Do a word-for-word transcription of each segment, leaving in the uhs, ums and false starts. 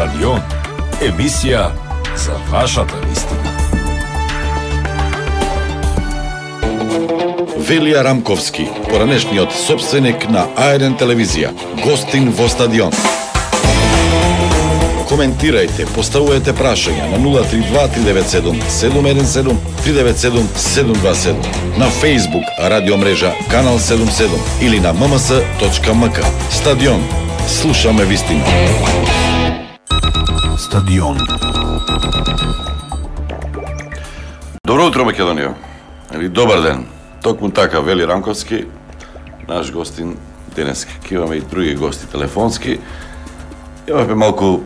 Стадион. Емисија за вашата вистина. Велија Рамковски, поранешниот сопственик на А еден телевизија, гостин во Стадион. Коментирајте, поставувајте прашања на нула три два три девет седум седум еден седум три девет седум седум два седум, на Facebook радио мрежа Канал седум седум или на ем ем ес точка ем ка. Стадион. Слушаме вистина. Стадион. Добро утро, Македонија. Или добар ден. Токму така, Вели Рамковски, наш гостин денес. Имаме и други гости телефонски. Имаме малку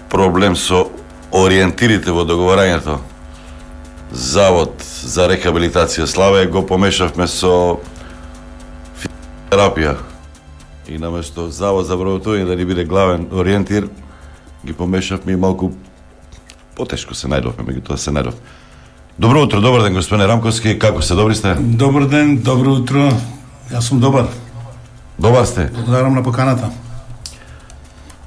проблем со ориентирите во договарањето. Завод за рехабилитација Славе го помешавме со терапија. И наместо Завод за вработување да ни биде главен ориентир, ги помешавме и малку потешко се најдовме, меѓутоа се најдов. Добро утро, добар ден, господине Рамковски, како се, добри сте? Добар ден, добро утро. Јас сум добар. Добар сте? Благодарам на поканата.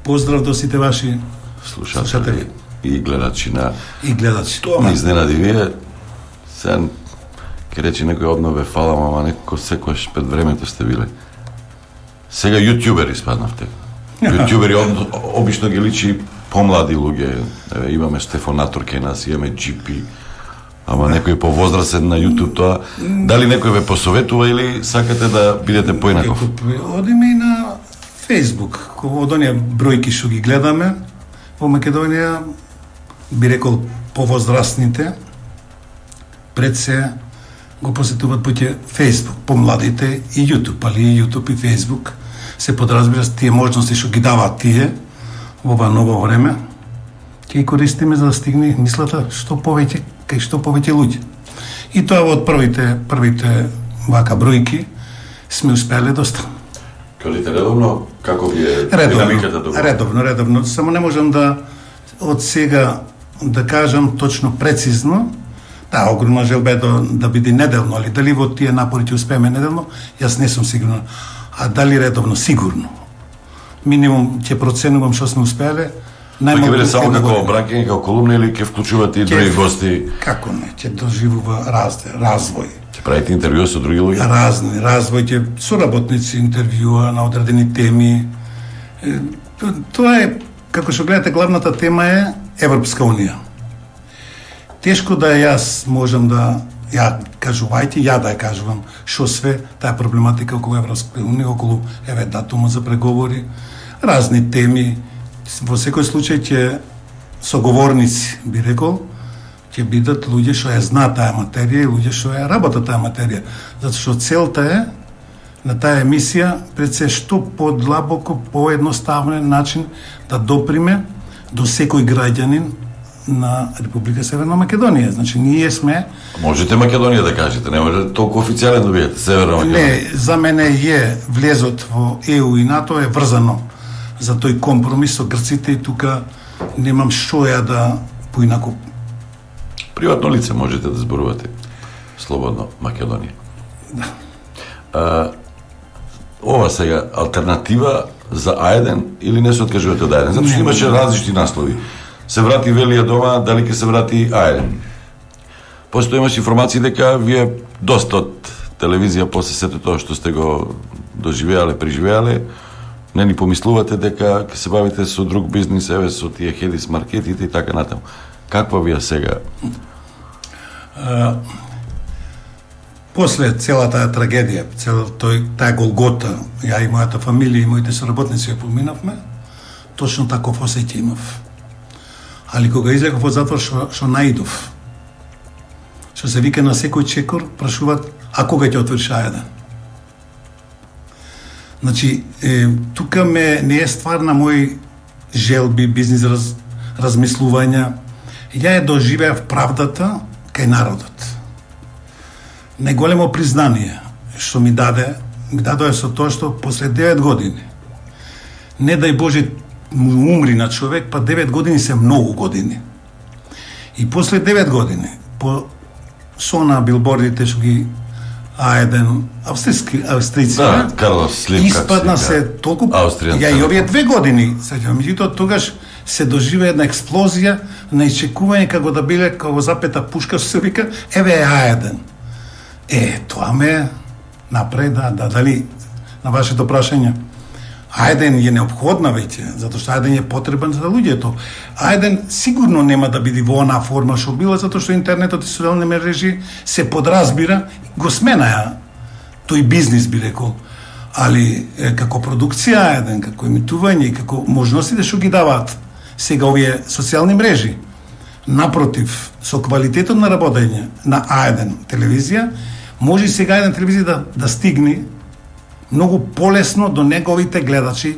Поздрав до сите ваши слушатели и гледачи на... И гледачи. Тоа ме изненади, вие сега ке речи некој обнове фалам, ама некој секојаш пред времето сте биле. Сега јутјубери спаднавте. Јутјубери обично ги личи помлади луѓе. Еве, имаме Стефонатор кај нас, имаме джи пи, ама некој повозрасен на YouTube тоа. Дали некој ве посоветува или сакате да бидете поинаков? Одиме и на Facebook, од оние бројки што ги гледаме во Македонија, би рекол повозрастните, пред се го посетуваат поќе Facebook, помладите и YouTube, али и YouTube и Facebook се подразбира тие можности што ги даваат тие во ова ново време, ќе ги користиме за да стигне мислата што повеќе кај што повеќе луѓе. И тоа од првите првите вака бројки сме успеле доста. Кажете редовно, како ви е редовно, динамиката до редовно, редовно. Само не можам да од сега да кажам точно прецизно. Да, огромна желба е да, да биде неделно, али дали во тие напори ќе успееме неделно, јас не сум сигурен. А дали редовно, сигурно. Минимум ќе проценувам што сме успеале. Па ќе биде само како бранкење, како колумна или ќе вклучувате и други гости? Како не, ќе доживува раз, развој. Ќе правите интервју со други луѓе? Разни, развој, ќе соработници интервјуа на одредени теми. Тоа е, како што гледате, главната тема е Европска унија. Тешко да јас можам да ја кажувајте, ја да ја кажувам што све таа проблематика околу Европска унија, околу еве датумот за преговори, разни теми. Во секој случај ќе соговорници, би рекол, ќе бидат луѓе што ја знаат таа материја и луѓе што ја работат таа материја. Затоа што целта е на таа емисија пред се што подлабоко, поедноставен начин да доприме до секој граѓанин на Република Северна Македонија. Значи, ние сме... Можете Македонија да кажете, не може толку официјален да бидете, Северна Македонија. Не, за мене е влезот во Е У и НАТО е врзано за тој компромис со грците и тука немам што ја да поинаку. Приватно лице можете да зборувате слободно Македонија. Да. А, ова сега алтернатива за А еден или не се откажувате од А еден? Затоа што имаше различни наслови. Се врати Велија дома, дали ќе се врати А еден? Постои имаш информации дека вие доста од телевизија после сето тоа што сте го доживеале, преживеале, не ни помислувате дека ќе се бавите со друг бизнис, еве со тие хедис маркетите и така натаму. Каква ви е сега? А, после целата таа трагедија, цел тој таа голгота, ја и мојата фамилија и моите соработници ја поминавме, точно таков осеќај имав. Али кога излегов од затвор, што, што наидов, што се вика на секој чекор, прашуваат, а кога ќе отвориш А еден? Значи, е, тука ме не е ствар на мои желби, бизнес раз, размислувања. Ја ја доживеав правдата кај народот. Најголемо признание што ми даде, ми дадоа со тоа што после девет години, не дај Боже му умри на човек, па девет години се многу години. И после девет години, по со на билбордите што ги А еден австријски австријци, да, Карлос Слим, испадна се толку. Австријан. Ја и овие две години, сеќавам, меѓутоа тогаш се доживе една експлозија на исчекување како да биле како запета пушка, што се вика, еве е А еден. Е, тоа ме направи да, да дали на вашето прашање. А еден е неопходна веќе, затоа што А еден е потребен за луѓето. А еден сигурно нема да биде во онаа форма што била, затоа што интернетот и социјални мрежи се подразбира, го сменаја тој бизнис, би рекол. Али е, како продукција А еден, како емитување и како можностите што ги даваат сега овие социјални мрежи. Напротив, со квалитетот на работење на А еден телевизија, може сега А еден телевизија да, да стигне многу полесно до неговите гледачи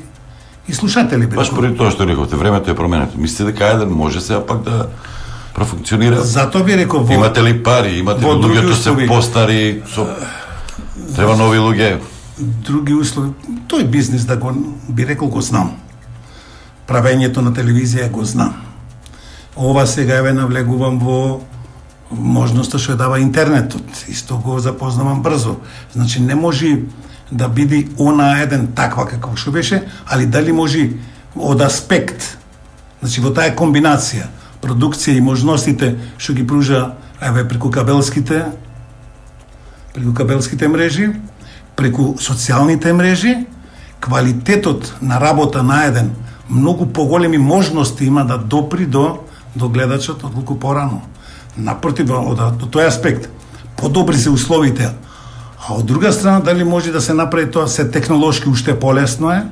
и слушатели. Баш поради тоа што рековте, времето е променето. Мислите дека А еден може сега пак да профункционира? Затоа би рекол во... Имате ли пари? Имате ли луѓето се постари? Со... Треба нови луѓе? Други услови. Тој бизнис, да го би рекол, го знам. Правењето на телевизија го знам. Ова сега еве навлегувам во можноста што ја дава интернетот. Исто го запознавам брзо. Значи не може да биде она еден таква како што беше, али дали може од аспект, значи во таа комбинација, продукција и можностите што ги пружа еве преку кабелските преку кабелските мрежи, преку социјалните мрежи, квалитетот на работа на еден многу поголеми можности има да допри до до гледачот отколку порано. Напротив, од, од тој аспект, подобри се условите. А од друга страна, дали може да се направи тоа се технолошки уште полесно е,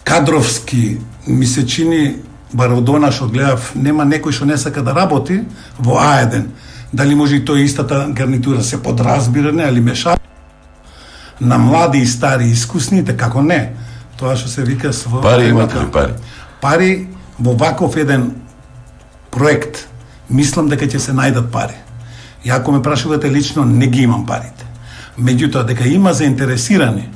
кадровски ми се чини, бар од она што гледав, нема некој што не сака да работи во А еден. Дали може и тој истата гарнитура се подразбира, не, али меша на млади и стари искусните, како не. Тоа што се вика со... Пари имате ли пари? Пари во ваков еден проект, мислам дека ќе се најдат пари. И ако ме прашувате лично, не ги имам парите. Меѓутоа, дека има заинтересирани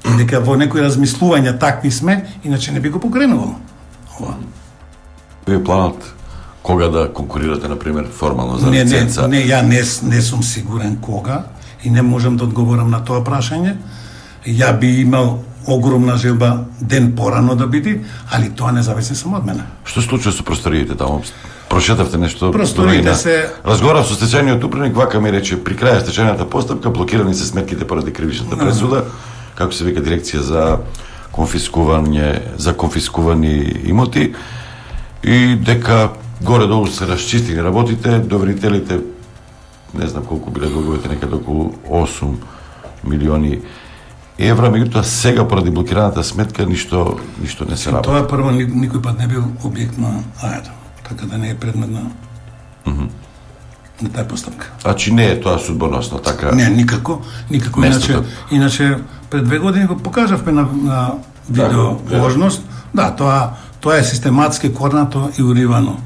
и дека во некои размислувања такви сме, иначе не би го покренувал. Ова. Вие планот кога да конкурирате, например, формално за не, лиценца? Не, не, ја не, не сум сигурен кога и не можам да одговорам на тоа прашање. Ја би имал огромна желба ден порано да биде, али тоа не зависи само од мене. Што се случува со просториите таму? Прошетавте нешто? Просториите се... Разговарав со стечајниот управник, вака ми рече, при крај стечајната постапка блокирани се сметките поради кривичната пресуда, како се вика дирекција за конфискување, за конфискувани имоти, и дека горе-долу се расчистени работите, доверителите, не знам колку биле долговите, некаде околу осум милиони евра, меѓутоа сега поради блокираната сметка ништо ништо не се работи. Тоа прво никој пат не бил објект на А еден, така да не е предмет на mm -hmm. на таа постапка. Значи не е тоа судбоносно, така? Не, никако, никако. Иначе, иначе пред две години го покажавме на, на видео можност. Да, тоа тоа е систематски корнато и уривано.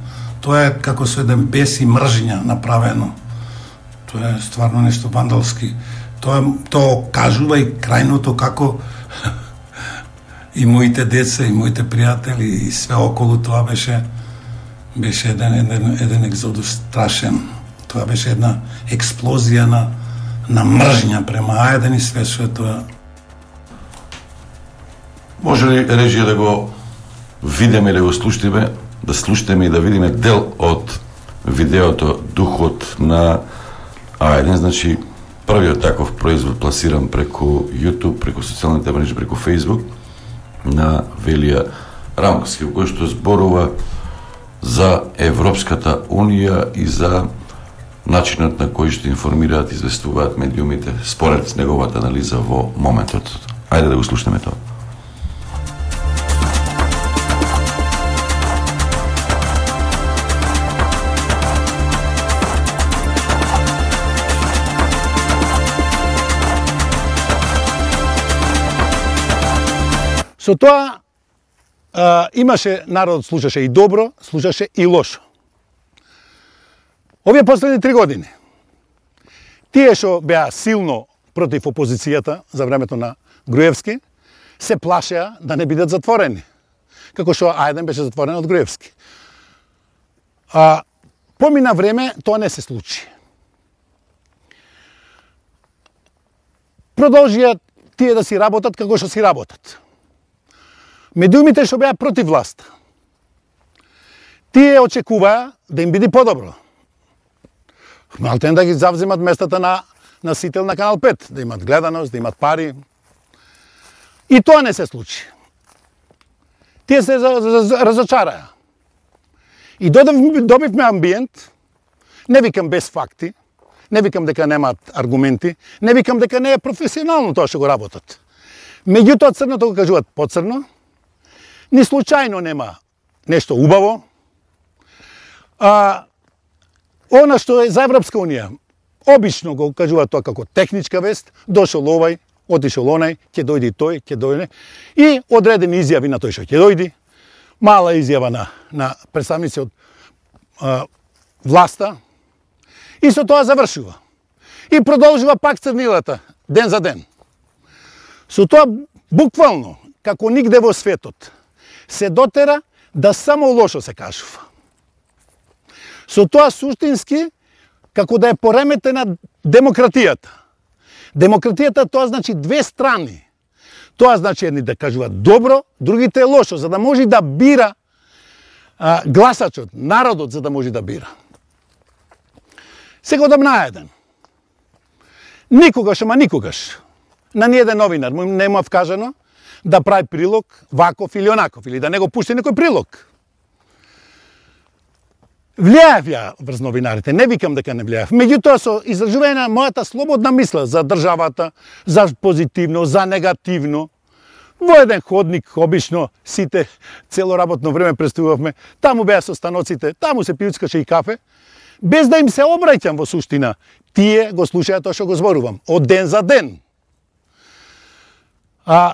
Тоа е како со еден бес и мржња направено. Тоа е стварно нешто вандалски. Тоа тоа кажува и крајното како и моите деца и моите пријатели и све околу тоа беше беше еден еден еден екзодус страшен. Тоа беше една експлозија на на мржња према А еден и све што е тоа. Може ли режија да го видиме или го слушнеме, да слушнеме и да видиме дел од видеото Духот на А еден, значи првиот таков производ пласиран преку YouTube, преку социјалните мрежи, преку Facebook на Велија Рамковски, кој што зборува за Европската Унија и за начинот на кој што информираат и известуваат медиумите според неговата анализа во моментот. Ајде да го слушнеме тоа. Со тоа а, имаше народ, слушаше и добро, слушаше и лошо. Овие последни три години, тие што беа силно против опозицијата за времето на Груевски, се плашеа да не бидат затворени, како што А еден беше затворен од Груевски. А, помина време, тоа не се случи. Продолжија тие да си работат како што си работат. Медиумите што беа против власта, Тие очекуваа да им биде подобро. Малтен да ги завземат местата на носител на Канал пет, да имат гледаност, да имат пари. И тоа не се случи. Тие се разочараа. И добивме амбиент, не викам без факти, не викам дека немаат аргументи, не викам дека не е професионално тоа што го работат. Меѓутоа црното го кажуваат поцрно, ни случајно нема нешто убаво. А, она што е за Европска Унија, обично го кажуваат тоа како техничка вест, дошол овај, отишол онај, ќе дојде тој, ќе дојде, и одредени изјави на тој што ќе дојде, мала изјава на, на представници од а, власта, и со тоа завршува. И продолжува пак црнилата, ден за ден. Со тоа, буквално, како нигде во светот, се дотера да само лошо се кажува. Со тоа суштински, како да е пореметена демократијата. Демократијата тоа значи две страни. Тоа значи едни да кажуваат добро, другите лошо, за да може да бира а, гласачот, народот, за да може да бира. Сега одам наеден. Никогаш, ама никогаш, на ниеден новинар му нема вкажано да прави прилог ваков или онаков, или да не го пушти некој прилог. Влијаев ја врз новинарите, не викам дека не влијаев. Меѓутоа со изражување на мојата слободна мисла за државата, за позитивно, за негативно, во еден ходник, обично, сите цело работно време представувавме, таму беа со станоците, таму се пиуцкаше и кафе, без да им се обраќам во суштина. Тие го слушаат тоа што го зборувам, од ден за ден. А,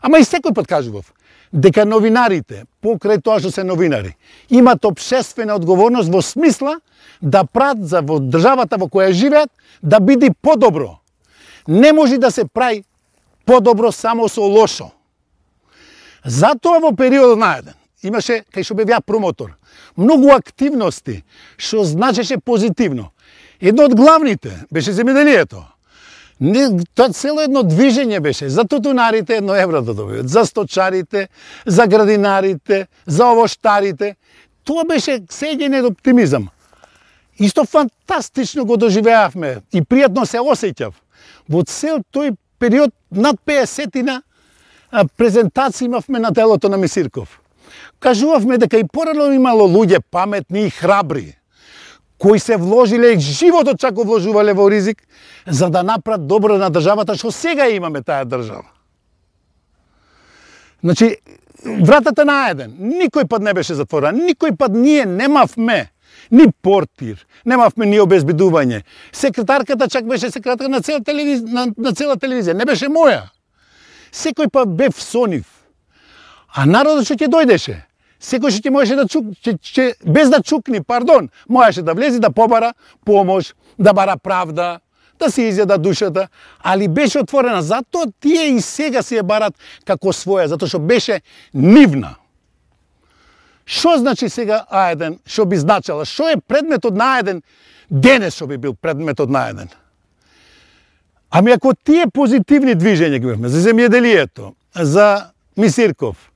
ама и секој пат кажував, дека новинарите, покрај тоа што се новинари, имат општествена одговорност во смисла да прават за во државата во која живеат да биде подобро. Не може да се прави подобро само со лошо. Затоа во периодот наеден имаше, кај што бев ја промотор, многу активности што значеше позитивно. Едно од главните беше земјоделието. Не, тоа цело едно движење беше, за тутунарите едно евро да добијат, за сточарите, за градинарите, за овоштарите. Тоа беше сеѓање од оптимизам. Исто фантастично го доживеавме и пријатно се осеќав. Во цел тој период над песетина презентации имавме на делото на Мисирков. Кажувавме дека и порано имало луѓе паметни и храбри, кои се вложиле, животот чак го вложувале во ризик, за да направат добро на државата, што сега имаме таа држава. Значи, вратата наеден, никој пат не беше затворена, никој пат ние немавме ни портир, немавме ни обезбедување. Секретарката чак беше секретарка на цела телевизија, на, на цела телевизија, не беше моја. Секој пат бев со нив. А народот што ќе дојдеше, секој што ќе можеше да чук, че, че, без да чукни, пардон, можеше да влезе да побара помош, да бара правда, да се изјада душата, али беше отворена. Затоа тие и сега се ја барат како своја, затоа што беше нивна. Што значи сега А еден, што би значала? Што е предметот на А еден денес што би бил предметот на А еден? Ами ако тие позитивни движења ги имавме, за земјоделието, за Мисирков,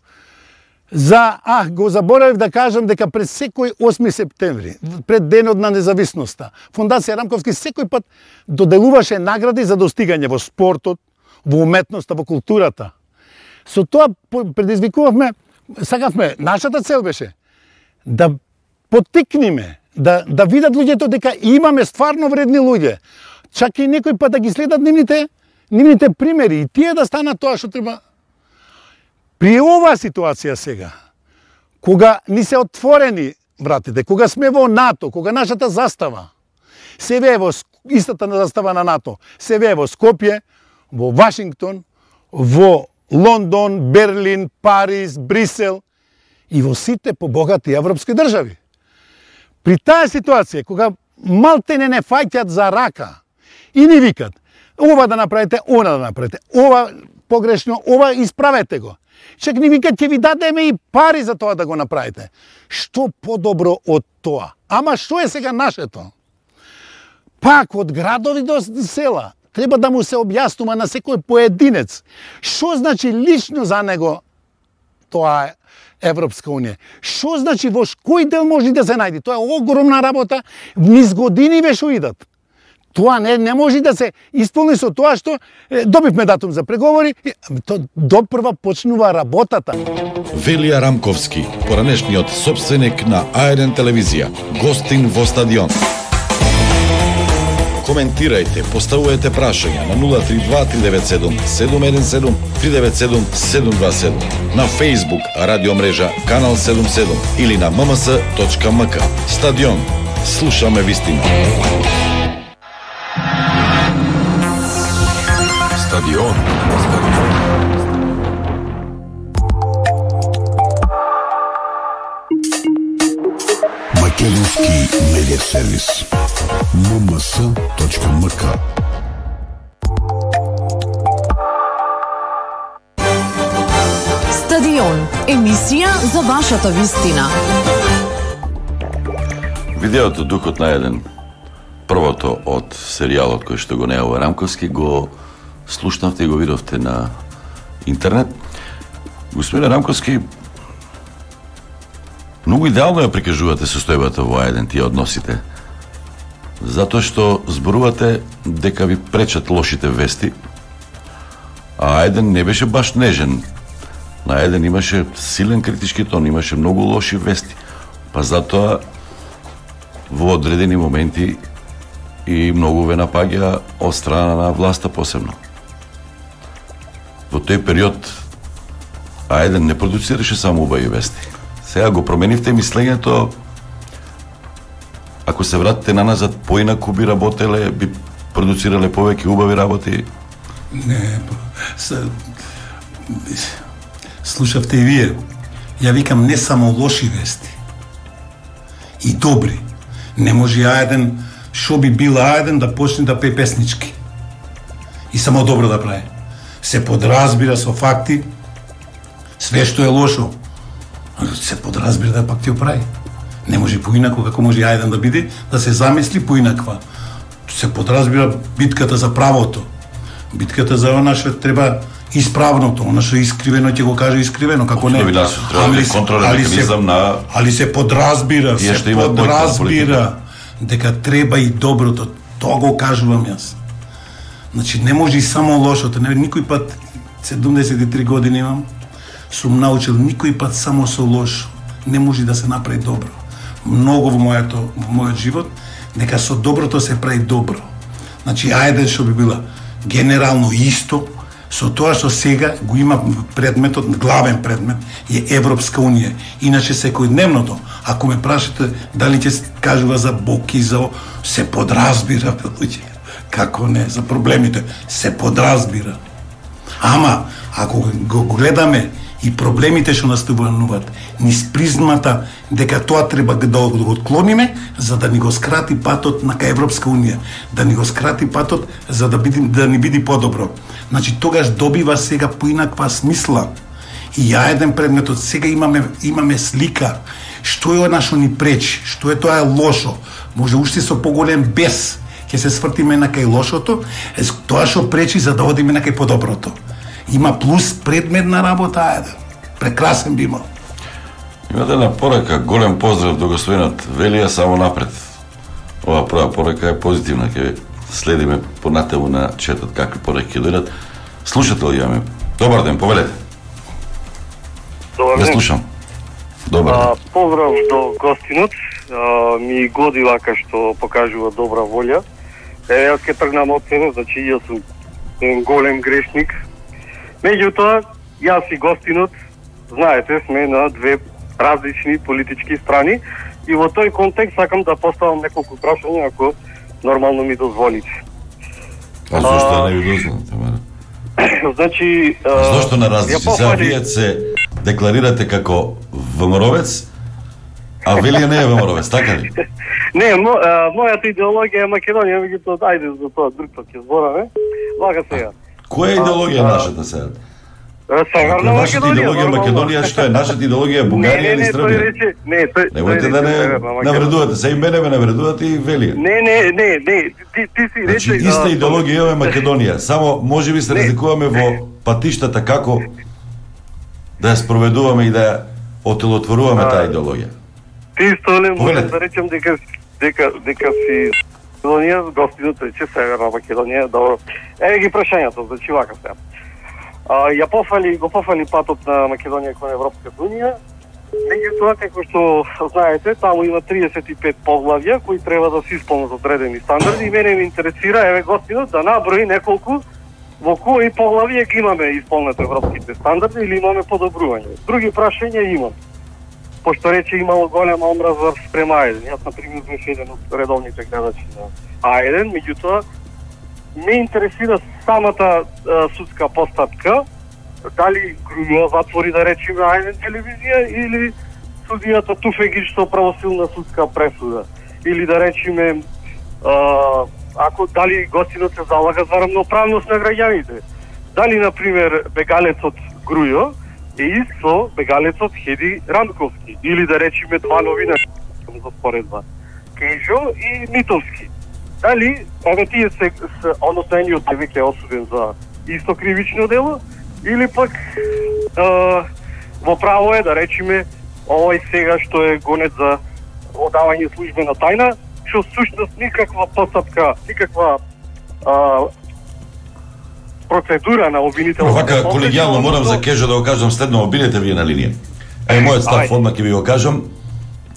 за, а, го заборавив да кажам дека пред секој осми септември, пред денот на независноста, Фондација Рамковски секој пат доделуваше награди за достигање во спортот, во уметноста, во културата. Со тоа предизвикувавме, сакавме, нашата цел беше да поттикниме, да, да видат луѓето дека имаме стварно вредни луѓе. Чак и некој пат да ги следат нивните, нивните примери и тие да станат тоа што треба. При оваа ситуација сега, кога ни се отворени вратите, кога сме во НАТО, кога нашата застава се вее во истата застава на НАТО, се вее во Скопје, во Вашингтон, во Лондон, Берлин, Париз, Брисел и во сите побогати европски држави. При таа ситуација, кога малтене не фаќат за рака и ни викат, ова да направите, она да направите, ова погрешно, ова исправете го. Чек ни викат, ќе ви дадеме и пари за тоа да го направите. Што подобро од тоа? Ама што е сега нашето? Пак од градови до села треба да му се објаснува на секој поединец. Што значи лично за него тоа Европска унија. Што значи во кој дел може да се најде? Тоа е огромна работа, низ години веќе идат. Тоа не, не може да се исполни со тоа што е, добивме датум за преговори, то допрва почнува работата. Велија Рамковски, поранешниот собственик на А еден телевизија, гостин во стадион. Коментирајте, поставувајте прашања на нула три два три девет седум седум еден седум три девет седум седум два седум, на Facebook радио мрежа Канал седум седум или на ем ем ес точка ем ка. Стадион. Слушаме вистина. Стадион. Македонски медиа сервис. ем ем ес точка ем ка. Стадион. Емисија за вашата вистина. Видеото Духот на еден, првото од серијалот кој што го неува Рамковски, го слушнавте и го видовте на интернет. Господин Рамковски, многу идеално ја прикажувате состојбата во А еден, тие односите. Затоа што зборувате дека ви пречат лошите вести, а А еден не беше баш нежен. На А еден имаше силен критички тон, имаше многу лоши вести. Па затоа во одредени моменти и многу ве напаѓа од страна на власта посебно. Во тој период А еден не продуцираше само убави вести. Сега го променивте мислењето. Ако се вратите наназад, поинаку би работеле, би продуцирале повеќе убави работи? Не, са... слушавте и вие. Ја викам не само лоши вести, и добри. Не може А еден, шо би бил А еден да почне да пее песнички. И само добро да прави. Се подразбира со факти, све што е лошо, се подразбира да пак ти оправи. Не може поинако, како може А еден да биде, да се замисли поинаква. Се подразбира битката за правото. Битката за она што треба исправното, она што е искривено ќе го каже искривено, како не. Али се, али се, на... али се подразбира, се подразбира дека треба и доброто. Тоа го кажувам јас. Значи не може и само лошото. Не, никој пат, седумдесет и три години имам, сум научил никој пат само со лошо не може да се направи добро. Многу во моето во мојот живот дека со доброто се прави добро. Значи А еден што би била генерално исто со тоа што сега го има предметот, главен предмет е Европска унија. Иначе секојдневното, ако ме прашате дали ќе кажува за Бог и за се подразбира, луѓе. Како не, за проблемите се подразбира. Ама ако го гледаме и проблемите што настапуваат низ призмата дека тоа треба да го отклониме за да ни го скрати патот на кај Европска унија, да ни го скрати патот за да биде да ни биде подобро. Значи тогаш добива сега поинаква смисла. И ја еден предметот сега имаме имаме слика што е она што ни пречи, што е тоа е лошо. Може уште со поголем бес ќе се свртиме на кај лошото, е тоа што пречи за да одиме на кај подоброто. Има плюс предметна работа, ајде. Прекрасен би имал. Имате една порака, голем поздрав до господинот Велија, само напред. Ова прва порака е позитивна, ќе следиме понатаму на четот какви пораки ќе дојдат. Слушател јаме. Добар ден, повелете. Добар ден. Не слушам. Добар ден. А, поздрав до гостинот. А, ми годи вака што покажува добра волја. Е, јас ќе тргнам од себе, значи јас сум еден голем грешник. Меѓутоа, јас и гостинот, знаете, сме на две различни политички страни и во тој контекст сакам да поставам неколку прашања, ако нормално ми дозволите. А зашто не ви дозволите, мара? Значи... А зашто на различни? Сега вие се декларирате како ВМРО-вец, а Велија не е ВМРО-вец, така ли? Не, мо, а, мојата идеологија е Македонија, меѓутоа, ајде за тоа друг пат ќе збораме. Вака сега. Која е идеологија а, нашата сега? Северна Македонија. Идеологија Македонија што е? Нашата идеологија е Бугарија или Србија? Не, не, не, тој Немојте да не навредувате, се и мене ме навредувате и Велија. Не, не, не, не, ти ти си рече. Значи иста идеологија имаме Македонија, само можеби се разликуваме во патиштата како да ја спроведуваме и да ја отелотворуваме таа идеологија. Ти исто не можеш Повелете. да речем дека дека дека си Македонија, гостинот рече Северна Македонија, добро. Еве ги прашањата, значи вака сега. А, ја пофали, го пофали патот на Македонија кон Европската унија. Меѓутоа, како што знаете, таму има триесет и пет поглавја кои треба да се исполнат одредени стандарди и мене ме интересира, еве гостинот, да наброи неколку во кои поглавја ги имаме исполнет европските стандарди или имаме подобрување. Други прашања имам. Пошто рече имало голема омраза спрема А еден. Јас, например, беше еден од редовните гледачи на А еден, меѓутоа, ме интересира самата а, судска постапка, дали Грујо затвори, да речеме, А еден телевизија или судијата Туфегич што правосилна судска пресуда. Или да речеме, а, ако дали гостинот се залага за рамноправност на граѓаните. Дали, например, бегалецот Грујо е исто бегалецот Хеди Ранковски, или да речеме два новинари за споредба, Кежо и Митовски. Дали, еве тие се, се односно едниот е веќе осуден за исто кривично дело, или пак е, во право е да речеме овој сега што е гонет за одавање службена тајна, што сушност никаква постапка, никаква а, процедура на обвинителот. Вака колегијално морам за Кежо да го кажам следно, обидете вие на линија. Е, мојот став одма ќе ви го кажам,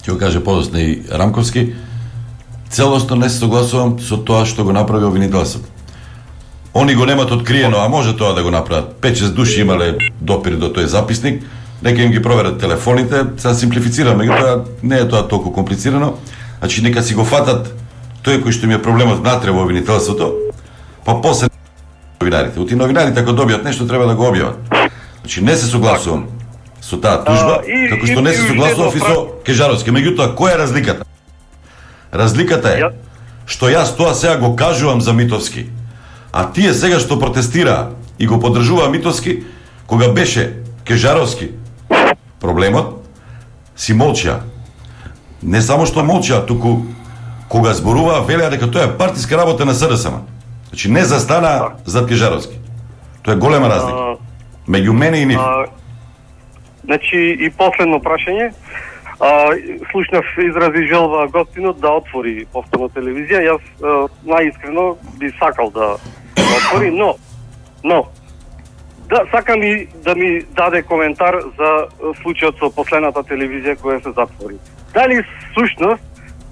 ќе го каже подоцна и Рамковски. Целосно не се согласувам со тоа што го направи обвинителството. Они го немат откриено, а може тоа да го направат. пет-шест души имале допир до тој записник, нека им ги проверат телефоните, сега симплифицирам, меѓутоа не е тоа толку комплицирано. Значи нека си го фатат тој кој што ми е проблемот внатре во обвинителството, па после новинарите. Оти новинарите ако добијат нешто треба да го објават. Значи не се согласувам со таа тужба, А, и- како што и- не и се уште согласував и едно со Кежаровски. Меѓутоа, која е разликата? Разликата е Ја- што јас тоа сега го кажувам за Митовски, а тие сега што протестираа и го поддржуваа Митовски, кога беше Кежаровски проблемот, си молчаа. Не само што молчаа, туку кога зборуваа велеа дека тоа е партиска работа на С Д С М. Значи не застана зад Кежаровски. Тоа е голема разлика А, меѓу мене и нив. а, значи и последно прашање. А, слушнав изрази желба гостинот да отвори повторно телевизија. Јас а, најискрено би сакал да, да отвори, но но да сакам и да ми даде коментар за а, случајот со последната телевизија која се затвори. Дали сушност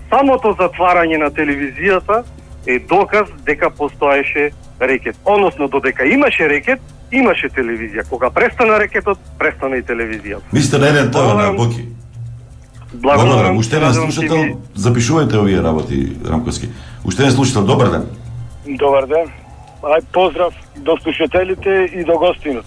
самото затварање на телевизијата е доказ дека постоеше рекет. Односно, додека имаше рекет, имаше телевизија. Кога престана рекетот, престана и телевизијата. Мислите на еден тоа на Боки. Благодарам. Уште еден слушател, запишувајте овие работи, Рамковски. Уште еден слушател, добар ден. Добар ден. Ај поздрав до слушателите и до гостинот.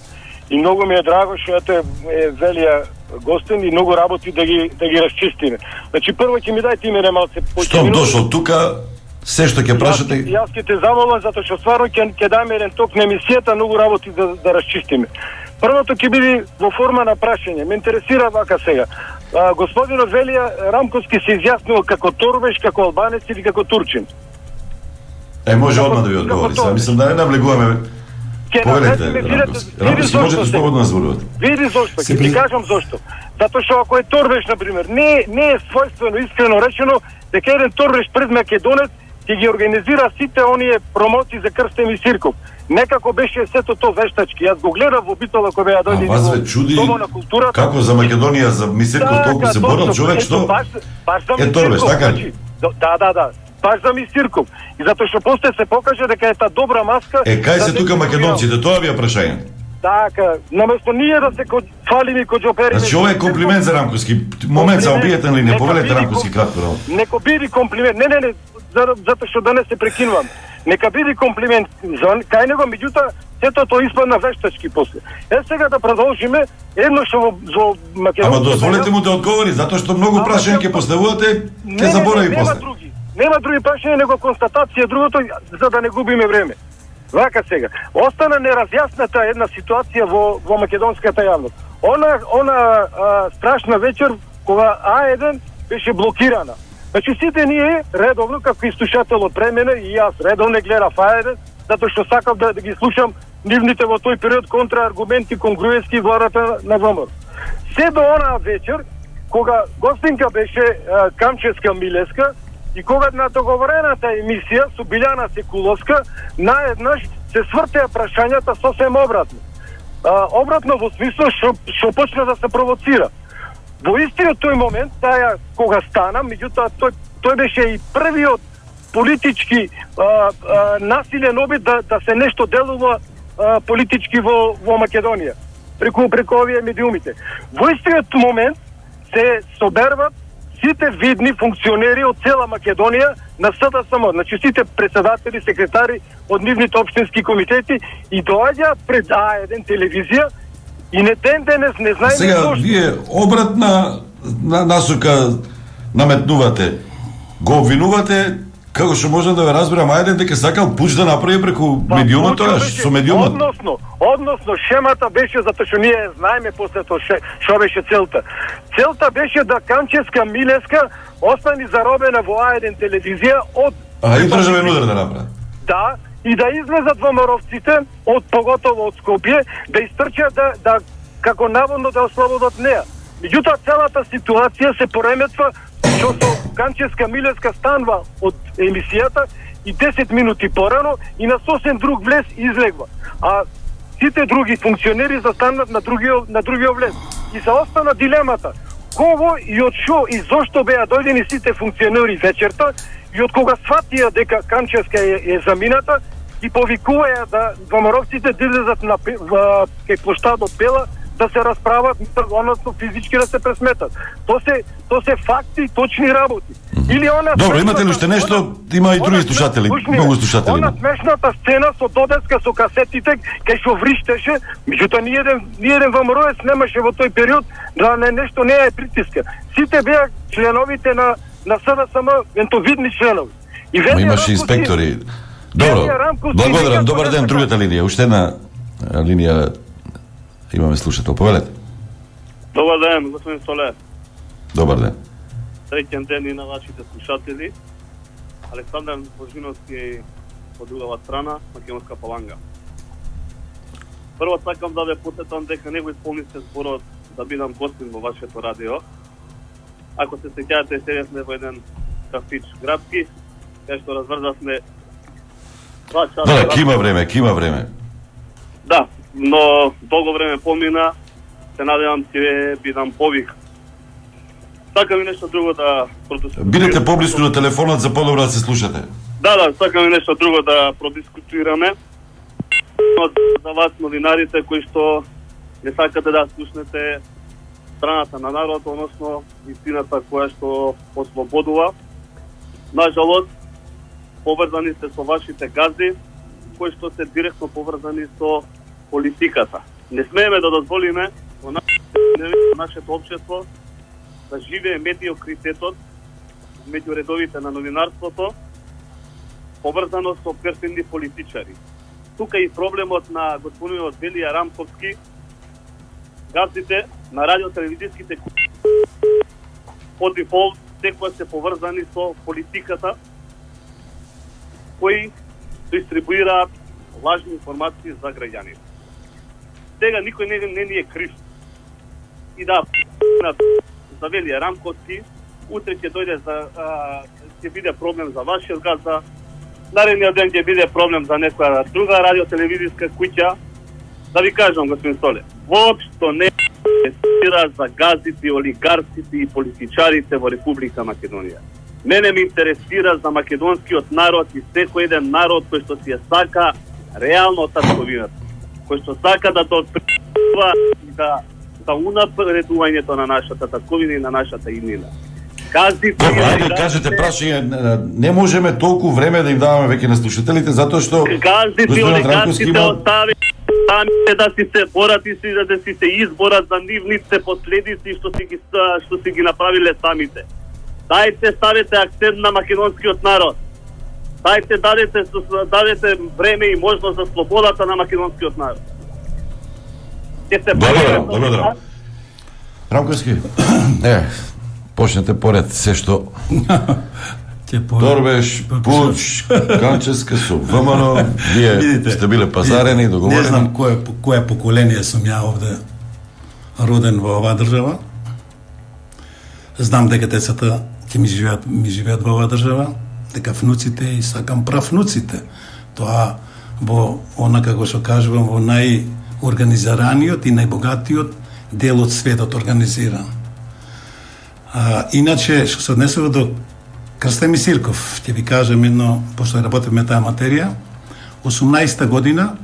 И многу ми е драго што ете е велија гостин и многу работи да ги да ги расчистиме. Значи прво ќе ми дајте име малце по Штом дошол тука, се што ќе прашате, Јас, јас ќе те замолам затоа што стварно ќе ќе даме еден ток на емисијата, многу работи да да расчистиме. Првото ќе биде во форма на прашање. Ме интересира вака сега. А, господинот Велија Рамковски се изјаснува како торбеш, како албанец или како турчин. е може Како- одма да ви како одговори. тоа? Сега мислам да не навлегуваме. Ќе Повелете, наведеме, видите, Рамковски. види Рамковски, зошто можете се- слободно да зборувате. Види зошто, Се ќе ти при- кажам зошто. Затоа што ако е торбеш, например, не, не е својствено, искрено речено, дека еден торбеш пред Македонец ќе ги организира сите оние промоции за крстен и цирков. Некако беше сето то вештачки. Јас го гледав во Битола кога беа А дојде вас во ве чуди Дома на културата. како за Македонија, за Мисирков толку се борел точно, човек ето, што баш, баш за е торбеш, Мисирков, така ли? значи, до- Да, да, да. Баш за Мисирков. И затоа што после се покаже дека е таа добра маска. Е, кај за се тука дека македонците, тоа ви е прашање. Така, наместо ние да се ко- фалиме и коџопериме. Значи ова е комплимент за Рамковски. Момент, само биете ли, не Нека повелете биде Рамковски ком- кратко работа. Нека биде комплимент. Не, не, не, за- затоа што да не се прекинувам. Нека биде комплимент за кај него, меѓутоа сето тоа испадна вештачки после. Е сега да продолжиме едно што во, во Македонија. Ама дозволете му да одговори, затоа што многу Ама, прашања ќе ќе- поставувате, Не, ќе не, заборави не, нема после. други. Нема други прашања, него констатација другото, за да не губиме време. Вака сега. Остана неразјасната една ситуација во, во македонската јавност. Она, она а, страшна вечер, кога А еден беше блокирана. Значи сите ние, редовно, како и слушател од премене, и јас редовно гледав А еден, затоа што сакав да, да ги слушам нивните во тој период контрааргументи кон Груевски и владата на ВМРО. Се до онаа вечер, кога гостинка беше а, Камческа Милеска и кога на договорената емисија со Билјана Секуловска, наеднаш се свртеа прашањата сосем обратно. А, обратно во смисло што што почна да се провоцира. Во истиот тој момент, таја кога стана, меѓутоа тој тој беше и првиот политички а, а, насилен обид да, да се нешто делува а, политички во, во Македонија, преку, преку овие медиумите. Во истиот момент се соберват сите видни функционери од цела Македонија на С Д С М, значи сите председатели, секретари од нивните општински комитети и доаѓаат пред А еден телевизија и не ден денес не знаеме Сега, зошто. вие обратна на, насока наметнувате, го обвинувате, како што можам да ве разберам, ајде дека сакал пуч да направи преку Па, медиумот пучот тогаш, беше- со медиумот. Односно, односно шемата беше затоа што ние знаеме после тоа ше- што беше целта. Целта беше да Камческа Милеска остани заробена во А еден телевизија од А и државен удар да направи. Да, и да излезат ВМРО-вците од поготово од Скопје, да истрчат да да како наводно да ослободат неа. Меѓутоа целата ситуација се пореметва што со Камческа Милеска станува од емисијата и десет минути порано и на сосем друг влез излегва. А сите други функционери застанат на другиот на другиот влез. И се остана дилемата. Кого и од што и зошто беа дојдени сите функционери вечерта и од кога сватија дека Камческа е, е замината и повикуваја да ВМРО-вците да излезат на пе- во- кај плоштадот Бела да се расправат, односно физички да се пресметат. То се то се факти, точни работи. Или она Добро, смешната- имате ли уште нешто? Има и други она слушатели, смеш- слушни, многу слушатели Она има. смешната сцена со Додеска со касетите кај што вриштеше, меѓутоа ни еден ни еден ВМРО-ец немаше во тој период да не нешто не е притиска. Сите беа членовите на на С Д С М, ентовидни членови. И Ма Велија имаше Рамковски- инспектори. Добро, Велија Рамковски благодарам, никако добар не ден, сака- другата линија, уште една а, линија имаме слушател, повелете. Добар ден, господин Столе. Добар ден. Среќен ден и на вашите слушатели. Александар Божиновски од другава страна, Македонска Паланга. Прво сакам да ве потетам дека не го исполнисте зборот да бидам гостин во вашето радио. Ако се сеќавате, седевме во еден кафич градски, кај што разврзавме два часа. Да, кима време, кима време. Да, но долго време помина, се надевам ќе бидам повик. Сакам и нешто друго да продискутираме. Бидете поблиску до телефонот за подобро да се слушате. Да, да, сакам и нешто друго да продискутираме. За вас, новинарите, кои што не сакате да слушнете страната на народ, односно истината која што ослободува. Нажалост, поврзани сте со вашите газди, кои што се директно поврзани со политиката. Не смееме да дозволиме во нашето општество да живее медиокритетот меѓу редовите на новинарството, поврзано со перфидни политичари. Тука и проблемот на господинот Велија Рамковски, газдите на радиотелевизиските по дефолт секоја се поврзани со политиката, кои дистрибуираат лажни информации за граѓаните. Сега никој не, не ни е крив. И да, за Велија Рамковски, утре ќе дојде за а, ќе биде проблем за вашиот газда, наредниот ден ќе биде проблем за некоја друга радиотелевизиска куќа. Да ви кажам, господин Столе, воопшто не интересира за газдите, олигарсите и политичарите во Република Македонија. Мене ме интересира за македонскиот народ и секој еден народ кој што си ја сака реално татковината, кој што сака да допринесува и да за унапредувањето на нашата татковина и на нашата иднина. Газдите, Добро, ајде олигарсите- кажете прашање, не можеме толку време да им даваме веќе на слушателите затоа што Газдите, господинот Рамковски олигарсите има остави самите да си се борат и си да си се изборат за нивните последици што си ги што си ги направиле самите. Дајте ставете акцент на македонскиот народ. Дајте дадете дадете време и можност за слободата на македонскиот народ. Ќе се Благодарам, благодарам. Рамковски, е, почнете поред се што Ќе по... Торбеш, Пуч, Камческа со ВМРО, вие Видите, сте биле пазарени, Не договорени. знам кое, кое поколение сум ја овде. роден во оваа држава. Знам дека децата ќе ми живеат, ми живеат во оваа држава, дека внуците и сакам правнуците. Тоа во она како што кажувам во најорганизираниот и најбогатиот дел од светот организиран. А, иначе, што се однесува до Крстен Мисирков, ќе ви кажам едно, пошто работиме таа материја, осумнаесетта година,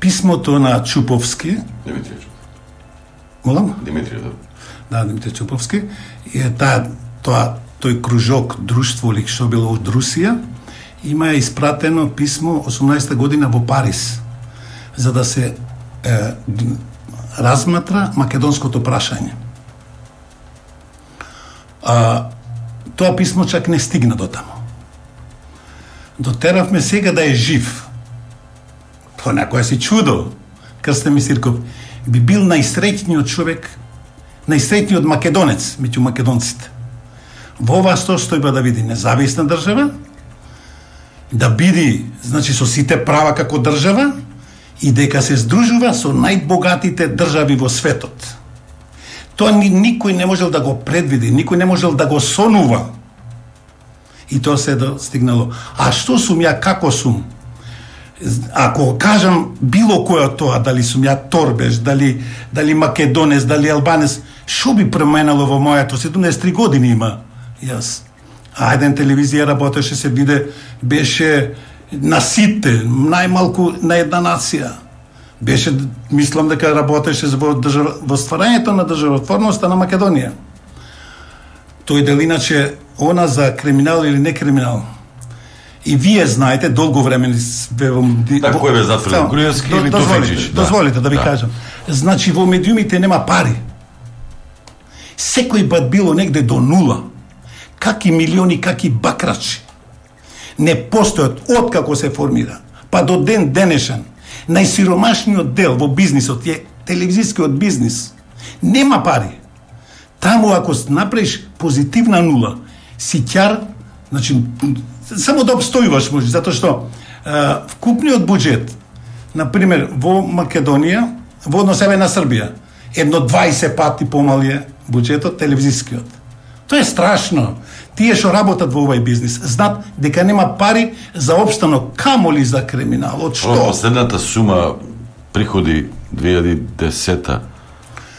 писмото на Чуповски, Димитрија Чуповски. Молам? Димитрија, да. Да, Димитрија Чуповски, е таа, тоа, тој кружок, друштво или што било од Русија, има испратено писмо осумнаесетта година во Париз, за да се е, разматра македонското прашање. А, тоа писмо чак не стигна до таму. Дотеравме сега да е жив. Тоа некоја си чудо. Крстен Мисирков би бил најсреќниот човек, најсреќниот македонец меѓу македонците. Во оваа состојба да види независна држава, да биде, значи, со сите права како држава и дека се здружува со најбогатите држави во светот. Тоа ни, никој не можел да го предвиди, никој не можел да го сонува. И тоа се достигнало. А што сум ја, како сум? Ако кажам било која тоа, дали сум ја торбеш, дали, дали македонец, дали албанец, што би променало во мојато? седумдесет и три години има јас. А еден телевизија работеше, се биде, беше на сите, најмалку на една нација. Беше, мислам дека работеше во, држава, во стварањето на државотворноста на Македонија. Тој дел иначе, она за криминал или не криминал. И вие знаете, долго време ве Така кој бе затворен, Груевски или Тофиќич? Дозволите да ви кажам. Значи во медиумите нема пари. Секој пат било негде до нула. Каки милиони, каки бакрачи. Не постојат откако се формира, па до ден денешен. Најсиромашниот дел во бизнисот е телевизискиот бизнис. Нема пари. Таму ако направиш позитивна нула, си ќар, значи, само да обстојуваш може, затоа што е, вкупниот буџет, например, во Македонија, во однос еве на Србија, едно дваесет пати помали е буџетот телевизискиот. Тоа е страшно. Тие што работат во овај бизнис знаат дека нема пари за опстанок, камоли за криминал. Од што? Последната сума приходи две илјади и десета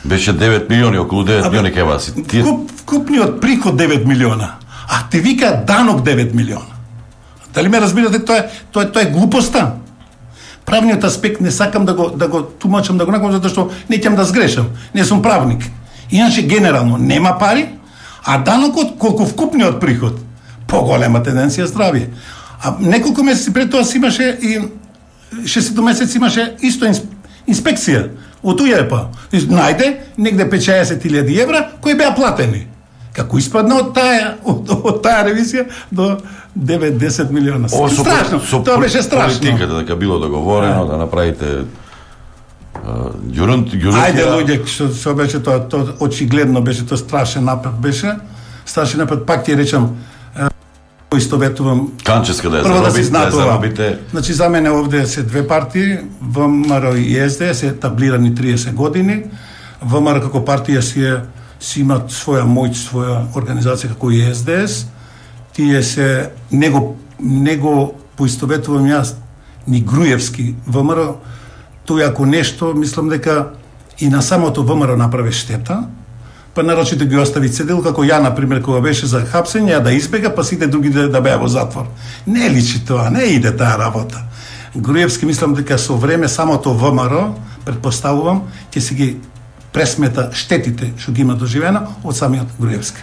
беше девет милиони, околу девет милиони кај вас. Тие... Вкуп, вкупниот приход девет милиона, а те вика данок девет милиона. Дали ме разбирате, тоа е, тоа е, тоа е глупоста. Правниот аспект не сакам да го, да го тумачам, да го накажам, затоа што не ќам да сгрешам. Не сум правник. Иначе, генерално, нема пари, а данокот, колку вкупниот приход, поголема тенденција здравје. А неколку месеци пред тоа си имаше и шестте месеци имаше исто инспекција од УЈЕП. Најде негде петчаесет илјади евра кои беа платени. Како испадна од таа од, од таа ревизија до девет до десет милиона. О, со, страшно. Со, Тоа беше страшно. Политиката дека било договорено да направите ѓурунт ѓурунт. Ајде луѓе, што што беше тоа, тоа очигледно беше, тоа страшен напад беше. Страшен напад, пак ти речам, поистоветувам. Канческа да ја Прво да заробите, се знае да тоа. заробите. Значи за мене овде се две партии, ВМРО и ЕСД се таблирани триесет години. ВМРО како партија си е си имат своја моќ, своја организација како и ЕСДС. Тие се него него поистоветувам јас ни Груевски ВМРО. Тој ако нешто, мислам дека и на самото ВМРО направи штета, па нарочито ги остави цедил, како ја, например, кога беше за хапсење, ја да избега, па сите други да, да беа во затвор. Не личи тоа, не иде таа работа. Груевски, мислам дека со време самото ВМРО, предпоставувам, ќе си ги пресмета штетите што ги има доживено од самиот Груевски.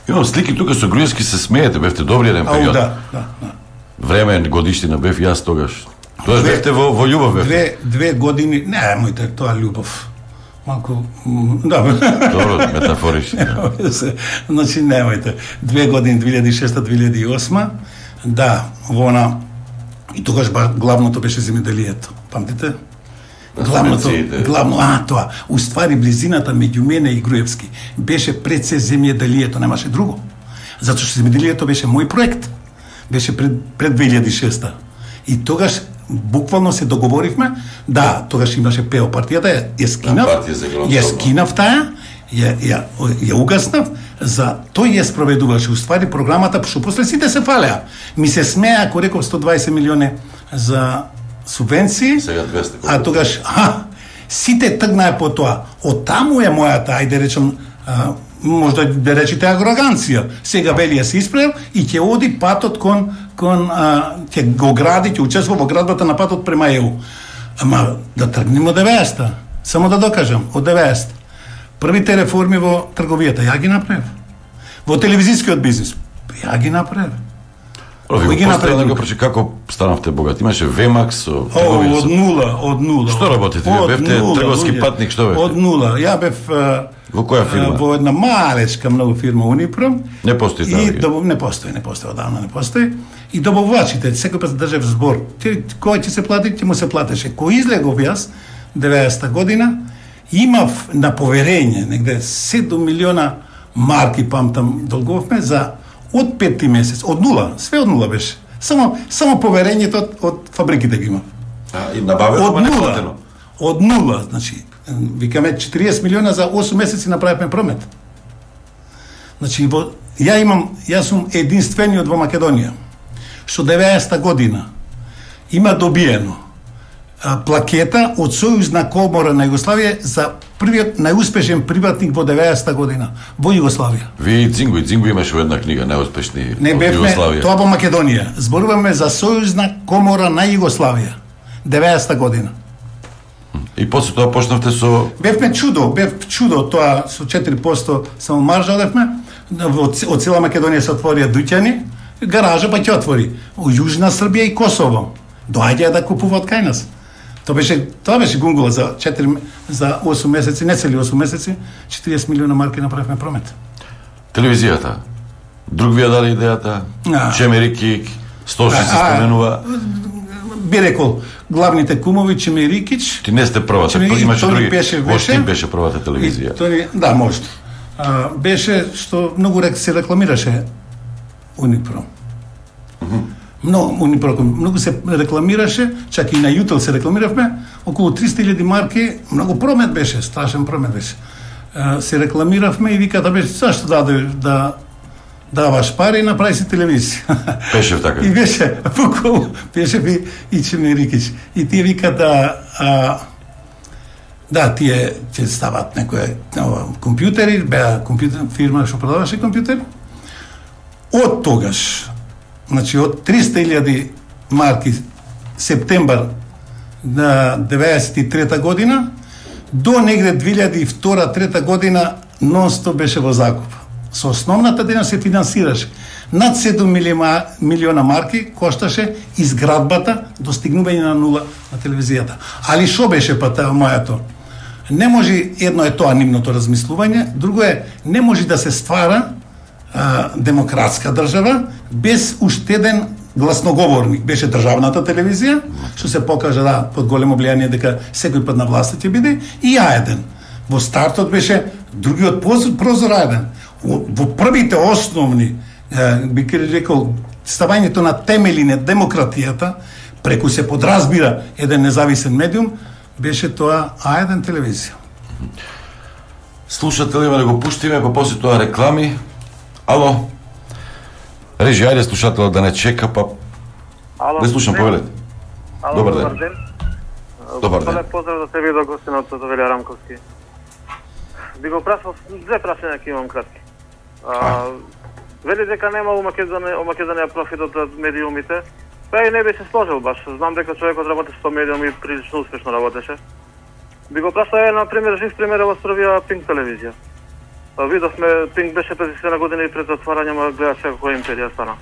Имам слики тука со Груевски, се смеете, бевте добри еден Ау, период. да, да, да. Време годиштина бев јас тогаш. Тоа бевте во, во љубов бевте. Две, две години, не, мојте, тоа љубов. Малку, м, да. Добро, метафорично. Да. Значи, немојте. Две години, две илјади и шеста до две илјади и осма, да, во она, и тогаш ба, главното беше земјоделието. Памтите? Главното, главно, а, тоа, уствари близината меѓу мене и Груевски беше пред се земјоделието, немаше друго. Затоа што земјоделието беше мој проект. Беше пред, пред две илјади и шеста. И тогаш буквално се договоривме, да, тогаш имаше пео партијата, ја, ја скинав, ја скинав таа, ја, ја, ја угаснав, за тој ја спроведуваше, уствари програмата, што после сите се фалеа. Ми се смеа, ако реков сто дваесет милиони за субвенции, сега двесте, а тогаш, а, сите тргнаа по тоа. Од таму е мојата, ајде речем, а, можда да речете ароганција. Сега вели ја се исправил и ќе оди патот кон кон а, ќе го гради, ќе учествува во градбата на патот према ЕУ. Ама да тргнеме од деветдесета. Само да докажам, од деветдесета. Првите реформи во трговијата ја ги направив. Во телевизискиот бизнис ја ги направив. Кој ги направи да прочи како станавте богат? Имаше Вемакс со трговија. Од нула, од нула. Што работите? Вие бевте трговски патник, што бевте? Од нула. Ја бев во која фирма? Во една малечка многу фирма Унипром. Не постои таа. И добав не постои, не постои, одавна не постои. И добавувачите, секој пат држав збор. Кој ќе се плати, ќе му се платеше. Кој излегов јас деветдесета година, имав на поверење негде седум милиона марки памтам долговме за од пети месец, од нула, све од нула беше. Само само поверењето од, од фабриките ги имав. А, и набавено, од нула, од нула, значи, викаме четириесет милиона за осум месеци направивме промет. Значи, во, ја имам, јас сум единствениот во Македонија, што деветдесета година има добиено а, плакета од Сојузна комора на Југославија за првиот најуспешен приватник во деветдесета година во Југославија. Ви Дзингу, Дзингу имаше во една книга најуспешни не во Југославија. Тоа во Македонија. Зборуваме за Сојузна комора на Југославија. деветдесета година. И после тоа почнавте со Бевме чудо, бев чудо тоа со четири проценти само маржа одевме. Од цела Македонија се отворија дуќани, гаража па ќе отвори. Во Јужна Србија и Косово. Доаѓаја да купуваат кај нас. Тоа беше тоа беше гунгула за четири за осум месеци, не цели осум месеци, четириесет милиона марки направивме промет. Телевизијата. Друг ви ја даде идејата? Чемерики, Стоши се споменува. Би рекол, главните кумови Чемерикич. Ти не сте првата, имаше други. Во Штип беше првата телевизија. Тони, да, може. А, беше што многу рек се рекламираше Унипром. Mm -hmm. Многу Унипром, многу се рекламираше, чак и на Јутел се рекламиравме, околу триста илјади марки, многу промет беше, страшен промет беше. А, се рекламиравме и виката беше, зашто даде да даваш пари и направи си телевизија. Беше така. И беше, буквално, беше би и Чемерикич. И тие викат да, а, да, тие ќе стават некои компјутери, беа компјутер фирма што продаваше компјутери. Од тогаш, значи од триста илјади марки септембар на деветдесет и трета година до негде две илјади и втора трета година нон-стоп беше во закуп. Со основната дејност се финансираше. Над седум милиона марки кошташе изградбата, достигнување на нула на телевизијата. Али шо беше па таа мојато? Не може, едно е тоа нивното размислување, друго е, не може да се ствара а, демократска држава без уштеден гласноговорник. Беше државната телевизија, што се покажа да, под големо влијание дека секој пат на власт ќе биде, и А еден. Во стартот беше другиот прозор А еден. Во првите основни, би рекол, ставањето на темели на демократијата, преку се подразбира еден независен медиум, беше тоа А еден телевизија. Слушатели, да го пуштиме, па после тоа реклами. Ало? Режи, ајде слушател да не чека, па... Ало, не слушам, повелете. Добар ден. ден. Добар ден. Добар поздрав за тебе и до гостинот од Велја Рамковски. Би го прашал, две прашања ќе имам кратки. А, вели дека нема у Македонија, у Македонија профитот од медиумите, па и не би се сложил баш. Знам дека човекот работи со медиуми и прилично успешно работеше. Би го прашал, е, на пример, жив пример во Србија Пинк телевизија. Видовме, Пинк беше пред десет години пред затварање, ма гледа сега која империја стана.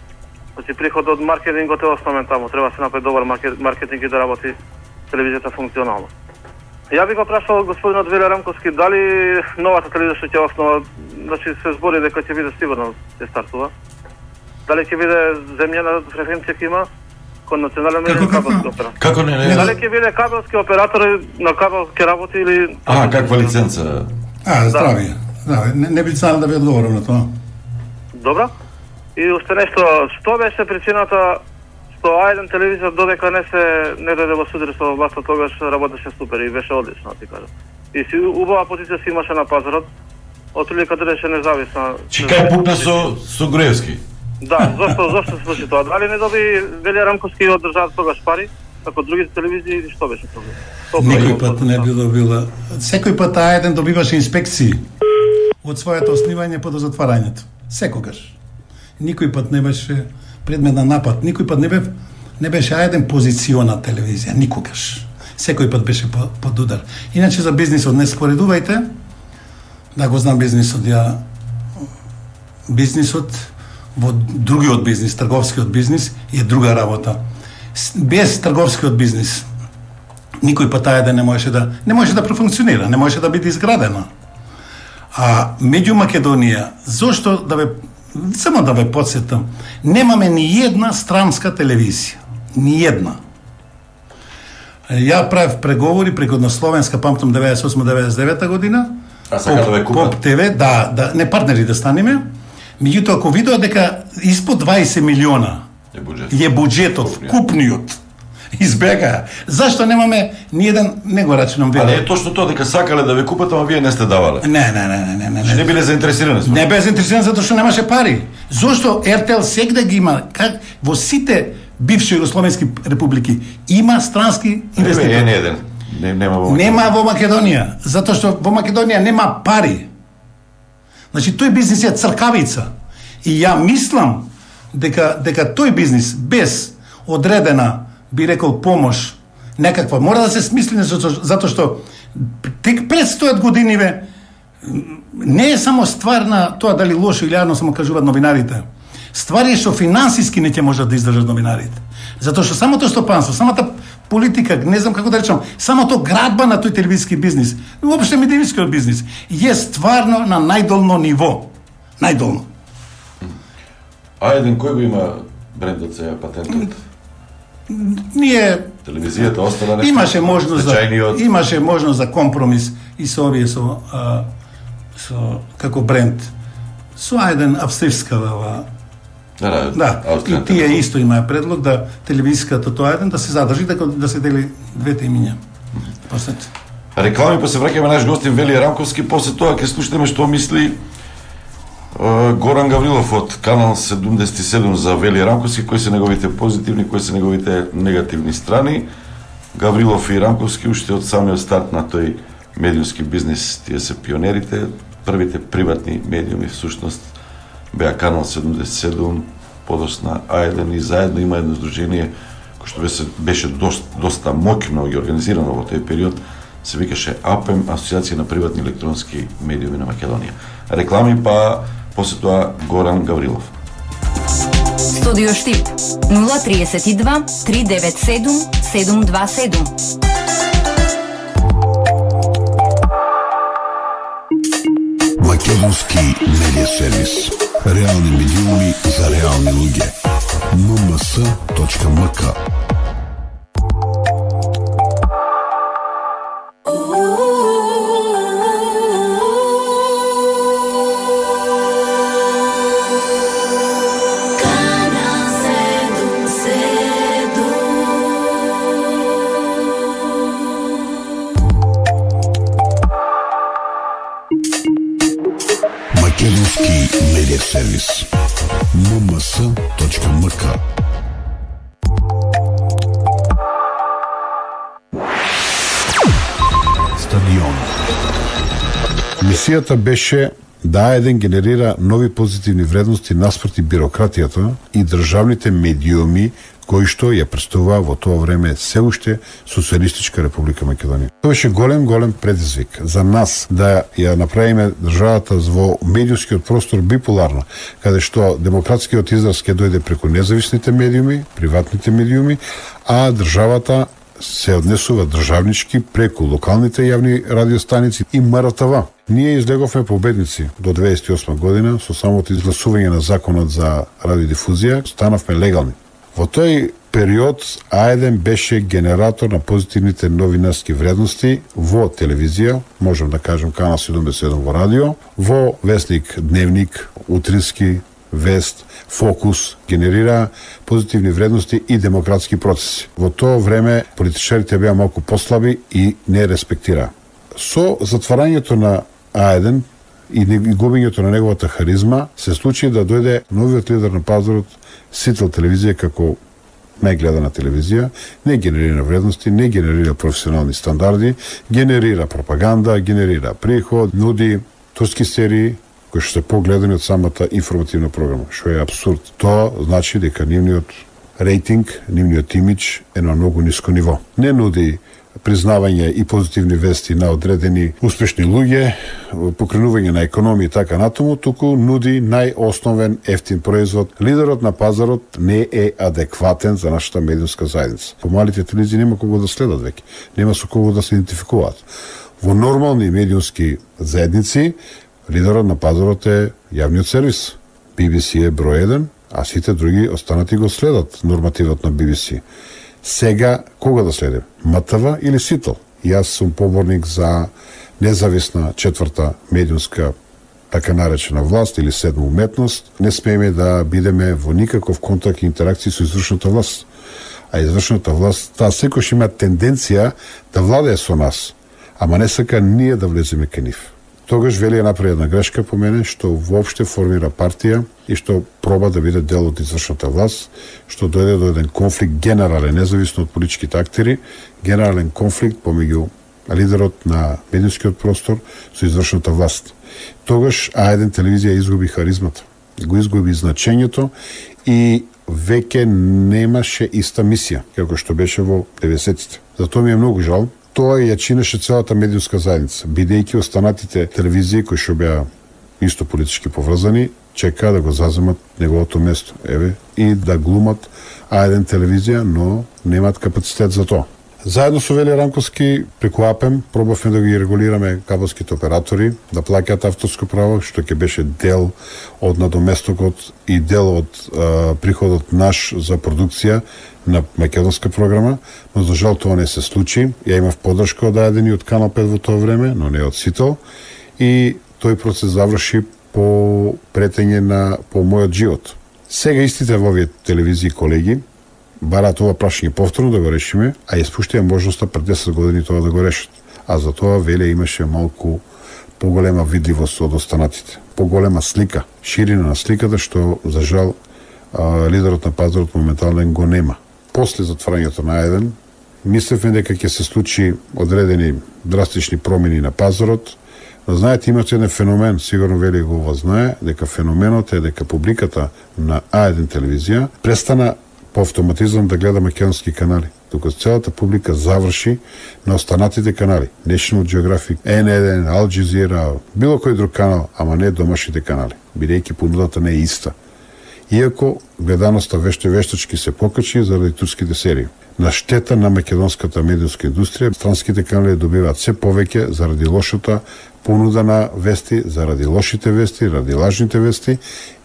Значи, приход од маркетингот е основен таму, треба да се направи добар маркетинг и да работи телевизијата функционално. Ја би го прашал господинот Велја Рамковски, дали новата телевизија што ќе основа, значи се збори дека ќе биде сигурно ќе стартува. Дали ќе биде земјена фреквенција ќе има кон национален медиум кабелски оператор? Како не, не? Дали ќе биде кабелски оператор на кабел ќе работи или... А, каква лиценца? А, здравје. Да, не, не би знал да ви одговорам на тоа. Добро. И уште нешто, што беше причината Со А еден телевизија додека не се не дојде во судир со власта, тогаш работеше супер и беше одлично, ти кажам. И си убава позиција си имаше на пазарот, отприлика држеше независна. Чекај пукна со со Груевски. Да, зошто зошто се случи тоа? Дали не доби Велија Рамковски од државата тогаш пари, како другите телевизии, што беше тоа? Никој пат не би добила. Секој пат А еден добиваше инспекции од своето основање по до затварањето. Секогаш. Никој пат не беше предмет на напад, никој пат не бе не беше А еден позициона телевизија, никогаш. Секој пат беше под удар. Иначе за бизнисот не споредувајте. Да го знам бизнисот, ја бизнисот во другиот бизнис, трговскиот бизнис е друга работа. Без трговскиот бизнис никој пат А еден не можеше да не можеше да профункционира, не можеше да биде изградена. А меѓу Македонија, зошто да ве само да ве потсетам, немаме ни една странска телевизија, ни една. Ја правев преговори преку на Словенска, памтам деветдесет и осма деветдесет и девета година. А сака да ве купат? Поп ТВ, да, да, не партнери да станеме. Меѓутоа, ако видоа дека испод дваесет милиона е, буџет. е буџетот, купниот, избега. Зашто немаме ни еден, не го рачунам вие? А не е точно тоа дека сакале да ве купат, ама вие не сте давале. Не, не, не, не, не, не. Не, не биле заинтересирани. Не бе заинтересирани затоа што немаше пари. Зошто Р Т Л сегде ги има, как во сите бивши југословенски републики има странски инвеститори. Не, не еден. Не, нема во Македонија. Нема во Македонија, затоа што во Македонија нема пари. Значи тој бизнис е цркавица. И ја мислам дека дека тој бизнис без одредена, би рекол, помош некаква мора да се смисли затоа што тек пред сто години ве не е само ствар на тоа дали лошо или јарно само кажуваат новинарите. Ствар е што финансиски не ќе можат да издржат новинарите. Затоа што самото стопанство, самата политика, не знам како да речам, самото градба на тој телевизиски бизнис, уопште медијскиот бизнис, е стварно на најдолно ниво. Најдолно. А еден кој го има брендот сега, патентот? Ние телевизијата остана нешто. Имаше можност за Значајниот... имаше можност за компромис и со овие со а, со како бренд. Со еден австрискава Да, да, и тие исто имаа предлог да телевизиската тоа еден да се задржи, да, да се дели двете имиња. После реклами, па се враќаме наш гостин Велија Рамковски, после тоа ќе слушнеме што мисли uh, Горан Гаврилов од Канал седумдесет и седум за Велија Рамковски, кои се неговите позитивни, кои се неговите негативни страни. Гаврилов и Рамковски уште од самиот старт на тој медиумски бизнис, тие се пионерите, првите приватни медиуми всушност беа Канал седумдесет и седум, подосна А еден и заедно има едно здружение кој што беше, беше доста, доста моќно и организирано во тој период, се викаше А П Е М, Асоциација на приватни електронски медиуми на Македонија. Реклами, па после тоа Горан Гаврилов. Студио Штип нула триесет и два три девет седум седум два седум. Македонски медиа сервис. Реални медиуми за реални луѓе. ем ем ес точка ем ка. Македонски медиа сервис. ем ем ес точка ем ка. Стадион. Мисијата беше да А еден генерира нови позитивни вредности наспроти бирократијата и државните медиуми кои што ја представува во тоа време се уште Социјалистичка република Македонија. Тоа беше голем, голем предизвик за нас да ја направиме државата во медиумскиот простор биполарна, каде што демократскиот израз ќе дојде преку независните медиуми, приватните медиуми, а државата се однесува државнички преку локалните јавни радиостаници и М Р Т В. Ние излеговме победници до деветдесет и осма година со самото изгласување на законот за радиодифузија, станавме легални. Во тој период А еден беше генератор на позитивните новинарски вредности во телевизија, можам да кажем Канал седумдесет и седум во радио, во весник Дневник, утрински, вест, фокус, генерира позитивни вредности и демократски процеси. Во тоа време политичарите беа малку послаби и не респектираа. Со затварањето на А еден и губењето на неговата харизма се случи да дојде новиот лидер на пазарот, Сител телевизија како најгледана телевизија, не генерира вредности, не генерира професионални стандарди, генерира пропаганда, генерира приход, нуди турски серии кои што се погледани од самата информативна програма, што е абсурд. Тоа значи дека нивниот рейтинг, нивниот имидж е на многу ниско ниво. Не нуди признавање и позитивни вести на одредени успешни луѓе, покренување на економија и така натаму, туку нуди најосновен ефтин производ. Лидерот на пазарот не е адекватен за нашата медиумска заедница. Помалите телевизии нема кого да следат веќе, нема со кого да се идентификуваат. Во нормални медиумски заедници лидерот на пазарот е јавниот сервис. Би Би Си е број еден, а сите други останати го следат нормативот на Би Би Си. Сега, кога да следим? М Т В или Сител? Јас сум поборник за независна четврта медиумска така наречена власт или седма уметност. Не смееме да бидеме во никаков контакт и интеракција со извршната власт. А извршната власт, таа секојаш има тенденција да владее со нас, ама не сака ние да влеземе кај нив. Тогаш Велија направи една грешка по мене, што воопште формира партија и што проба да биде дел од извршната власт, што дојде до еден конфликт генерален, независно од политичките актери, генерален конфликт помеѓу лидерот на медиумскиот простор со извршната власт. Тогаш А еден телевизија изгуби харизмата, го изгуби значењето и веќе немаше иста мисија, како што беше во деветдесетите. Затоа ми е многу жал. Тоа ја чинеше целата медиумска заедница, бидејќи останатите телевизии кои што беа исто политички поврзани, чекаа да го заземат неговото место, еве, и да глумат А еден телевизија, но немаат капацитет за тоа. Заедно со Велија Ранковски преку АПЕМ пробавме да ги регулираме кабелските оператори, да плаќаат авторско право, што ќе беше дел од надоместокот и дел од а, приходот наш за продукција на македонска програма, но за жал тоа не се случи. Ја имав поддршка од А еден и од Канал пет во тоа време, но не од Сител, и тој процес заврши по претење на по мојот живот. Сега истите во овие телевизии колеги бараат ова прашање повторно да го решиме, а испуштија можноста пред десет години тоа да го решат. А за тоа Велија имаше малку поголема видливост од останатите, поголема слика, ширина на сликата, што за жал а, лидерот на пазарот моментално го нема. После затварањето на А еден, мислевме дека ќе се случи одредени драстични промени на пазарот, но знаете, имате еден феномен, сигурно Велија го ова знае, дека феноменот е дека публиката на А еден телевизија престана по автоматизам да гледа македонски канали, докато целата публика заврши на останатите канали. National Geographic, Ен еден, Ал Джазира, било кој друг канал, ама не домашните канали, бидејќи понудата не е иста. Иако гледаноста веште вештачки се покачи заради турските серии. На штета на македонската медиумска индустрија, странските канали добиваат се повеќе заради лошата понуда на вести, заради лошите вести, заради лажните вести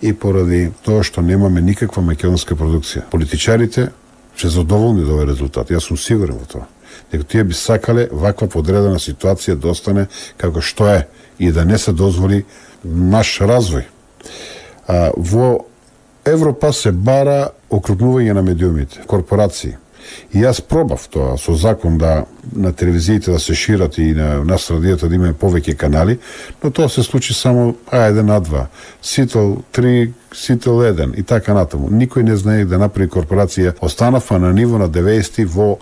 и поради тоа што немаме никаква македонска продукција. Политичарите се задоволни до овој резултат. Јас сум сигурен во тоа. Дека тие би сакале ваква подредена ситуација да остане како што е и да не се дозволи наш развој. А, во Европа се бара окрупнување на медиумите, корпорации. И јас пробав тоа со закон да на телевизиите да се шират и на нас радијата да имаме повеќе канали, но тоа се случи само А еден, А два, Сител три, Сител еден и така натаму. Никој не знае да направи корпорација. Останавме на ниво на деветдесети во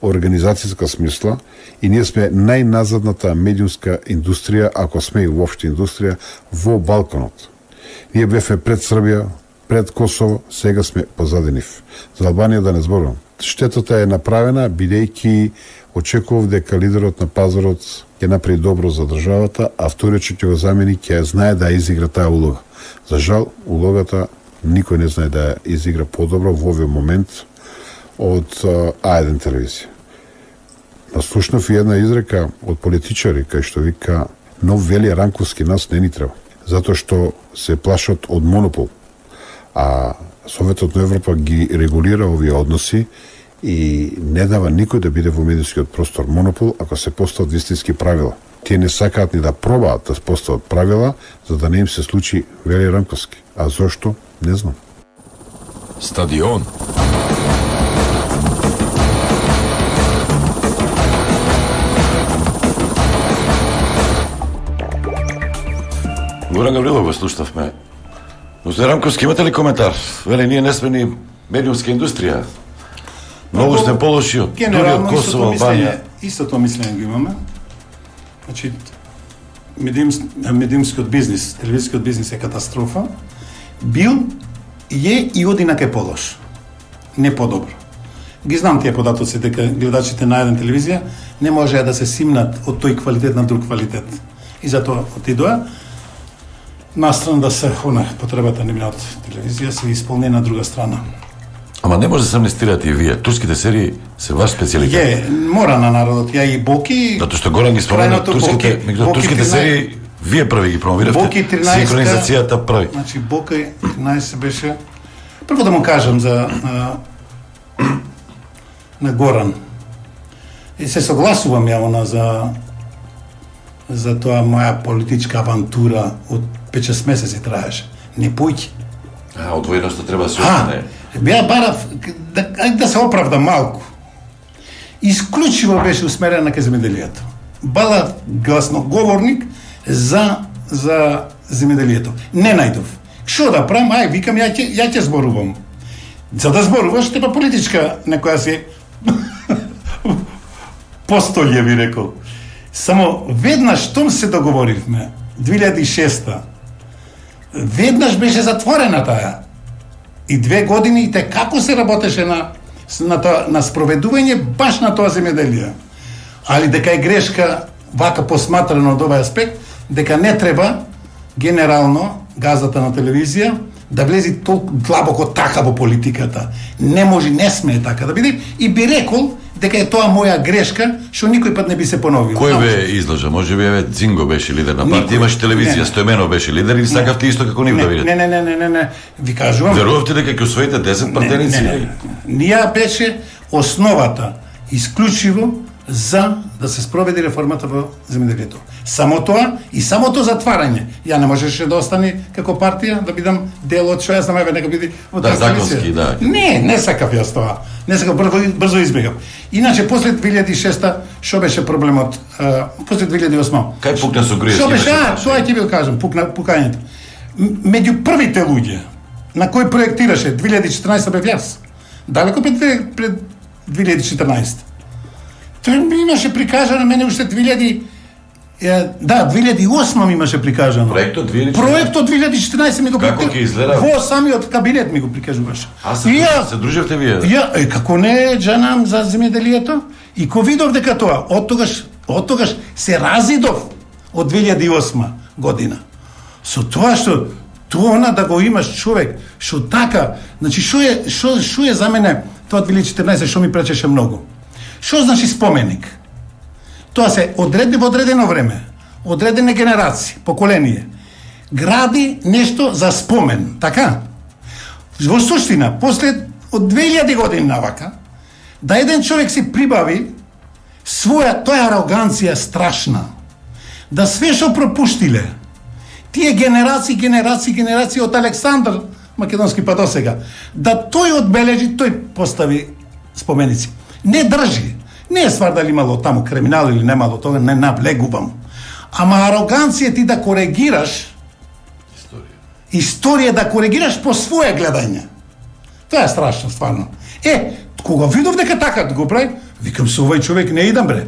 организацијска смисла и ние сме најназадната медиумска индустрија, ако сме и воопште индустрија, во Балканот. Ние бевме пред Србија, пред Косово, сега сме позади нив. За Албанија да не зборувам. Штетата е направена, бидејќи очекував дека лидерот на пазарот ќе направи добро за државата, а вториот ќе го замени ќе знае да изигра таа улога. За жал, улогата никој не знае да изигра подобро во овој момент од А еден телевизија. Наслушнав и една изрека од политичари, кај што вика: нов Велија Ранковски нас не ни треба, затоа што се плашат од монопол. А Советот на Европа ги регулира овие односи и не дава никој да биде во медиумскиот простор монопол ако се постават вистински правила. Тие не сакаат ни да пробаат да постават правила за да не им се случи, вели Рамковски. А зошто? Не знам. Стадион. Горан Гаврилов го слушнавме. Господин Рамковски, имате ли коментар? Вели, ние не сме ни медиумска индустрија. Многу сме полоши од дури од Косово, Албанија. Истото мислење го имаме. Значи, медиумс, медиумскиот бизнис, телевизискиот бизнис е катастрофа. Бил, е и оди на кај полош. Не подобро. Ги знам тие податоци дека гледачите на еден телевизија не можеа да се симнат од тој квалитет на друг квалитет. И затоа отидоа настрана да се она потребата не од телевизија се исполни на друга страна. Ама не може да се амнестирате и вие. Турските серии се ваш специјалитет. Е, мора на народот. Ја и Боки... Зато што Горан ги спомена турските, меѓу турските серии, вие први ги промовиравте. Боки тринаесет синхронизацијата први. Значи Боки тринаесет беше... Прво да му кажам за а, на Горан. И се согласувам ја она за за тоа моја политичка авантура од пет-шест месеци траеше. Не појќи. А, одвоеноста треба да се остане. Беа барав да, да се оправда малку. Исклучиво беше усмерена кај земјоделието. Бала гласноговорник за за земјоделието. Не најдов. Што да правам? Ај, викам, ја ќе ја ќе зборувам. За да зборуваш треба политичка некоја си постолје би рекол. Само веднаш штом се договоривме две илјади и шеста. Веднаш беше затворена таа. И две години и те како се работеше на на тоа на спроведување баш на тоа земјоделие. Али дека е грешка вака посматрано од овој аспект, дека не треба генерално газата на телевизија да влези толку длабоко така во политиката. Не може, не смее така да биде и би рекол дека е тоа моја грешка, што никој пат не би се поновил. Кој бе излажа? Може би еве Цинго беше лидер на партија, имаше телевизија, Стојменов беше лидер или сакавте исто како нив да видите? Не, не, не, не, не, не, ви кажувам. Верувавте дека ќе освоите десет партеници? Не, не, не. Ние беше основата исклучиво за да се спроведи реформата во земјоделието. Само тоа и само тоа затварање. Ја не можеше да остане како партија да бидам дел од што јас намаве нека биде од да, законски, да. Не, не сакав јас тоа. Не сакав, брзо, брзо избегав. Иначе после две илјади и шеста што беше проблемот? А, после две илјади и осма. Кај пукна со Груевски? Што беше? А, тоа ќе ви кажам, пукна пукањето. Меѓу првите луѓе на кои проектираше две илјади и четрнаесета бев јас. Далеко пред пред две илјади и четрнаесета. Тој ми имаше прикажано мене уште две илјади да, две илјади и осма ми имаше прикажано. Проектот две илјади и четрнаесета. Проектот две илјади и четрнаесета ми го Како ќе изгледа? Во самиот кабинет ми го прикажуваше. А се, ја, се дружевте вие? Ја, е, како не джанам за земјоделието и ко видов дека тоа, од тогаш, од тогаш се разидов од две илјади и осма година. Со тоа што тоа да го имаш човек што така, значи што е што што е за мене тоа две илјади и четрнаесета што ми пречеше многу. Што значи споменик? Тоа се одреди во одредено време, одредени генерации, поколение. Гради нешто за спомен, така? Во суштина, после од две илјади години навака, да еден човек си прибави своја тоја ароганција страшна, да све што пропуштиле, тие генерации, генерации, генерации од Александар Македонски па до сега, да тој одбележи, тој постави споменици. Не држи. Не е ствар дали имало таму криминал или немало, тога не навлегувам. Ама ароганција ти да коригираш историја. Историја да коригираш по своје гледање. Тоа е страшно, стварно. Е, кога видов дека така го прави, викам со овој човек не идам бре.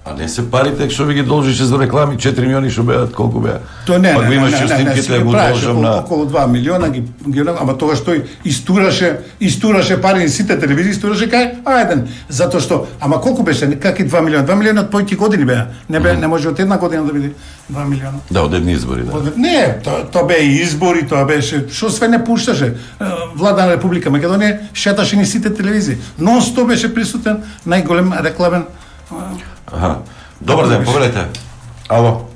А не се парите што ви ги должише за реклами, четири милиони што беат, колку беа? Тоа не, Пак не, имаше не, не, не, снимките, не, го должам на околу два милиона ги, ги ама тогаш тој истураше, истураше пари на сите телевизии, истураше кај ајден, затоа што, ама колку беше, каки два милиона? два милиона од појки години беа. Не бе, mm -hmm. не може од една година да биде два милиона. Да, од едни избори, да. Од, не, тоа то беа и избори, тоа беше, што све не пушташе. Влада на Република Македонија шеташе ни сите телевизии. Нон-стоп беше присутен најголем рекламен. Аха. Добар ден, повелете. Ало.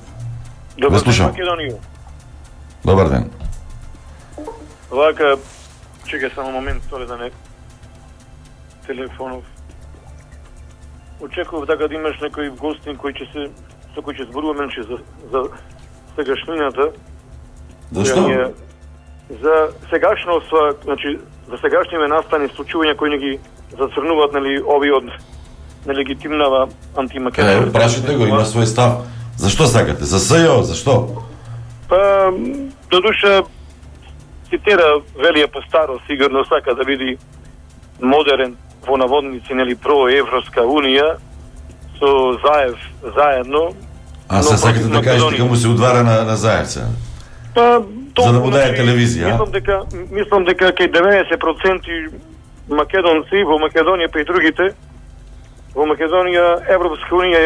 Добар ден, слушам. Македонија. Добар ден. Вака, чекај само момент, тоа да не телефонов. очекував дека да имаш некој гостин кој ќе се со кој ќе зборуваме значи за за сегашнината. Зашто? За сегашно значи за сегашниве настани случувања кои не ги зацрнуваат нели овие од нелегитимнава антимакедонска. Е, прашите го, има свој став. Зашто сакате? За СЈО, зашто? Па, до душа цитира Велија Постаро, сигурно сака да биде модерен во наводници, нели, проевропска унија, со Заев заедно. А се сакате да кажете дека му се удвара на, на Заевца? Па, за да му даде телевизија, мислам дека, мислам дека кај деветдесет проценти македонци во Македонија па и другите, во Македонија Европска унија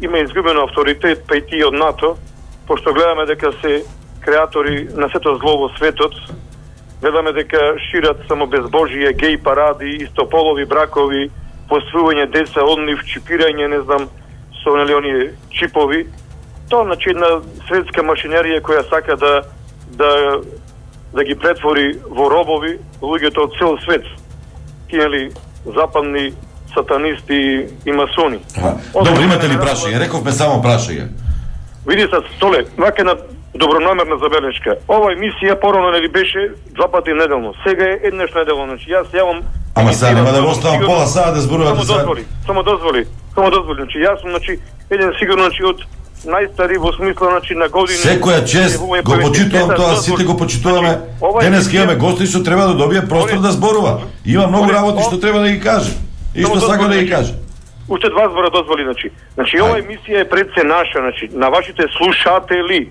има изгубено авторитет, па и тие од НАТО, пошто гледаме дека се креатори на сето зло во светот, гледаме дека шират само безбожие, геј паради, истополови бракови, посвојување деца од нив, чипирање, не знам, со нели оние чипови. Тоа значи една светска машинерија која сака да да да ги претвори во робови луѓето од цел свет. Тие нели западни сатанисти и масони. Добро, имате ли прашање? Рековме само прашање. Види се, Столе, вака една добронамерна забелешка. Ова емисија порано нели беше два пати неделно. Сега е еднаш неделно. Значи јас јавам. Ама сега нема да го оставам пола саат да зборувате за. Само дозволи, само дозволи. Само дозволи. Значи јас сум значи еден сигурно значи од најстари во смисла значи на години. Секоја чест го почитувам тоа, сите го почитуваме. Денес имаме гости што треба да добие простор да зборува. Има многу работи што треба да ги каже. И што сака да ги каже. Уште два збора дозволи, значи. Значи ова емисија е пред се наша, значи на вашите слушатели.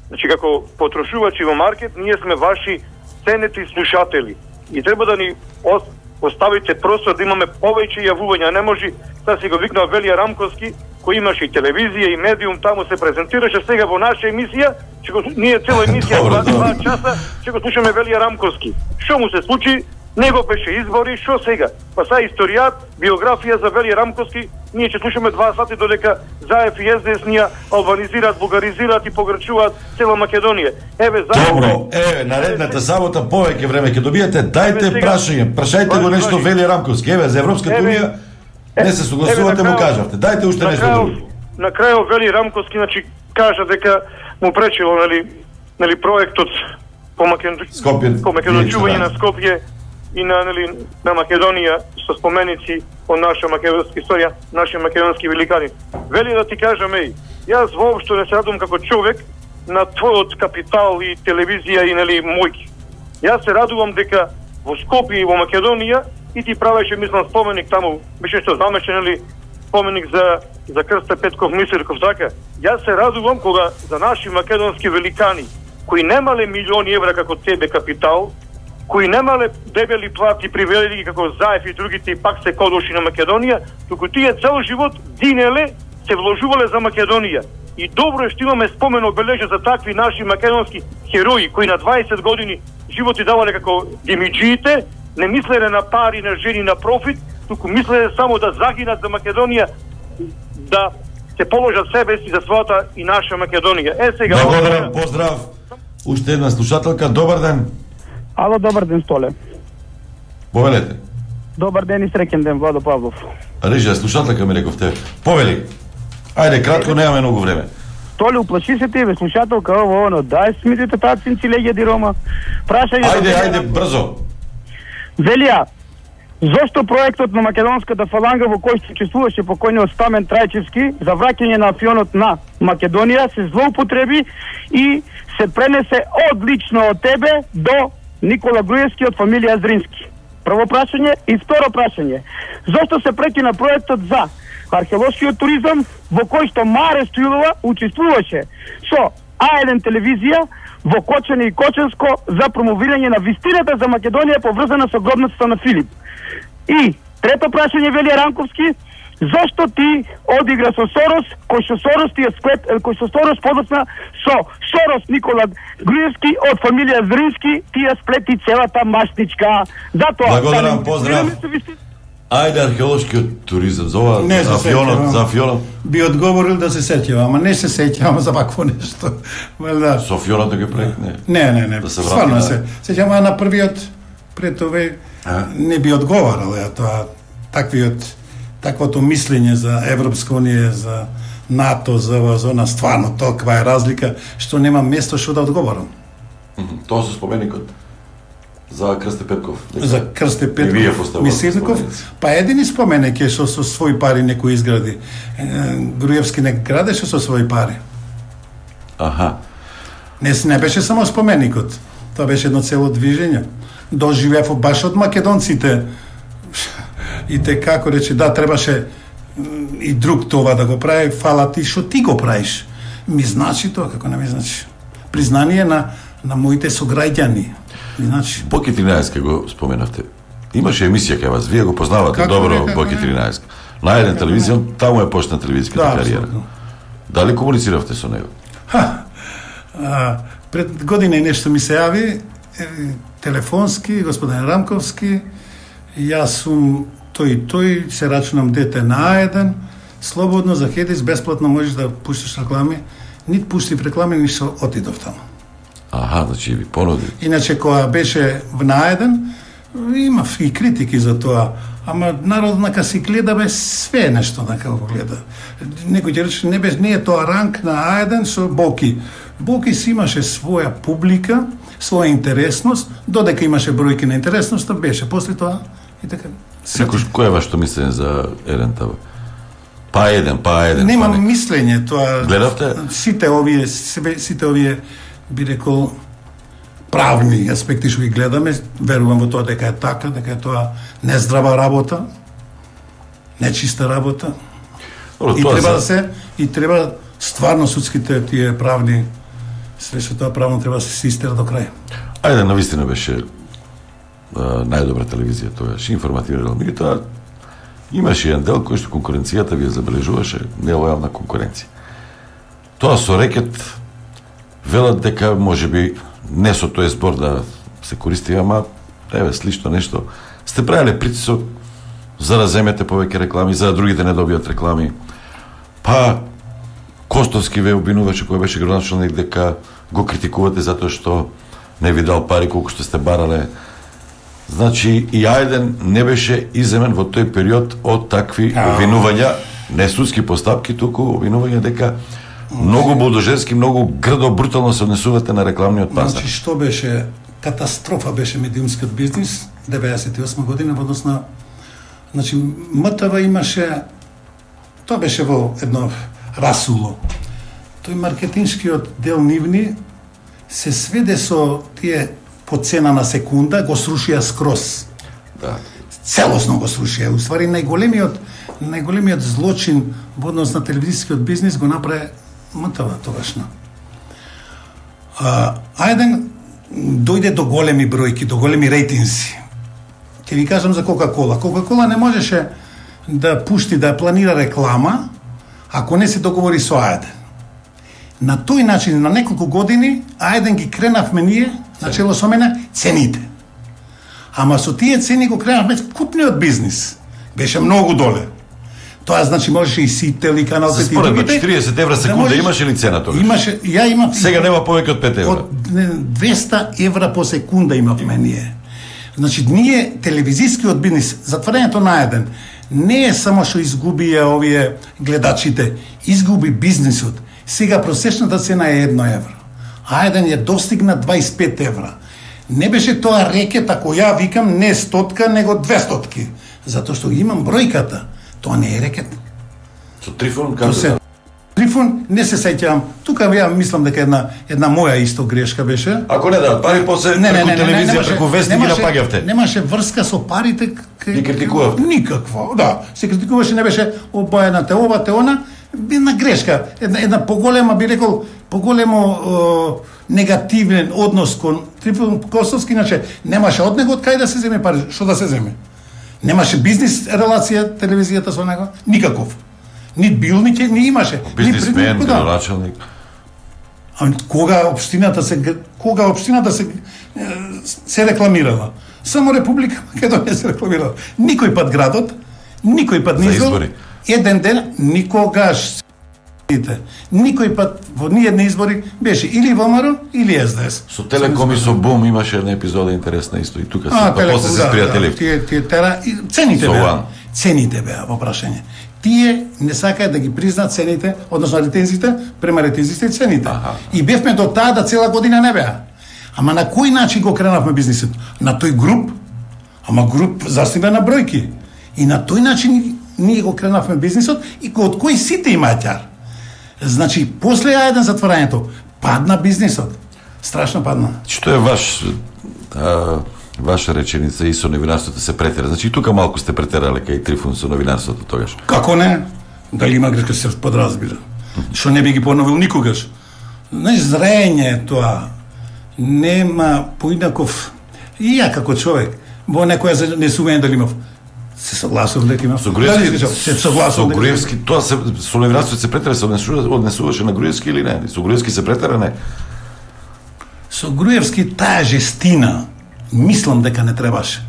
Значи како потрошувачи во маркет, ние сме ваши ценети слушатели. И треба да ни оставите простор да имаме повеќе јавувања. Не може да си го викнал Велија Рамковски, кој имаше и телевизија и медиум, таму се презентираше, сега во наша емисија, че го, ние цела емисија два, два часа, че го слушаме Велија Рамковски. Што му се случи? Него беше избори, што сега? Па са историјат, биографија за Велија Рамковски, ние ќе слушаме два сати додека Заев и ес-де-ес нија албанизираат, бугаризираат и погрчуваат цела Македонија. Еве Заев. Добро, еве наредната сабота повеќе време ќе добиете, дајте прашање, прашајте го нешто Велија Рамковски, еве за Европската унија не се согласувате, му кажавте. Дајте уште нешто друго. На крајот Велија Рамковски значи кажа дека му пречило нели нели проектот по Македонија, по македончување на Скопје и на нели на Македонија со споменици од наша македонска историја, наши македонски великани. Вели да ти кажам, еј, јас воопшто не се радувам како човек на твојот капитал и телевизија и нели мојки. Јас се радувам дека во Скопје и во Македонија и ти правеше мислам споменик таму, беше што замешен нели споменик за за Крсте Петков Мисирков така. Јас се радувам кога за наши македонски великани кои немале милиони евра како тебе капитал, кои немале дебели плати привели како Заев и другите и пак се кодоши на Македонија, туку тие цел живот динеле, се вложувале за Македонија. И добро е што имаме спомен обележа за такви наши македонски херои кои на дваесет години животи давале како демиджиите, не мислеле на пари, на жени, на профит, туку мислеле само да загинат за Македонија, да се положат себе си за својата и наша Македонија. Е сега. Благодарам, поздрав. Уште една слушателка, добар ден. Ало, добар ден, Столе. Повелете. Добар ден и среќен ден, Владо Павлов. Режија, слушателка ми рековте. Повели. Ајде, кратко, немаме многу време. Толе, уплаши се тебе, слушателка, ово, оно, дај смитите таа цинци легја ди Рома. Прашање... Ајде, ајде, брзо. Велија, зошто проектот на македонската фаланга во кој се учествуваше покојниот Стамен Трајчевски за враќање на афионот на Македонија се злоупотреби и се пренесе одлично од тебе до Никола Груевски од фамилија Зрински? Прво прашање и второ прашање. Зошто се прекина проектот за археолошкиот туризам во кој што Маре Стоилова учествуваше со А еден телевизија во Кочани и Кочанско за промовирање на вистината за Македонија поврзана со гробницата на Филип? И трето прашање, Велија Рамковски, зошто ти одигра со Сорос, кој што Сорос ти е склеп, кој што Сорос подосна со Сорос Никола Груевски од фамилија Зрински, ти ја сплети целата масничка. Затоа... Благодарам, поздрав. Ајде археолошкиот туризам, за ова, не за афионот, за афионот. Би одговорил да се сеќава, ама не се сеќавам за вакво нешто. Да. Со афионот да ги прекне? Не, не, не, да се стварно се. Сеќавам на првиот пред овој не би одговарал, ја тоа, таквиот таквото мислење за Европска унија, за НАТО, за ова, за она, стварно толкова е разлика што нема место што да одговорам. Тоа со споменикот за Крсте Петков. За Крсте Петков, Мисливников, па едини споменик е што со своји пари некој изгради. Груевски не градеше со своји пари. Аха. Не, не беше само споменикот. Тоа беше едно цело движење. Доживеав баш од македонците. И те како рече, да, требаше и друг това да го прави, фала ти што ти го правиш. Ми значи тоа, како не ми значи. Признание на, на моите сограѓани. Значи... Боки тринаесет го споменавте. Имаше емисија кај вас, вие го познавате како добро не, Боки тринаесет. На еден телевизија, таму е почна телевизиската да, кариера. Абсолютно. Дали комунициравте со него? Ха, а, пред година и нешто ми се јави, е, телефонски, господин Рамковски, јас сум тој и тој, се рачунам дете на А еден, слободно за Хедис, бесплатно можеш да пуштиш реклами, нит пуштив реклами, ни што отидов таму. Аха, значи ви понуди. Иначе кога беше на А еден, имав и критики за тоа, ама народ нака си гледа бе све нешто нака го гледа. Некој ќе рече не бе, не е тоа ранг на А еден со Боки. Боки си имаше своја публика, своја интересност, додека имаше бројки на интересноста, беше после тоа и така. Секој кој е вашето мислење за Ерента? Па еден, па еден. Немам па не... мислење тоа. Гледавте? Сите овие, сите овие би рекол правни аспекти што ги гледаме, верувам во тоа дека е така, дека е тоа нездрава работа, нечиста работа. Добро, и треба за... да се и треба стварно судските тие правни све тоа правно треба да се истера до крај. Ајде, навистина беше а, најдобра телевизија тоаш, информативна, меѓутоа имаше еден дел кој што конкуренцијата ви ја забележуваше нелојална конкуренција. Тоа со рекет велат дека можеби не со тој збор да се користи, ама еве слично нешто. Сте правеле притисок за да земете повеќе реклами, за да другите не добијат реклами. Па Костовски ве обвинуваше кој беше градоначалник дека го критикувате затоа што не ви дал пари колку што сте барале. Значи и А еден не беше иземен во тој период од такви обвинувања, не судски постапки, туку обвинувања дека многу бодоженски, многу грдо, брутално се однесувате на рекламниот пазар. Значи, што беше катастрофа беше медиумскиот бизнис деветдесет и осма година во однос на значи МТВ имаше тоа беше во едно расуло. Тој маркетиншкиот дел нивни се сведе со тие по цена на секунда го срушија скроз. Да. Целосно го срушија. Уствари најголемиот најголемиот злочин во однос на телевизискиот бизнис го направи МТВ тогашно. А, ајден дојде до големи бројки, до големи рейтинзи. Ќе ви кажам за Кока-Кола. Кока-Кола не можеше да пушти, да планира реклама, ако не се договори со А еден. На тој начин, на неколку години, А еден ги кренавме ние, начело со мене, цените. Ама со тие цени го кренавме купниот бизнис. Беше многу доле. Тоа значи можеше и Сител и Канал пет и другите. четириесет евра секунда да можеш, имаше ли цена тогаш? Имаше, ја имам. Сега нема повеќе од пет евра. Од двеста евра по секунда имавме ние. Значи ние телевизискиот бизнис, затварањето на еден не е само што изгубија овие гледачите, изгуби бизнисот. Сега просечната цена е едно евро. А еден ја достигна дваесет и пет евра. Не беше тоа рекет, ако ја викам не стотка, него двестотки. Затоа што имам бројката. Тоа не е рекет. Со Трифон како се? Трифон не се сеќавам. Тука ја мислам дека една една моја исто грешка беше. Ако не да пари после не, преку не, не, телевизија, немаше, преку вестник ги напаѓавте. Немаше врска со парите. Ги критикувавте. Никаква. Да, се критикуваше, не беше обајната ова те она, една грешка, една една поголема би рекол поголемо е, негативен однос кон Трифон Костовски, иначе немаше од него од кај да се земе пари, што да се земе. Немаше бизнис релација телевизијата со него, никаков. Ни бил, ни ќе ни имаше. Бизнисмен, градоначалник. А кога општината се кога општината се се рекламирала? Само Република Македонија се рекламирала. Никој пат градот, никој пат низол. Еден ден никогаш Видите, никој пат во ниедни избори беше или ВМРО или С Д С. Со Телеком и со Бум имаше една епизода интересна исто и тука се, А, па Телеком, после се да, спријатели. да, тие, тие тера, и цените Со беа. Ван. Цените беа во прашање. Тие не сакаат да ги признаат цените, односно ретензите, према ретензите и цените. Аха. И бевме до таа да цела година не беа. Ама на кој начин го кренавме бизнисот? На тој груп, ама груп заснива на бројки. И на тој начин ние го кренавме бизнисот и од кој сите имаат ќар. Значи, после А еден затворањето, падна бизнисот. Страшно падна. Што е ваш а, ваша реченица и со новинарството се претера? Значи и тука малку сте претерале кај Трифун со новинарството тогаш. Како не? Дали има грешка се подразбира. Што не би ги поновил никогаш. Не зрење е тоа. Нема поинаков. И ја како човек, во некоја занесување дали имав. Се согласувам дека имам. Со Груевски, се согласувам. со Груевски, тоа се со новинарството се претера, се однесуваше, однесуваше на Груевски или не? Со Груевски се претера не? Со Груевски таа жестина, мислам дека не требаше.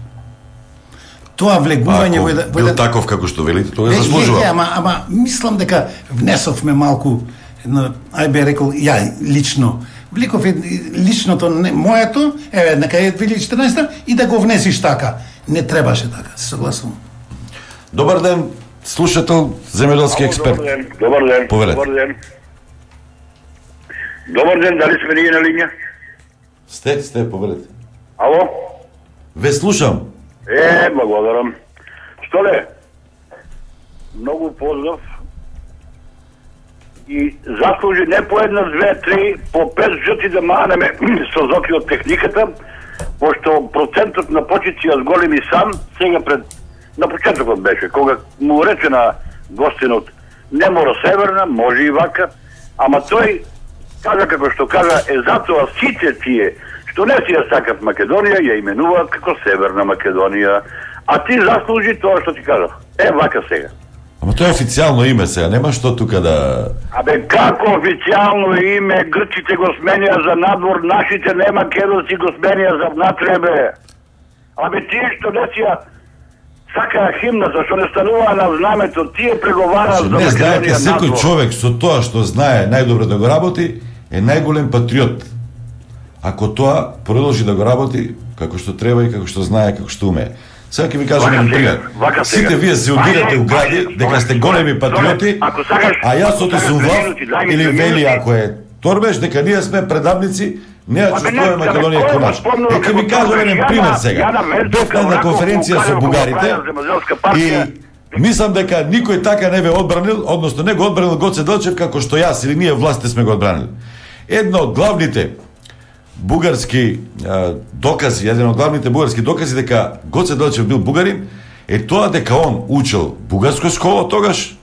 Тоа влегување во еден... бил таков како што велите, тоа Е, заслужува. е, е, ама, ама мислам дека внесовме малку, едно, ај би рекол, ја лично, вликов е личното, не, моето, еве, нека е две илјади и четрнаесета и да го внесиш така. Не требаше така, се согласувам. Добар ден, слушател, земјоделски експерт. Добар ден, добар ден, Повелете. добар ден. Добар ден, дали сме ние на линија? Сте, сте, повелете. Ало? Ве слушам. Е, благодарам. Што ле? Многу поздрав. И заслужи не по една, две, три, по пет жути да манеме со зоки од техниката, пошто процентот на почици јас голем и сам, сега пред, на почетокот беше, кога му рече на гостинот, не мора северна, може и вака, ама тој кажа како што кажа, е затоа сите тие што не си ја сакат Македонија, ја именуваат како Северна Македонија, а ти заслужи тоа што ти кажав. Е, вака сега. Ама тоа е официјално име сега, нема што тука да... Абе, како официјално име, грчите го сменија за надвор, нашите не македонци го сменија за внатре, бе. Абе, тие што не си ја сакаа химната, што не стануваа на знамето, тие преговараат за Не знаете, Македонија секој надвор. човек со тоа што знае најдобро да го работи, е најголем патриот. Ако тоа продолжи да го работи како што треба и како што знае, како што умее. Сега ќе ви кажам Вака еден сега, пример. вака сега. Сите вие се удирате Ајде, у гради ајде, дека сте големи патриоти, ако сакаш- а јас ако отесум сакаш влав минути, дај ми или две вели минути. ако е Торбеш дека ние сме предавници, не ја Абе, не, чувствуваме да, Македонија кој како го наш. спомнува Е, ќе како ви кажам Торбеш? еден Ја пример на- сега. ја на Венцовка, Бев на една онако конференција му со кажа, бугарите го правил земјоделска и партија. мислам дека никој така не ве одбранил, односно не го одбранил Гоце Делчев како што јас или ние властите сме го одбранили. Едно од главните бугарски а, докази, еден од главните бугарски докази дека Гоце Делчев бил бугарин, е тоа дека он учел бугарско школа тогаш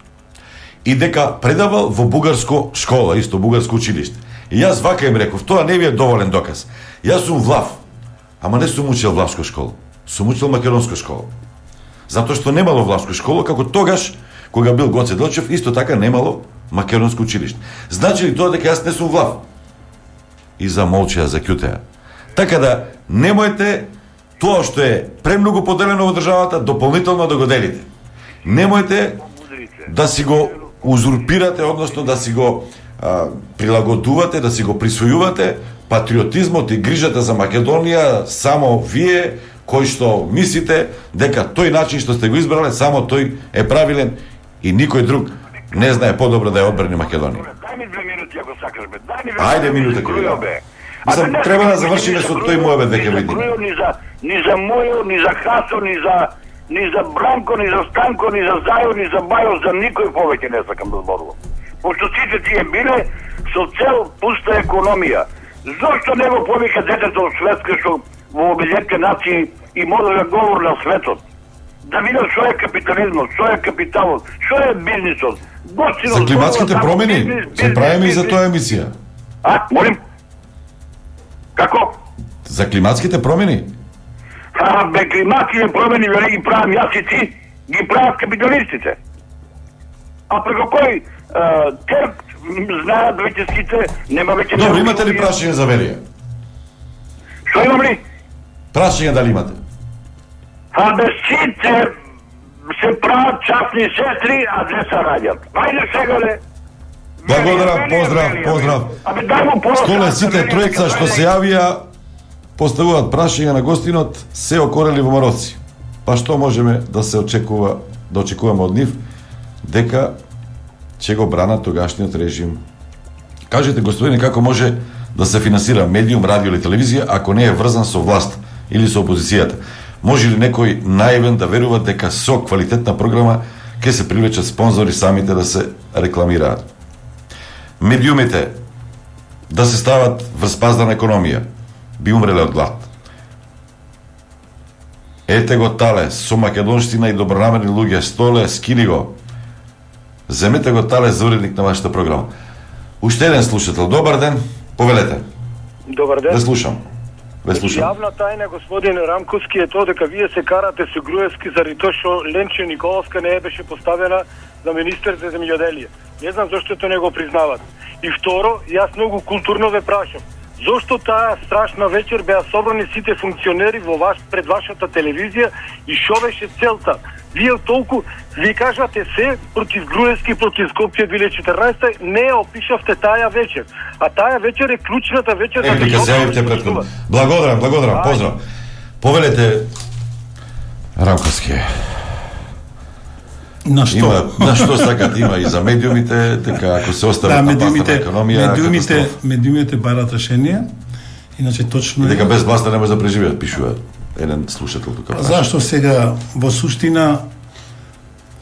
и дека предавал во бугарско школа, исто бугарско училиште. И јас вака им реков, тоа не ви е доволен доказ. Јас сум влав, ама не сум учил влавско школа. Сум учил македонско школа. Затоа што немало влавско школа, како тогаш, кога бил Гоце Делчев, исто така немало македонско училиште. Значи ли тоа дека јас не сум влав? И замолчеа, заќутеа. Така да, немојте тоа што е премногу поделено во државата, дополнително да го делите. Немојте да си го узурпирате, односно да си го а, прилагодувате, да си го присвојувате патриотизмот и грижата за Македонија само вие, кои што мислите дека тој начин што сте го избрале, само тој е правилен и никој друг не знае подобро да ја одбрани Македонија. Дај ми две минути ако сакаш, бе. Дај ми две Ајде, минути, минута ќе ви дам. бе. Мислам, А не треба да сакаш завршиме ни со за тој Грујо, муабет дека ни за видиме. Грујо, Ни за ни за Мојо, ни за Хасо, ни за ни за Бранко, ни за Станко, ни за Зајо, ни за Бајо, за никој повеќе не сакам да зборувам. Пошто сите тие биле со цел пуста економија. Зошто не го повика детето од Шведска што во Обединетите нации и може да говори на светот? Да видат што е капитализмот, што е капиталот, што е бизнисот. Гостино За климатските зборува промени само бизнис, се правиме и за бизнис, тоа емисија. А, молим? Како? За климатските промени? А, бе, климатските промени вели ги правам јас и ти, ги прават капиталистите. А преко кој а, терк знаат веќе сите, нема веќе... Добро, имате ли прашање за Велија? Што имам ли? Прашање дали имате? А бе, сите се прават частни сестри, а не се раѓат. Ајде сега, ле. Благодарам, поздрав, поздрав. Столе сите тројца што се јавија поставуваат прашања на гостинот, се окорели во мароци. Па што можеме да се очекува, да очекуваме од нив, дека ќе го бранат тогашниот режим. Кажете, господине, како може да се финансира медиум, радио или телевизија ако не е врзан со власт или со опозицијата? Може ли некој наивен да верува дека со квалитетна програма ќе се привлечат спонзори самите да се рекламираат? Медиумите да се стават врз паздана економија, би умреле од глад. Ете го тале, со македонштина и добронамерни луѓе, Столе, скини го. Земете го тале за уредник на вашата програма. Уште еден слушател, добар ден, повелете. Добар ден. Ве слушам. Ве слушам. Јавна тајна, господин Рамковски, е тоа дека вие се карате со Груевски заради тоа што Ленче Николовска не беше поставена за министер за земјоделие. Не знам зашто тоа не го признават. И второ, јас многу културно ве прашам, зошто таа страшна вечер беа собрани сите функционери во ваш пред вашата телевизија и што беше целта? Вие толку ви кажате се против Груевски, против Скопје две илјади и четрнаесета, не опишавте таа вечер. А таа вечер е клучната вечер. Е, дека се јавите претходно. Благодарам, благодарам, поздрав. Повелете Рамковски. На што? Има, на што сакат има и за медиумите, дека ако се остават да, на медиумите, паста на економија, медиумите, катастрофа. медиумите барат решение. Иначе точно И дека е... без власта не може да преживеат, пишува еден слушател тука. Зашто сега во суштина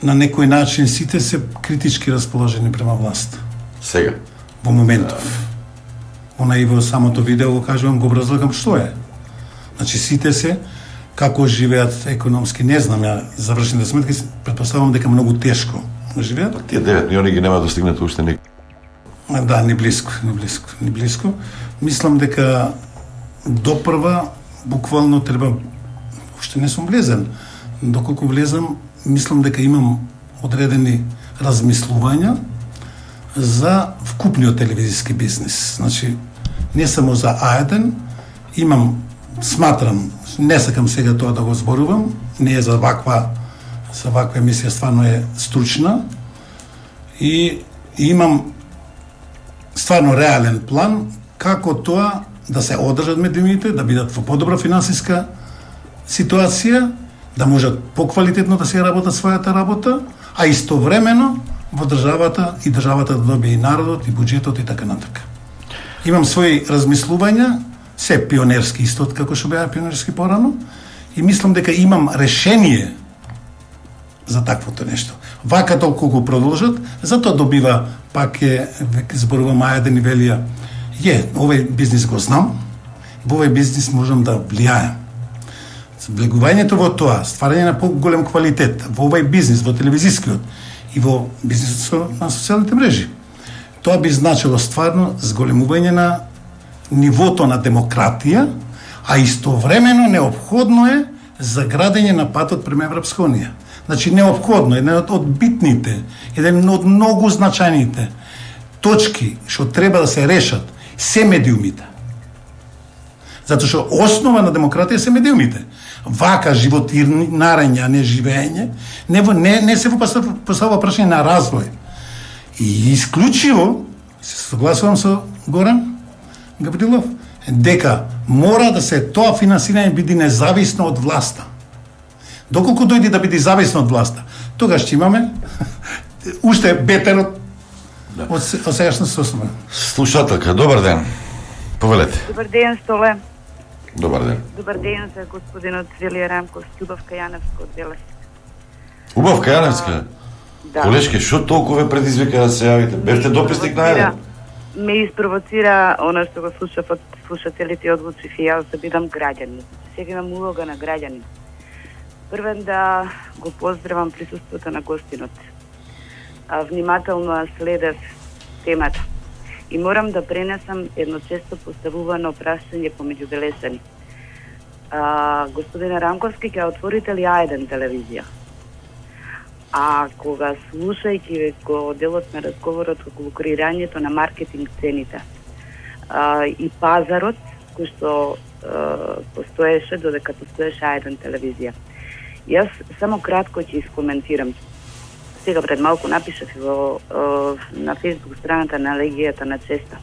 на некој начин сите се критички расположени према власт. Сега. Во моментов. Она и во самото видео го кажувам, го образлагам што е. Значи сите се како живеат економски, не знам ја завршените сметки, претпоставувам дека многу тешко живеат. Тие девет милиони ги нема достигнат уште ник. Да, не близко, не близко, не близко. Мислам дека допрва буквално треба, уште не сум влезен, доколку влезам, мислам дека имам одредени размислувања за вкупниот телевизиски бизнис. Значи, не само за А еден, имам, сматрам, не сакам сега тоа да го зборувам, не е за ваква, за ваква емисија, стварно е стручна, и, и имам стварно реален план како тоа да се одржат медиумите, да бидат во подобра финансиска ситуација, да можат поквалитетно да се работат својата работа, а истовремено во државата и државата да добие и народот, и буџетот и така натака. Имам своји размислувања, се пионерски исто како што беа пионерски порано, и мислам дека имам решение за таквото нешто. Вака толку го продолжат, затоа добива, пак е, зборувам А еден и велија, е, овој бизнис го знам, во овој бизнис можам да влијаем. Влегувањето во тоа, стварање на поголем квалитет во овој бизнис, во телевизискиот и во бизнисот на социјалните мрежи, тоа би значило стварно зголемување на нивото на демократија, а истовремено неопходно е за градење на патот према Европска унија. Значи неопходно, еден од битните, еден од многу значајните точки што треба да се решат се медиумите. Затоа што основа на демократија се медиумите. Вака животирање, а не живење, не, не, не се поставува прашање на развој. И исклучиво, се согласувам со Горан Габрилов, дека мора да се тоа финансирање биде независно од власта. Доколку дојде да биде зависно од власта, тогаш ќе имаме уште бетер од, да. од, од сегашна состојба. Слушателка, добар ден. Повелете. Добар ден, Столе. Добар ден. Добар ден за господинот Велија Рамковски, Убавка Јаневска од Белес. Убавка Јаневска? Да. Колешке, што толку ве предизвика да се јавите? Бевте дописник на еден? Ме испровоцира она што го слушав од слушателите и одлучив и јас да бидам граѓанин. Сега имам улога на граѓанин. Првен да го поздравам присуството на гостинот. А, внимателно ја следев темата. И морам да пренесам едно често поставувано прашање помеѓу белесани. А, господине Рамковски, ќе отворите ли А еден телевизија? А кога слушајќи го делот на разговорот околу креирањето на маркетинг цените а, и пазарот кој што а, постоеше додека постоеше А еден телевизија. Јас само кратко ќе искоментирам. сега пред малку напишав и во на Facebook страната на Легијата на Честа.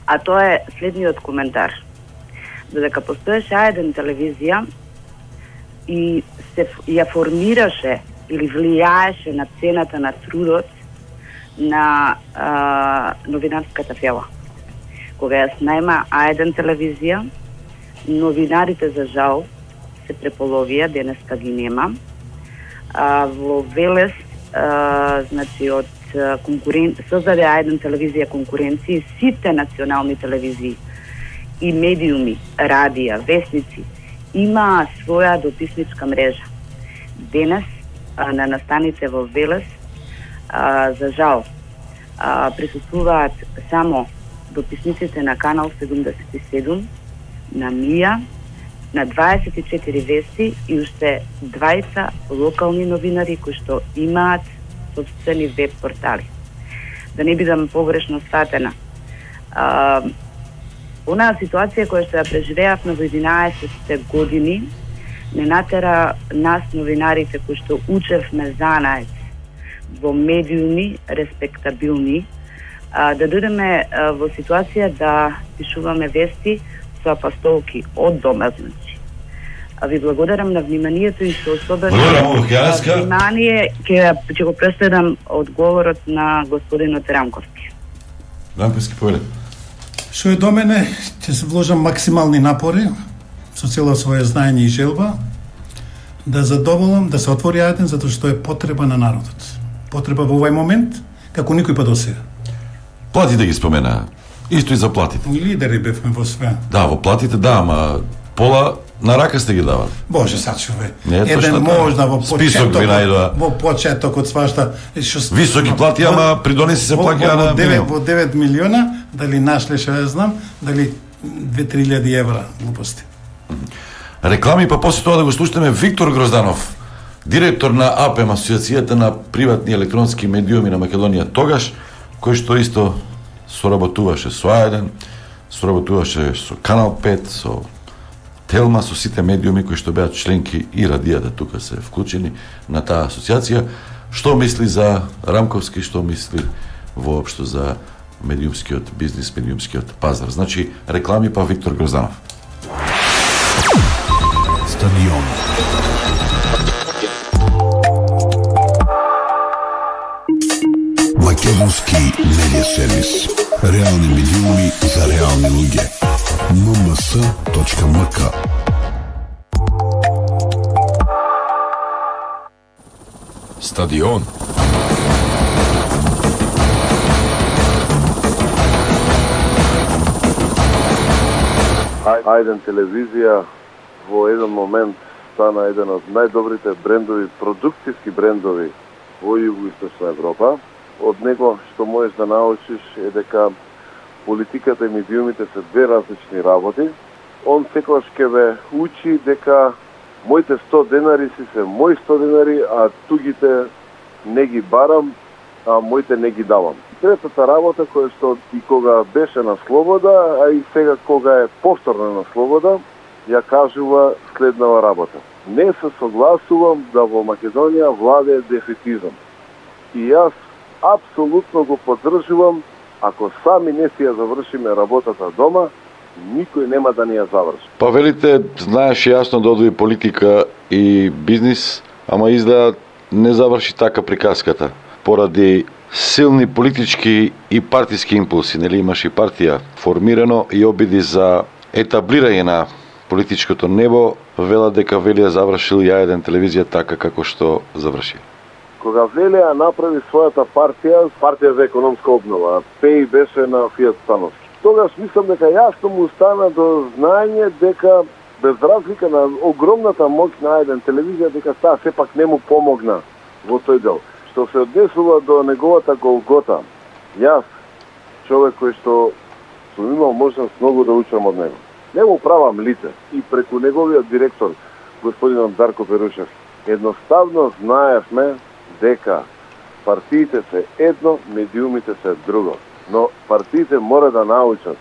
А тоа е следниот коментар. Додека постоеше А еден телевизија и се ја формираше или влијаеше на цената на трудот на а, новинарската фела. Кога ја снајма А еден телевизија, новинарите за жал се преполовија, денеска ги нема. А, во Велес, а, значи од конкурен... создаде А еден телевизија конкуренција, сите национални телевизии и медиуми, радија, весници имаа своја дописничка мрежа. Денес а, на настаните во Велес, а, за жал, а, присуствуваат само дописниците на Канал седумдесет и седум, на Мија, на дваесет и четири вести и уште двајца локални новинари кои што имаат собствени веб портали. Да не бидам погрешно сватена. А, онаа ситуација која што ја преживеавме во единаесетте години не натера нас новинарите кои што учевме занает во медиуми респектабилни а, да дојдеме а, во ситуација да пишуваме вести со апостолки од дома, значи. А ви благодарам на вниманието и со особено внимание ќе ќе го преследам одговорот на господинот Рамковски. Рамковски, повеле. Што е до мене, ќе се вложам максимални напори со цело своје знаење и желба да задоволам да се отвори А еден затоа што е потреба на народот. Потреба во овој момент како никој пат досега. Платите ги спомена. Исто и за платите. Лидери бевме во све. Да, во платите да, ама пола на рака сте ги давали. Боже, сачуве. Еден можна во почетокот, во почетокот свашта што високи плати, ама придонеси се плаќа на девет во девет милиона, дали нашле што ја знам, дали две-три илјади евра, глупости. Реклами, па после тоа да го слушаме Виктор Грозданов, директор на АПЕМ, Асоциацијата на приватни електронски медиуми на Македонија тогаш, кој што исто соработуваше со А еден, соработуваше со Канал пет, со Телма, со сите медиуми кои што беа членки и радијата тука се вклучени на таа асоциација. Што мисли за Рамковски, што мисли воопшто за медиумскиот бизнис, медиумскиот пазар? Значи, реклами па Виктор Грозданов. Стадион. Македонски медиа сервис. Реални медиуми за реални луѓе. ем ем с точка ем к. Стадион. А еден телевизија во еден момент стана еден од најдобрите брендови, продуктивски брендови во Југоисточна Европа. Од него што можеш да научиш е дека политиката и медиумите се две различни работи. Он секогаш ќе ве учи дека моите сто денари си се мои сто денари, а тугите не ги барам, а моите не ги давам. Третата работа која што и кога беше на слобода, а и сега кога е повторно на слобода, ја кажува следнава работа. Не се согласувам да во Македонија владее дефетизам. И јас апсолутно го поддржувам, ако сами не си ја завршиме работата дома, никој нема да ни ја заврши. Па велите, знаеш јасно да одвои политика и бизнис, ама изгледа не заврши така приказката. Поради силни политички и партиски импулси, нели имаш и партија формирано и обиди за етаблирање на политичкото небо, вела дека Велија завршил ја еден телевизија така како што заврши. Кога Велија направи својата партија, партија за економска обнова, ПЕИ беше на Фијат Становски. Тогаш мислам дека јасно му стана до знаење дека без разлика на огромната моќ на еден телевизија, дека таа сепак не му помогна во тој дел. Што се однесува до неговата голгота, јас, човек кој што сум имал можност многу да учам од него. Не му правам лице и преку неговиот директор, господинот Дарко Перушев, едноставно знаевме дека партиите се едно, медиумите се друго. Но партиите мора да научат.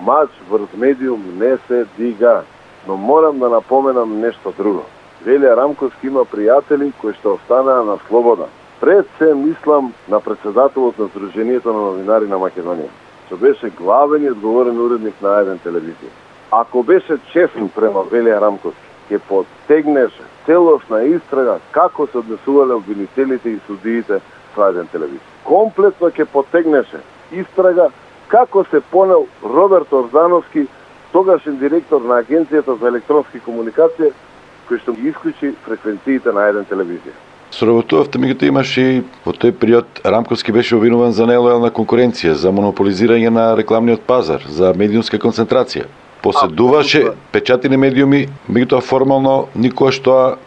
Мач врз медиум не се дига. Но морам да напоменам нешто друго. Велија Рамковски има пријатели кои што останаа на слобода. Пред се мислам на председателот на Сдруженијето на новинари на Македонија, што беше главен и одговорен уредник на еден телевизија. Ако беше честен према Велија Рамковски, ќе поттегнеше целосна истрага како се однесувале обвинителите и судиите со еден телевизија. Комплетно ќе поттегнеше истрага како се понел Роберт Орзановски, тогашен директор на Агенцијата за електронски комуникација, кој што ги исклучи фреквенциите на еден телевизија. Соработувавте, меѓутоа имаше и во тој период Рамковски беше обвинуван за нелојална конкуренција, за монополизирање на рекламниот пазар, за медиумска концентрација. Поседуваше печатени медиуми, меѓутоа формално никош тоа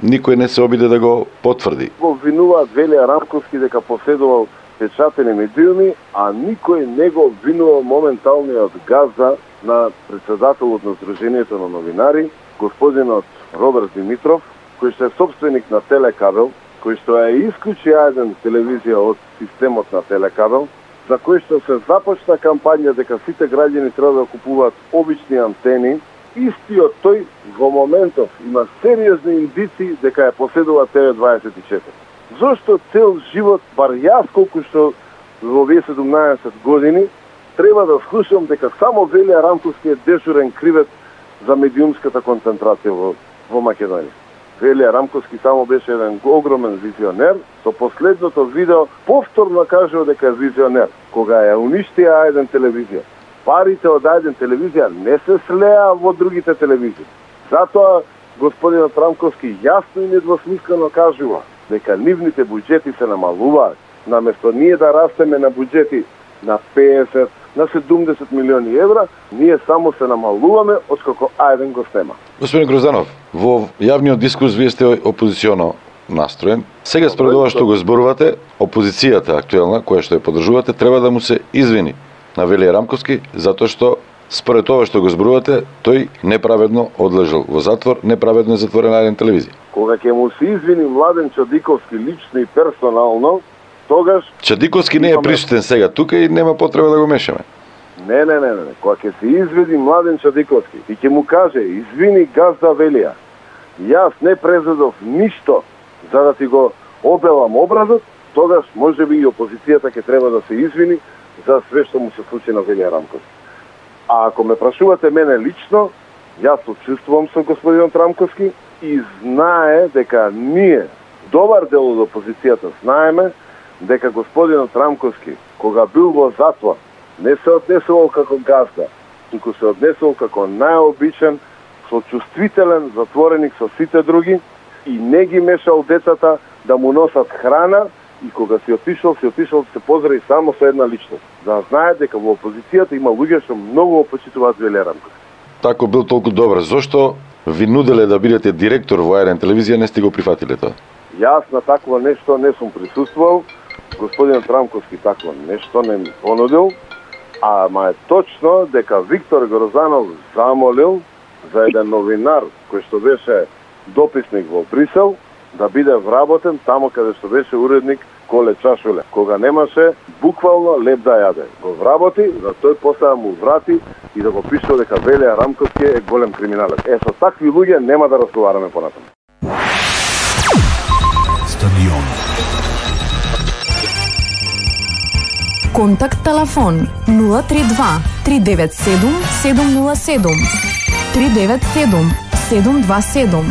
никој не се обиде да го потврди. Го обвинуваат Велија Рамковски дека поседувал печатени медиуми, а никој не го обвинувал моменталниот газда на председателот на Сдруженијето на новинари, господинот Роберт Димитров, кој што е собственик на Телекабел, кој што е исклучи еден телевизија од системот на Телекабел, за кој што се започна кампања дека сите граѓани треба да купуваат обични антени, истиот тој во моментов има сериозни индици дека е поседува Те Ве дваесет и четири. Зошто цел живот, бар јас колку што во овие седумнаесет години, треба да слушам дека само Велија Рамковски е дежурен кривец за медиумската концентрација во, во Македонија. Велија Рамковски само беше еден огромен визионер, со последното видео повторно кажува дека е визионер, кога ја уништија еден телевизија. Парите од еден телевизија не се слеа во другите телевизии. Затоа господинот Рамковски јасно и недвосмислено кажува дека нивните буџети се намалуваат. Наместо ние да растеме на буџети на песет, на седумдесет милиони евра, ние само се намалуваме откако еден го снема. Господин Грозданов, во јавниот дискурс вие сте опозиционо настроен. Сега според ова што го зборувате, опозицијата актуелна, која што ја поддржувате, треба да му се извини на Велија Рамковски, затоа што според ова што го зборувате, тој неправедно одлежал во затвор, неправедно е затворен на еден телевизија. Кога ќе му се извини Младен Чадиковски лично и персонално, тогаш Чадиковски не е присутен сега тука и нема потреба да го мешаме. Не, не, не, не. Кога ќе се изведи Младен Чадиковски и ќе му каже извини газда Велија, јас не презедов ништо за да ти го обелам образот, тогаш можеби и опозицијата ќе треба да се извини за све што му се случи на Велија Рамковски. А ако ме прашувате мене лично, јас отчувствувам со господинот Рамковски и знае дека ние, добар дел од опозицијата, знаеме дека господинот Рамковски, кога бил во затвор, не се однесувал како газда, туку се однесувал како најобичен, сочувствителен затвореник со сите други и не ги мешал децата да му носат храна и кога си отишол, си отишол да се поздрави само со една личност. Да знае дека во опозицијата има луѓе што многу опочитуваат Велија Рамковски. Тако бил толку добар, зошто ви нуделе да бидете директор во еден телевизија, не сте го прифатиле тоа? Јас на такво нешто не сум присуствувал, господинот Рамковски такво нешто не ми понудил, ама е точно дека Виктор Грозданов замолил за еден новинар кој што беше дописник во Брисел да биде вработен тамо каде што беше уредник Коле Чашуле. Кога немаше буквално леп да јаде. Го вработи, за тој после му врати и да го пишува дека Велија Рамковски е голем криминалец. Е, со такви луѓе нема да разговараме понатаму. Стадион. Контакт телефон нула три два три девет седум седум нула седум три девет седум седум два седум.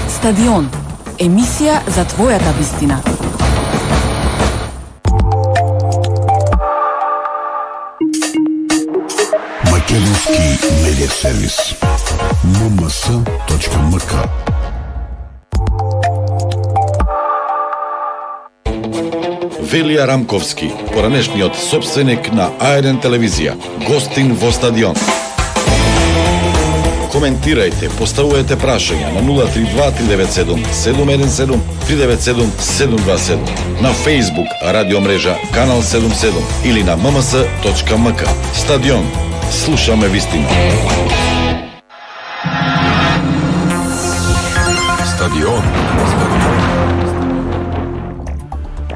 Стадион. Емисија за твојата вистина. Македонски медиа сервис. ем ем ес точка ем ка. Велија Рамковски, поранешниот собственик на А еден телевизија, гостин во Стадион. Коментирајте, поставувајте прашања на нула три два три девет седум седум еден седум три девет седум седум два седум, на Facebook радио мрежа Канал седум седум или на ем ем ес точка ем ка. Стадион. Слушаме вистина. Стадион.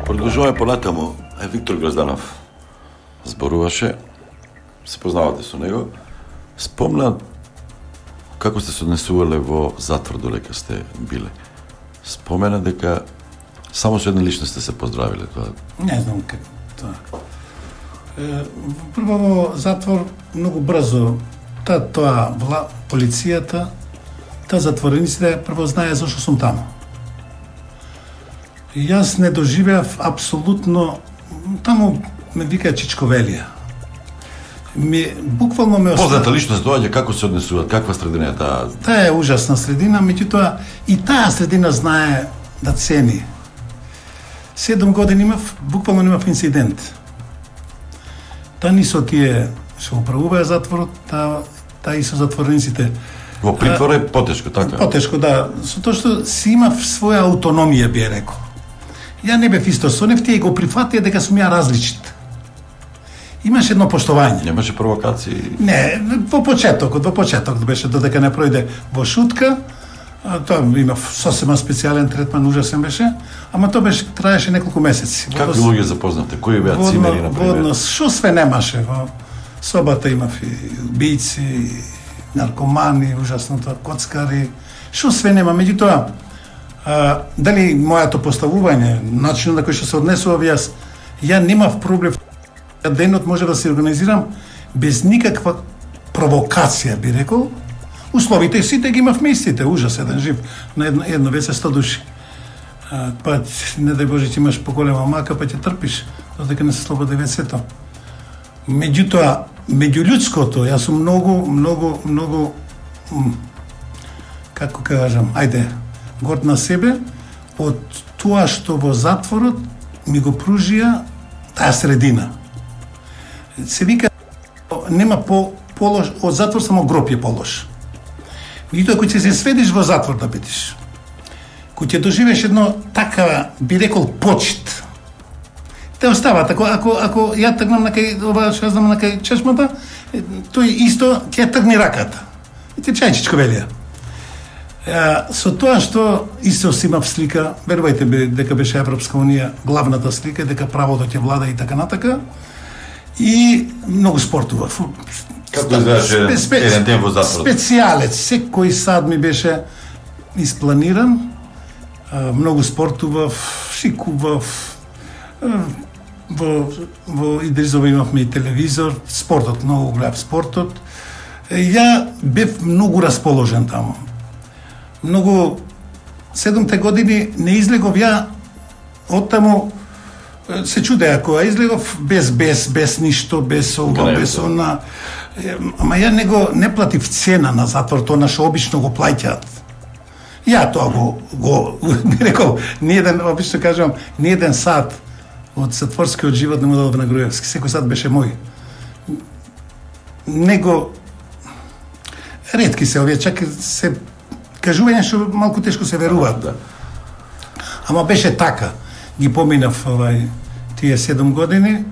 Продолжуваме понатаму. Е, Виктор Грозданов зборуваше се познавате со него, спомна како сте се однесувале во затвор додека сте биле. Спомена дека само со една личност сте се поздравиле тоа. Не знам како тоа. Е, прво во затвор многу брзо та тоа вла, полицијата, та затворениците прво знае зашто сум таму. И јас не доживеав апсолутно, таму ме вика Чичковелија. Ми буквално ме остави. Позната личност доаѓа, како се однесуваат, каква средина е таа? Таа е ужасна средина, меѓутоа и таа средина знае да цени. Седум години имав, буквално немав инцидент. Та ни со тие што управуваа затворот, та, та и со затворениците. Во притвор е потешко, така? Потешко, да. Со тоа што си имав своја аутономија, би рекол. Ја не бев исто со нив, тие го прифатија дека сум ја различит. Имаше едно поштовање. Немаше провокации? Не, во почетокот, во почетокот беше додека не пројде во шутка. Тоа имав сосема специјален третман, ужасен беше, ама тоа беше траеше неколку месеци. Какви луѓе запознавте? Кои беа цимери на пример? Во однос, шо све немаше во собата, имав и убијци, и наркомани, ужасното, коцкари, шо све нема, меѓутоа а, дали мојато поставување, начинот на кој што се однесував јас, ја немав проблем. Денот може да се организирам без никаква провокација, би рекол. Условите сите ги имав местите, ужас еден жив, на едно, едно веќе сто души. А, па, не дај Боже, ти имаш поголема мака, па ќе трпиш, додека не се слободи вецето. Меѓутоа, меѓулюдското, јас сум многу, многу, многу, како кажам, ајде, горд на себе, од тоа што во затворот ми го пружија таа средина. Се вика, нема по полош, од затвор само гроб е полош. Меѓутоа, кој ќе се сведиш во затвор да бидеш, кој ќе доживеш едно така, би рекол, почит, те остават, ако, ако, ако ја тргнам на кај, ова што знам на кај чешмата, тој исто ќе тргни раката. И ти чајчичко велија. Со тоа што исто си имав слика, верувајте бе, дека беше Европска Унија главната слика, дека правото ќе влада и така натака, и многу спортував. Како изгледаше еден ден во затворот? Специјалец, секој сад ми беше испланиран, многу спортував, шикував, во, во Идризово имавме и телевизор, спортот, многу гледав спортот. Ја бев многу расположен таму. Многу, седумте години не излегов ја од таму, се чуде ако ја излегов без, без, без ништо, без ова, без она. Ама ја не го, не платив цена на затвор, тоа нашо обично го плаќаат. Ја тоа го, го, би рекол, ниеден, обично кажам, ниеден сат од затворскиот живот не му дадов на Груевски, секој сат беше мој. Него, ретки се овие, чак се кажување што малку тешко се веруваат. Да. Ама беше така. Ги поминав овај, тие седум години,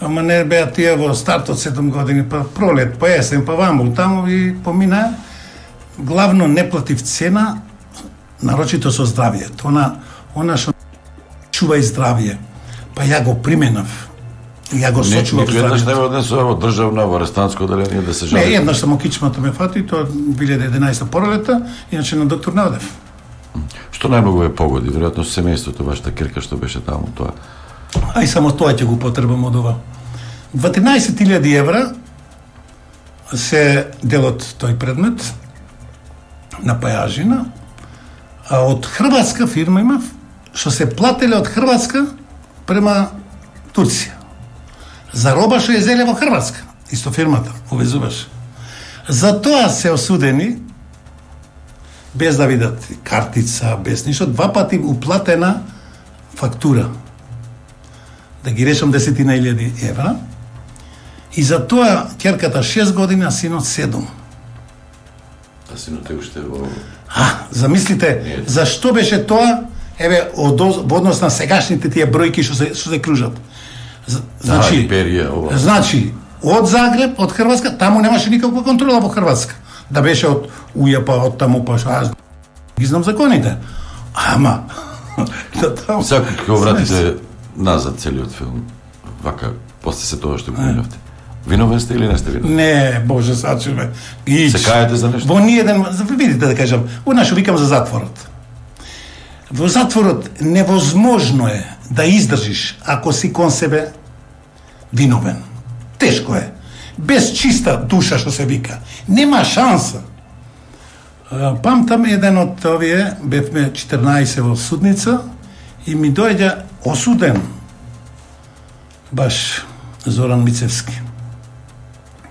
ама не беа тие во стартот седум години, па пролет, па есен, па ваму, таму и помина. Главно не платив цена, нарочито со здравието. Она, она што чува и здравие. Па ја го применав. Ја го сочував здравието. Еднаш не ме однесува во државна, во арестантско оделение да се жали? Не, еднаш само кичмата ме фати, тоа две илјади и единаесета пролета, иначе на доктор не одев. Што најмногу ве погоди? Веројатно семејството, вашата кирка што беше таму, тоа. Ај само тоа ќе го потребам од ова. дванаесет илјади евра се делот тој предмет на Пајажина, а од хрватска фирма имав, што се плателе од Хрватска према Турција. За роба што ја зеле во Хрватска, исто фирмата, увезуваше. За тоа се осудени, без да видат картица, без ништо, два пати уплатена фактура. Да ги решам десетина илјади евра. И за тоа ќерката шест години, а синот седум. А синот е уште во... А, замислите, зашто беше тоа, еве, од, во однос на сегашните тие бројки што се, што се кружат. Значи, а, перија, ова. Значи, од Загреб, од Хрватска, таму немаше никаква контрола во Хрватска. Да беше од Ујапа, од таму, па што аз ги знам законите. Ама, да таму... Сега, како вратите назад целиот филм, вака, после се тоа што го поминавте, Виновен сте или не сте виновен? Не, Боже, сачуваме. Се каете за нешто? Во ниеден, видите да кажам, во што викам за затворот. Во затворот невозможно е да издржиш ако си кон себе виновен. Тешко е. Без чиста душа, што се вика. Нема шанса. Памтам еден од овие, бевме четрнаесет во судница и ми дојде осуден баш Зоран Мицевски.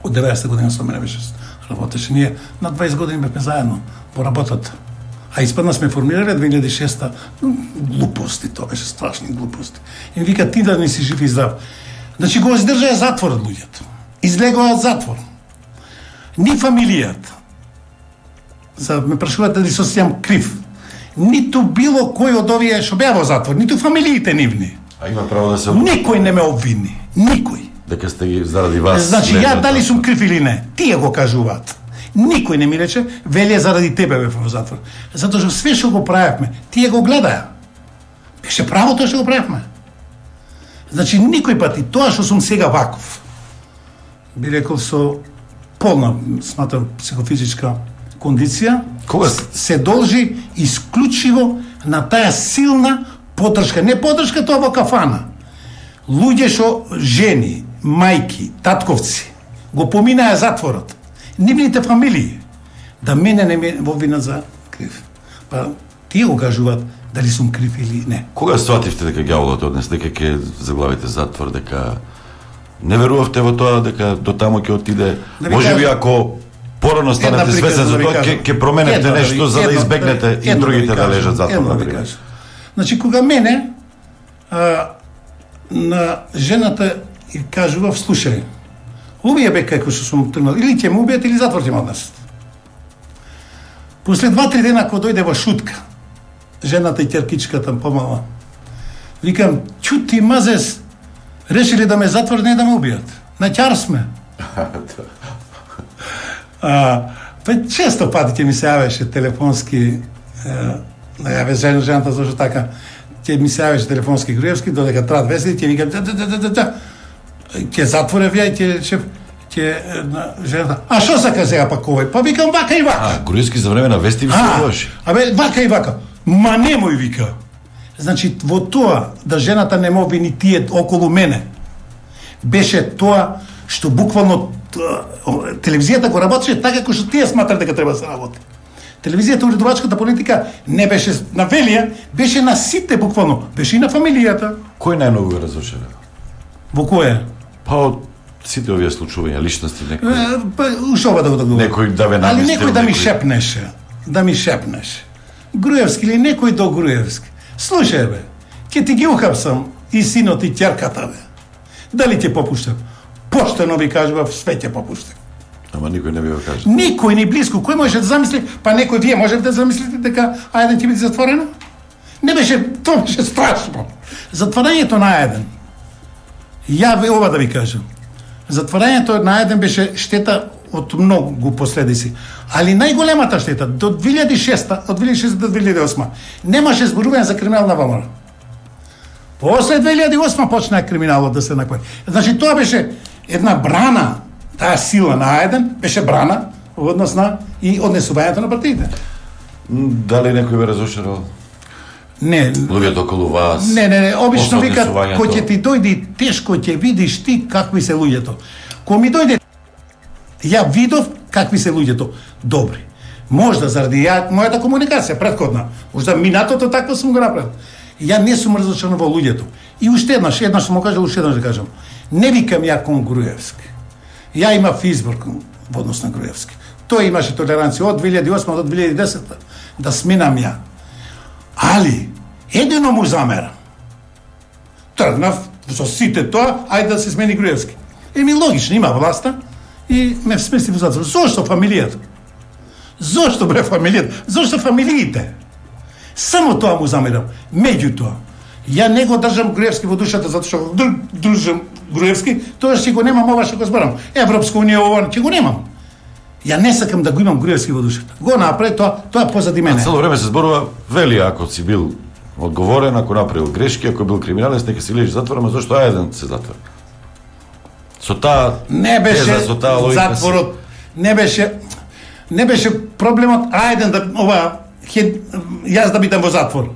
Од деветдесета година со мене беше работеше. Ние на дваесет години бевме заедно по работата. А испадна сме формирале две илјади и шеста. Глупости, тоа беше страшни глупости. И ми вика, ти да не си жив и здрав. Значи го издржаа затворот луѓето. Излегоа од затвор. Ни фамилијата, за ме прашуваат дали се осеќам крив, ниту било кој од овие што беа во затвор, ниту фамилиите нивни. А има право да се... Никој не ме обвини. Никој. Дека сте ги заради вас... Значи, ја дали сум крив или не, тие го кажуваат. Никој не ми рече, велија заради тебе бе во затвор. Затоа што све што го правевме, тие го гледаја. Беше право тоа што го правевме. Значи, никој пати, тоа што сум сега ваков, би рекол со полна, сматам, психофизичка кондиција, кога се должи исклучиво на таа силна поддршка. Не поддршка тоа во кафана. Луѓе што жени, мајки, татковци го поминаа затворот. Нивните фамилии. Да мене не ме во вина за крив. Па тие го кажуваат дали сум крив или не. Кога свативте дека ѓаволот однес, дека ќе заглавите затвор, дека не верувавте во тоа дека до тамо ќе отиде? Да Може би кажа... ако порано станете свесен за тоа, ќе ќе променете нешто за да избегнете и другите да лежат затвор, например. Значи кога мене а, на жената и кажував, слушај, убија бе како што сум тргнал, или ќе ме убијат или затвор ќе ме однесат. После два-три дена кога дојде во шутка, жената и ќеркичката помала, викам, чути мазес, решили да ме затвор, не да ме убијат. На ќар сме. А, па често пати ќе ми се јавеше телефонски, да јаве жен, жената зашто така, ќе ми се јавеше телефонски Груевски, додека трат весели, ќе вика, да, да, да, да, да, ќе затворе вија, ќе шеф, ќе жената. А што сака сега пак овој? Па викам вака и вака. А, Груевски за време на вести ви се лоши. Абе, вака и вака. Ма немој вика. Значи, во тоа да жената не мо вини тие околу мене, беше тоа што буквално телевизијата го работеше така како што тие сматрат дека треба да се работи. Телевизијата, уредувачката политика не беше на Велија, беше на сите буквално, беше и на фамилијата. Кој најмногу го разрушиле? Во кое? Па од сите овие случувања, личности, некој... Па, уште ова да го да го... Некој да ве Али наместил, некој да ми некој... шепнеше, да ми шепнеше. Груевски или некој до Груевски. Слушај бе, ќе ти ги ухапсам и синот и ќерката бе. Дали ќе попуштам? Поштено ви кажува, све ќе попуштам. Ама никој не би го кажа. Никој ни близко. Кој може да замисли? Па некој вие можете да замислите дека Ајден ќе биде затворено? Не беше, тоа беше страшно. Затворањето на Ајден. Ја ви ова да ви кажам. Затворањето на Ајден беше штета од многу последици. Али најголемата штета до две илјади и шеста, од две илјади и шеста до две илјади и осма, немаше зборување за криминал на ВМРО. После две илјади и осма почна криминалот да се накои. Значи тоа беше една брана, таа сила на Ајден беше брана во однос на и однесувањето на партиите. Дали некој ве разошарал? Не. Луѓето околу вас? Не, не, не, обично после викат, однесувањето? кој ќе ти дојде и тешко ќе видиш ти какви се луѓето. Кој ми дојде, ја видов какви се луѓето добри. Можда заради ја, мојата комуникација претходна, можда минатото такво сум го направил. Ја не сум разочаран во луѓето. И уште еднаш, еднаш сум го кажал, уште еднаш да кажам. Не викам ја кон Груевски. Ја имав избор во однос на Груевски. Тој имаше толеранција од две илјади и осма до две илјади и десета да сменам ја. Али, едино му замера. Тргнав со сите тоа, ајде да се смени Груевски. Еми логично, има власта и ме смести во затвор. Зошто фамилијата? Зошто бре фамилијата? Зошто фамилиите? Само тоа му замерам. Меѓутоа, ја не го држам Груевски во душата затоа што го држам Груевски, тоа ќе го немам ова што го зборам. Европска унија ова ќе го немам. Ја не сакам да го имам Груевски во душата. Го направи тоа, тоа позади мене. А цело време се зборува, вели ако си бил одговорен, ако направил грешки, ако бил криминалец, нека си лежи затвора, ама зошто Ајден се затвора? Со таа не беше теза, со таа логика затворот, не беше не беше проблемот ајден да ова хед, јас да бидам во затвор.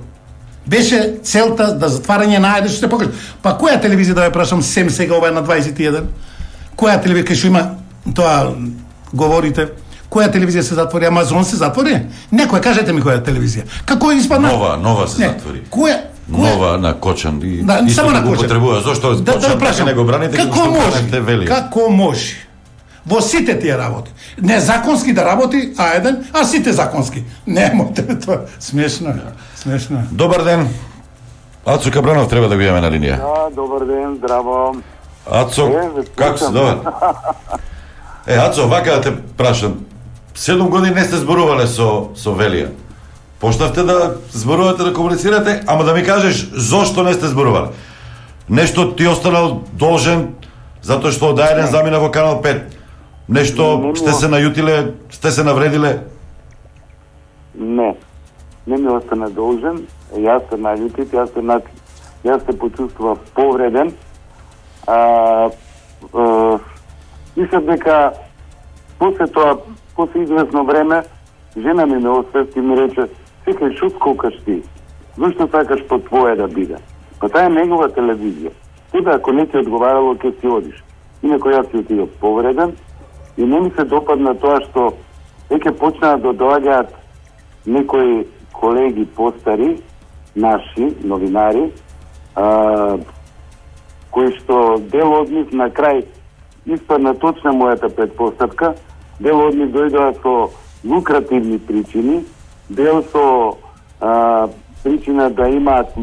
Беше целта да затварање на ајден што се покаже. Па која телевизија да ја прашам сем сега ова е на дваесет и еден? Која телевизија кај што има тоа говорите? Која телевизија се затвори? Амазон се затвори? Некоја, кажете ми која телевизија. Како испадна? Нова, нова се не. затвори. Која? Нова на Кочан и да, исто само на го Кочан. потребува. Зошто да, Кочан да, да не го браните како што може? Велија? Како може? Во сите тие работи. Незаконски да работи, а еден, а сите законски. Немојте тоа. Смешно е. Смешно е. Добар ден. Ацо Кабранов треба да го имаме на линија. Да, добар ден, здраво. Ацо, како си, добар? Е, Ацо, вака да те прашам. Седум години не сте зборувале со, со Велија. Почнавте да зборувате, да комуницирате, ама да ми кажеш зошто не сте зборувале. Нешто ти останал должен затоа што од еден замина во Канал пет. Нешто не, не сте се најутиле, сте се навредиле? Не. Не ми остана должен. Јас се најутит, јас се на... јас се почувствував повреден. А, а, мислам дека после тоа, после известно време, жена ми ме освести и ми рече: "Секај шут колкаш ти. Зошто сакаш по твое да биде?" Па таа е негова телевизија. Тебе ако не ти одговарало, ќе си одиш. Инако јас си отидов повреден и не ми се допадна тоа што веќе почнаа да доаѓаат некои колеги постари, наши новинари, а, кои што дел од нив на крај испадна точна мојата предпоставка, дел од нив дојдоа со лукративни причини, дел со а, причина да имаат,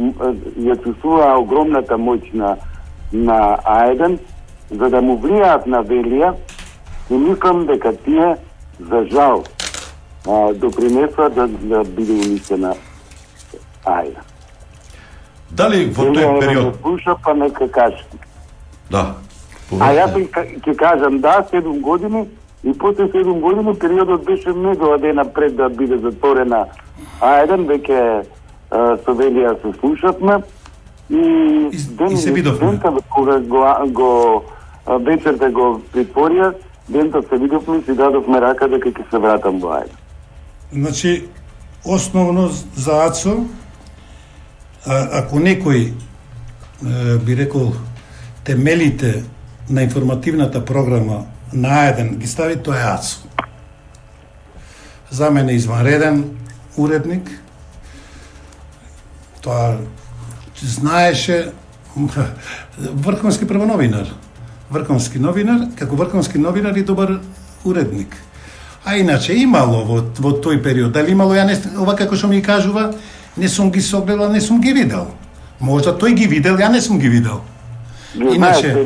ја чувствуваа огромната моќ на, на А еден, за да му влијаат на Велија, и мислам дека тие, за жал, а, допринесува да, да биде унисена А еден. Дали во тој Велија период... да слуша, па нека каже. Да. А јас ќе кажам, да, седум години, и после седум години периодот беше многу дена пред да биде затворена А еден, веќе со Велија се слушавме и, и, ден, и се видовме. Дента кога го, го вечерта го притворија, дента се видовме и си дадовме рака дека ќе се вратам во А еден. Значи, основно за Ацо, а, ако некој е, би рекол темелите на информативната програма на А еден ги стави, тоа е Ацо. За мене изванреден уредник. Тоа знаеше врховски првоновинар. Врховски новинар, како врховски новинар и добар уредник. А иначе имало во, во тој период, дали имало, ја не, ова како што ми кажува, не сум ги согледал, не сум ги видел. Можда тој ги видел, ја не сум ги видел. Иначе,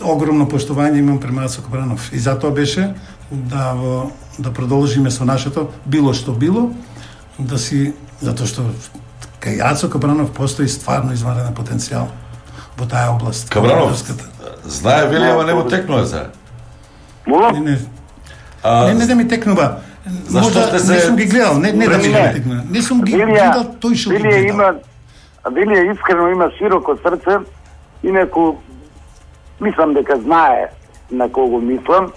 огромно поштовање имам према Ацо Кабранов. И затоа беше да, во, да продолжиме со нашето, било што било, да си, затоа што кај Ацо Кабранов постои стварно изванреден потенцијал во таа област. Кабранов, знае Велија, ама не му текнува за? Не, не. А, не, не да ми текнува. Можда сте се... не сум ги гледал, не, не да ми не текнува. Не сум ги гледал, тој што ги гледал. Има, Велија искрено има широко срце, инаку мислам дека знае на кого мислам.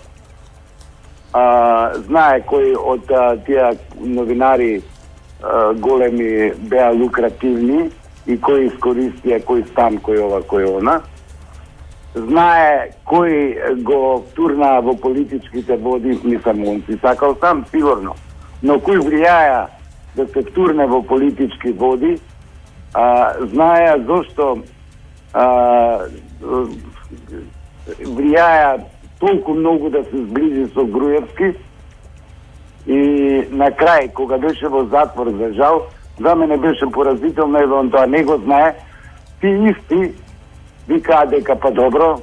А, знае кои од а, тие новинари а, големи беа лукративни и кои искористија кој стан, кој ова, кој она. Знае кој го турнаа во политичките води, мислам, он си сакал сам, сигурно. Но кој влијаја да се турне во политички води, а, знае зошто а, влијаја толку многу да се сближи со Груевски и на крај, кога беше во затвор, за жал, за мене беше поразително, еве он тоа не го знае, ти исти викаа дека па добро,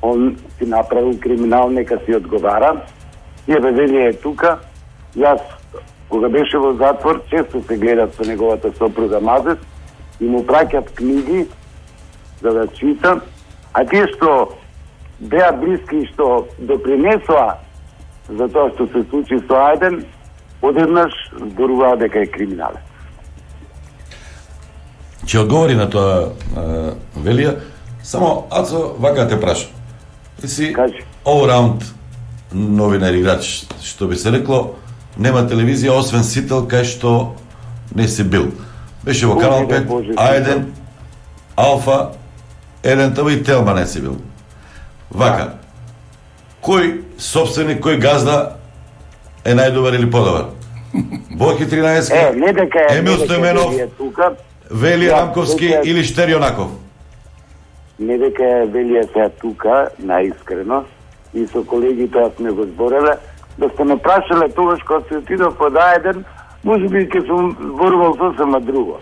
он си направил криминал, нека си одговара. И еве Велија е тука. Јас, кога беше во затвор, често се гледат со неговата сопруга Мазес и му праќат книги за да чита, а тие што беа блиски и што допринесоа за тоа што се случи со А еден, одеднаш зборуваа дека е криминалец. Ќе одговори на тоа Велија. Само, Ацо, вака те прашам. Си, all round новинар играч, што би се рекло, нема телевизија освен Сител кај што не се бил. Беше во Канал пет, А еден, Алфа, Еден ТВ и Телма не се бил. Вака, кој собственик, кој газда е најдобар или подобар? Боки тринаесет, е, Емил Стојменов, Велија Рамковски тука... или Штерјонаков? Не дека е Велија сега тука, наискрено, и со колеги тоа сме го збореле, да сте ме прашале тогаш кога се отидов под А еден, може би ќе сум зборувал сосема друго.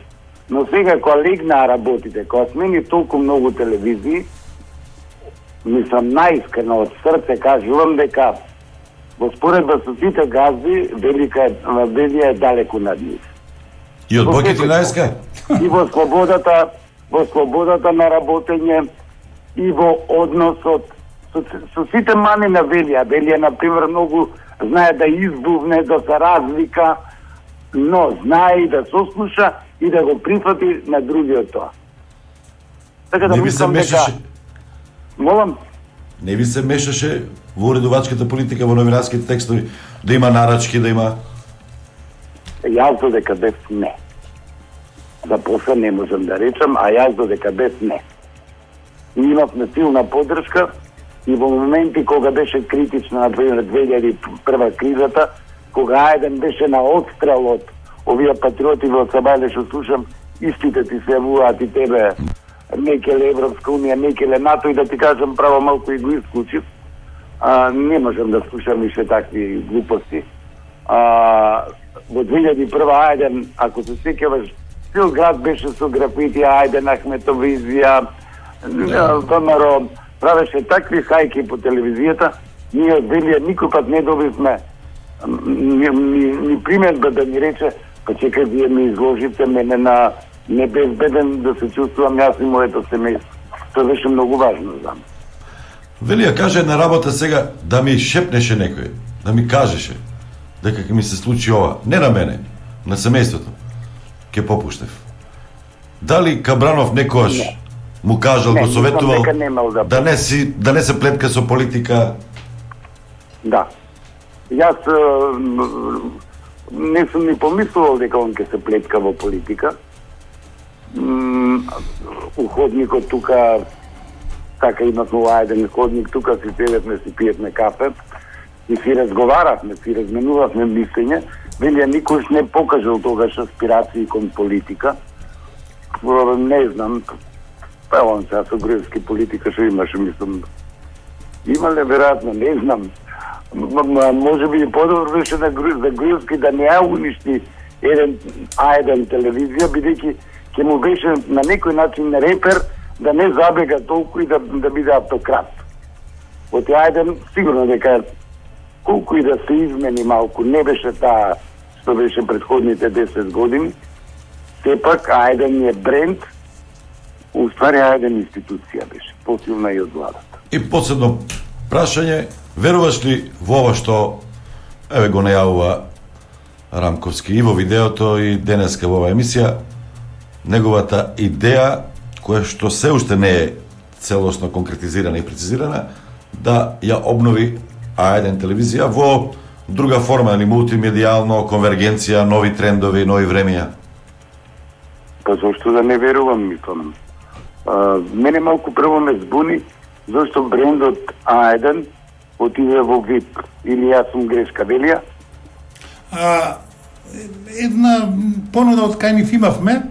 Но сега кога легнаа работите, кога смени толку многу телевизии, мислам наискрено од срце кажувам дека во споредба со сите газди, Велика е, Велија е далеку над нив. И од Боки тринаесет? И во слободата, во слободата на работење, и во односот со, со сите мани на Велија. Велија, например, многу знае да избувне, да се разлика, но знае и да сослуша и да го прифати на другиот тоа. Така да не ви се мешаше... дека... Молам? Не ви се мешаше во уредувачката политика, во новинарските текстови, да има нарачки, да има... Јас додека бев не. За после не можам да речам, а јас додека бев не. И имавме силна поддршка и во моменти кога беше критична, например, две илјади и прва кризата, кога А еден беше на отстрел од овие патриоти во Сабајле, што слушам, истите ти се јавуваат и тебе, некеле Европска Унија, некеле НАТО, и да ти кажам право малку и го исклучив. А, не можам да слушам ише такви глупости. А, во две илјади и прва А еден, ако се сеќаваш, цел град беше со графити, А еден, Ахметовизија, ВМРО, правеше такви хајки по телевизијата, ние од Велија никој пат не добивме ни, ни, ни приметба да ни рече, па чекај, вие ми изложите мене на небезбеден да се чувствувам јас и моето семејство. Тоа беше многу важно за мене. Велија каже една работа сега, да ми шепнеше некој, да ми кажеше дека ќе ми се случи ова, не на мене, на семејството, ќе попуштев. Дали Кабранов некојаш не. му кажал, не, го советувал да, да не си да не се плетка со политика? Да. Јас не сум ни помислувал дека он ќе се плетка во политика. У ходникот тука, така имавме А еден ходник, тука си седевме, си пиевме кафе и си разговаравме, си разменувавме мислење. Велија никош не покажал тогаш аспирации кон политика. Не знам, па он сега со груевски политика што имаше, мислам, имале веројатно, не знам. Може би и подобро беше на Груевски да не ја уништи еден А еден телевизија, бидејќи ќе му беше на некој начин репер да не забега толку и да, да биде автократ. Од А еден сигурно дека колку и да се измени малку, не беше таа што беше предходните десет години, сепак А еден е бренд, уствари А еден институција беше, посилна и од владата. И последно прашање, веруваш ли во ова што еве го најавува Рамковски и во видеото и денеска во оваа емисија, неговата идеја, која што се уште не е целосно конкретизирана и прецизирана, да ја обнови А еден телевизија во друга форма, или мултимедијално, конвергенција, нови трендови, нови времења? Па зашто да не верувам, мислам. А, мене малку прво ме збуни зашто брендот А еден отиде во ВИП. Или јас сум грешка, Велија? А, една понуда од кај нив имавме,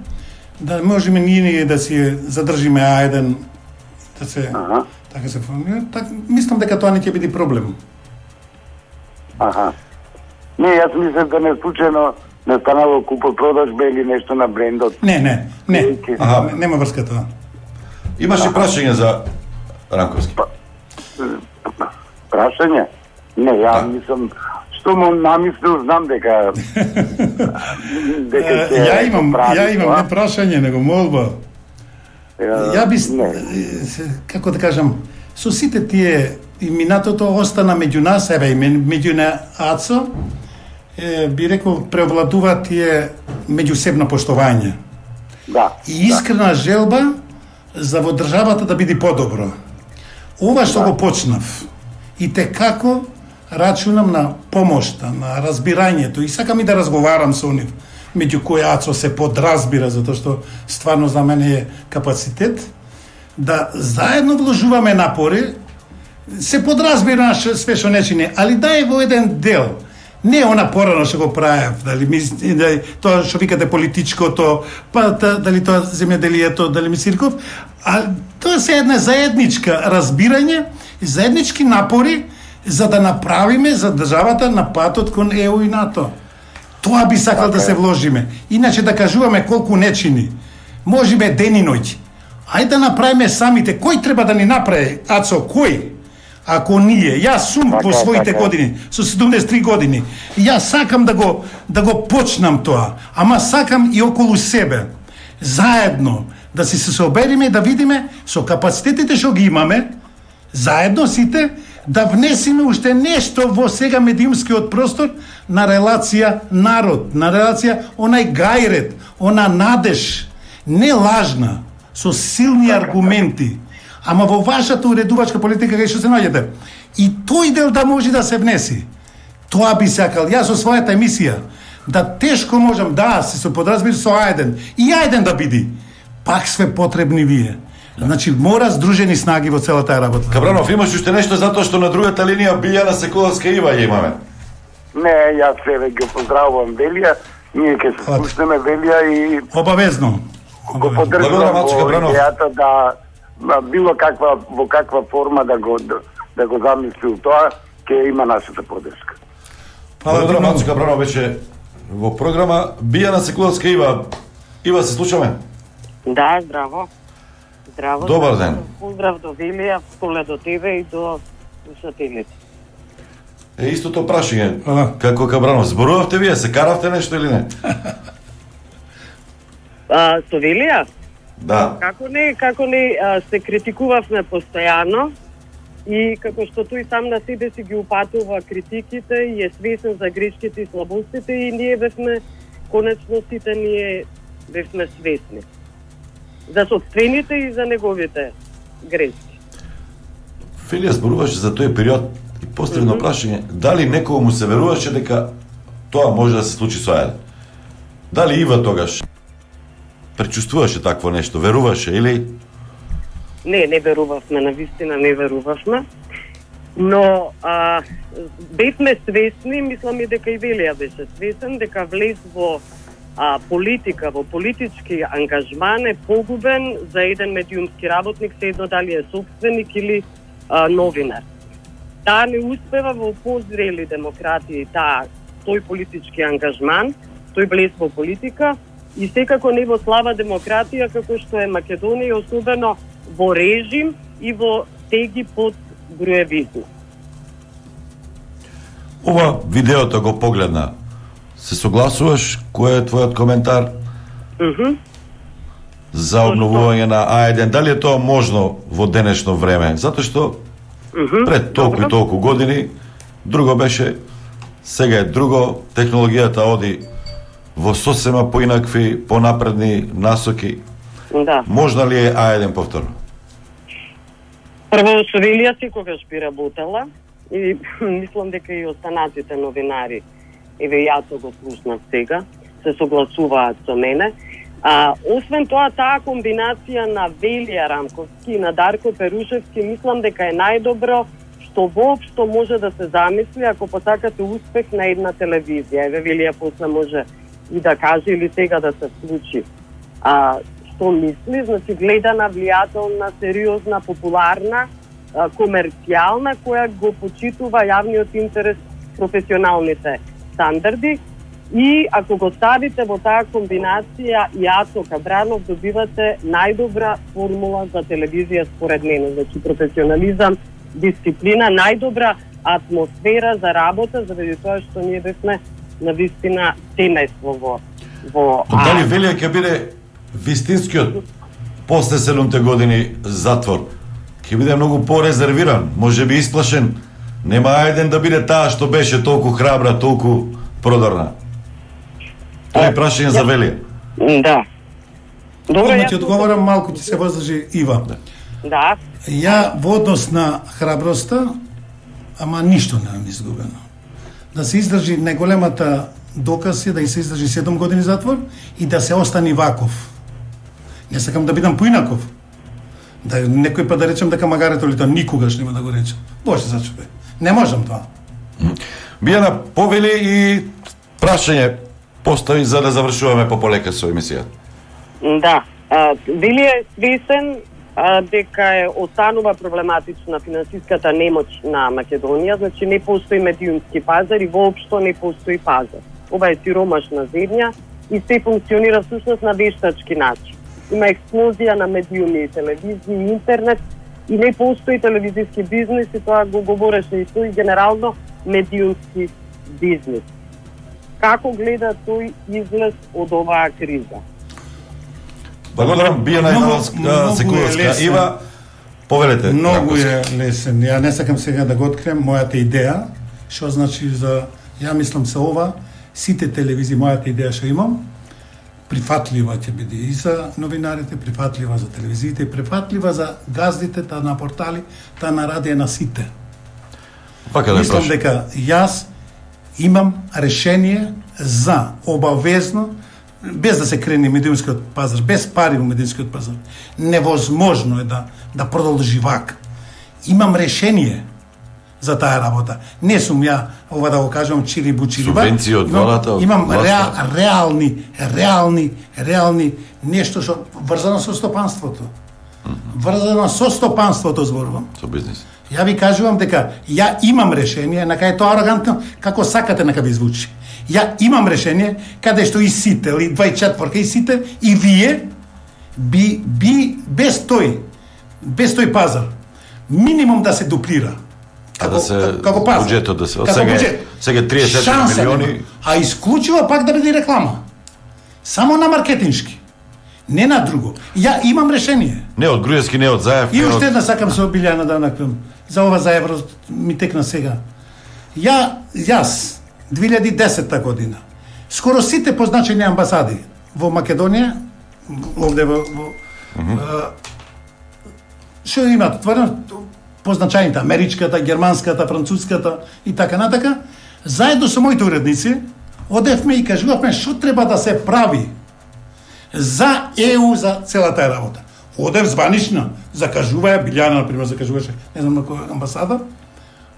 да можеме ние да си задржиме А еден, да се, ага. така се формира. Так, мислам дека тоа не ќе биде проблем. Аха. Не, јас мислам да не случајно не станало купо-продажба или нешто на брендот. Не, не, не. Аха. Нема врска тоа. Имаш ли прашање за Рамковски? Па, прашање? Не, ја мислам, што му намислил, знам дека... дека ќе ја имам, прави, ја имам не прашање, него молба. Ја би, како да кажам, со сите тие и минатото остана меѓу нас, еве и меѓу на АЦО, е, би рекол, преовладува тие меѓусебно поштовање. Да. И искрена да. желба за во државата да биде подобро. Ова што го почнав, и те како рачунам на помошта, на разбирањето, и сакам и да разговарам со нив, меѓу кои Ацо се подразбира, затоа што стварно за мене е капацитет, да заедно вложуваме напори, се подразбира све што не чини, али да е во еден дел, не она порано што го правев, дали ми, дали, тоа што викате политичкото, па дали тоа земјоделието, дали ми Сирков, а тоа се една заедничка разбирање, заеднички напори за да направиме за државата на патот кон Е У и НАТО. Тоа би сакал okay. да се вложиме. Иначе да кажуваме колку не чини. Можеме ден и ноќ. Ајде да направиме самите. Кој треба да ни направи? Ацо, кој? Ако ние, јас сум okay, во своите okay. години, со седумдесет и три години, јас сакам да го да го почнам тоа, ама сакам и околу себе. Заедно да си се собериме и да видиме со капацитетите што ги имаме, заедно сите да внесиме уште нешто во сега медиумскиот простор на релација народ, на релација онај гајрет, она надеж, не лажна, со силни аргументи, ама во вашата уредувачка политика кај што се наоѓате. И тој дел да може да се внеси. Тоа би сакал јас со својата емисија, да тешко можам да се со подразбир со Ајден и Ајден да биди. Пак све потребни вие. Значи мора здружени снаги во целата таа работа. Кабранов, имаш уште нешто затоа што на другата линија Билјана Секуловска Ива ја имаме? Не, јас се ги поздравувам Велија, ние ќе се слушнеме Велија и обавезно го поддржувам во идејата да на било каква во каква форма да го да, да го замислил тоа, ќе има нашата поддршка. Благодарам, Мацо Кабранов беше во програма. Билјана Секуловска Ива, Ива се слушаме? Да, здраво. Здраво. Добар ден. Поздрав до Велија, поле до тебе и до слушателите. Е, истото прашање. Како Кабранов, зборувавте вие, се каравте нешто или не? А, со Велија? Да. Како не, како не, а, се критикувавме постојано и како што тој сам на себе си ги упатува критиките и е свесен за грешките и слабостите и ние бевме, конечно сите ние бевме свесни за собствените и за неговите грешки. Велија зборуваше за тој период и поставено mm -hmm. прашање, дали некој му се веруваше дека тоа може да се случи со Ајден? Дали Ива тогаш пречувствуваше такво нешто, веруваше или? Не, не верувавме, навистина не верувавме, но а, бевме свесни, мислам и дека и Велија беше свесен, дека влез во а, политика, во политички ангажман е погубен за еден медиумски работник, се едно дали е собственик или а, новинар. Таа не успева во позрели демократии, таа, тој политички ангажман, тој влез во политика и секако не во слаба демократија како што е Македонија, особено во режим и во теги под броевизм. Ова видеото го погледна. Се согласуваш? Кој е твојот коментар? Mm -hmm. За обновување на Ајден? Дали е тоа можно во денешно време? Затоа што mm -hmm. пред толку и толку години друго беше, сега е друго, технологијата оди во сосема поинакви, понапредни насоки. Да. Можна ли е Ајден повторно? Прво, со Велија секогаш би работела и мислам дека и останатите новинари, еве јас го слушнав сега, се согласуваат со мене. А, освен тоа, таа комбинација на Велија Рамковски и на Дарко Перушевски, мислам дека е најдобро што воопшто може да се замисли ако посакате успех на една телевизија. Еве Велија после може и да каже или сега да се случи. А, што мисли, значи гледана, влијателна, сериозна, популарна, а, комерцијална, која го почитува јавниот интерес, професионалните стандарди и ако го ставите во таа комбинација и Ацо Кабранов, добивате најдобра формула за телевизија според мене. Значи професионализам, дисциплина, најдобра атмосфера за работа, заради тоа што ние бевме на вистина семејство во во Дали Велија ќе биде вистинскиот после седумте години затвор? Ќе биде многу порезервиран, може би исплашен. Нема Ајден да биде таа што беше толку храбра, толку продорна. Тоа е прашање за Велија. Да. Добро, ја ти одговорам, малку ти се воздржи Ива. Да. Ја во однос на храброста, ама ништо не е изгубено. Да се издржи најголемата доказ е да и се издржи седум години затвор и да се остани ваков. Не сакам да бидам поинаков. Да некој па да речем дека магарето ли тоа никогаш нема да го речем. Боже зачупе. Не можам тоа. Бијана повели и прашање постави за да завршуваме пополека со емисијата. Да. Били е свесен а, дека е останува проблематична финансиската немоќ на Македонија, значи не постои медиумски пазар и воопшто не постои пазар. Ова е сиромашна земја и се функционира всушност на вештачки начин. Има експлозија на медиуми, телевизија и интернет и не постои телевизијски бизнес и тоа го говореше и тој генерално медиумски бизнес. Како гледа тој излез од оваа криза? Благодарам, Бијана Ивановска, Секуловска. Ива, повелете. Многу е лесен. Ја не сакам сега да го открием мојата идеја, што значи за... Ја мислам се ова, сите телевизии, мојата идеја што имам, прифатлива ќе биде и за новинарите, прифатлива за телевизиите, прифатлива за газдите, та на портали, та на радија на сите. Пака да мислам дека јас имам решение за обавезно, без да се крени медиумскиот пазар, без пари во медиумскиот пазар, невозможно е да да продолжи вака. Имам решение за таа работа. Не сум ја, ова да го кажам, чири бучириба. Субвенции од владата, од имам власта. реал, реални, реални, реални нешто што врзано со стопанството. Врзано со стопанството зборувам. Со бизнес. Ја ви кажувам дека ја имам решение, на кај тоа арогантно, како сакате нека ви звучи. Ја имам решение каде што и сите, или дваесет и четврка и сите, и вие би, би без тој, без тој пазар, минимум да се дуплира. А да се како пазар. буџетот да се Како сега буџет. сега триесет Шанса милиони. нема. А исклучиво пак да биде реклама. Само на маркетиншки. Не на друго. Ја имам решение. Не од Груевски, не од Заев. И не уште од... една сакам со Билјана да накрам. За ова за евро ми текна сега. Ја, јас, две илјади и десета година, скоро сите позначени амбасади во Македонија, овде во... во mm-hmm. што имат, тврдо, позначаните, америчката, германската, француската и така натака, заедно со моите уредници, одевме и кажувавме што треба да се прави за Е У, за целата работа. Одев званично, закажуваја, Билјана, например, закажуваше, не знам на која амбасада,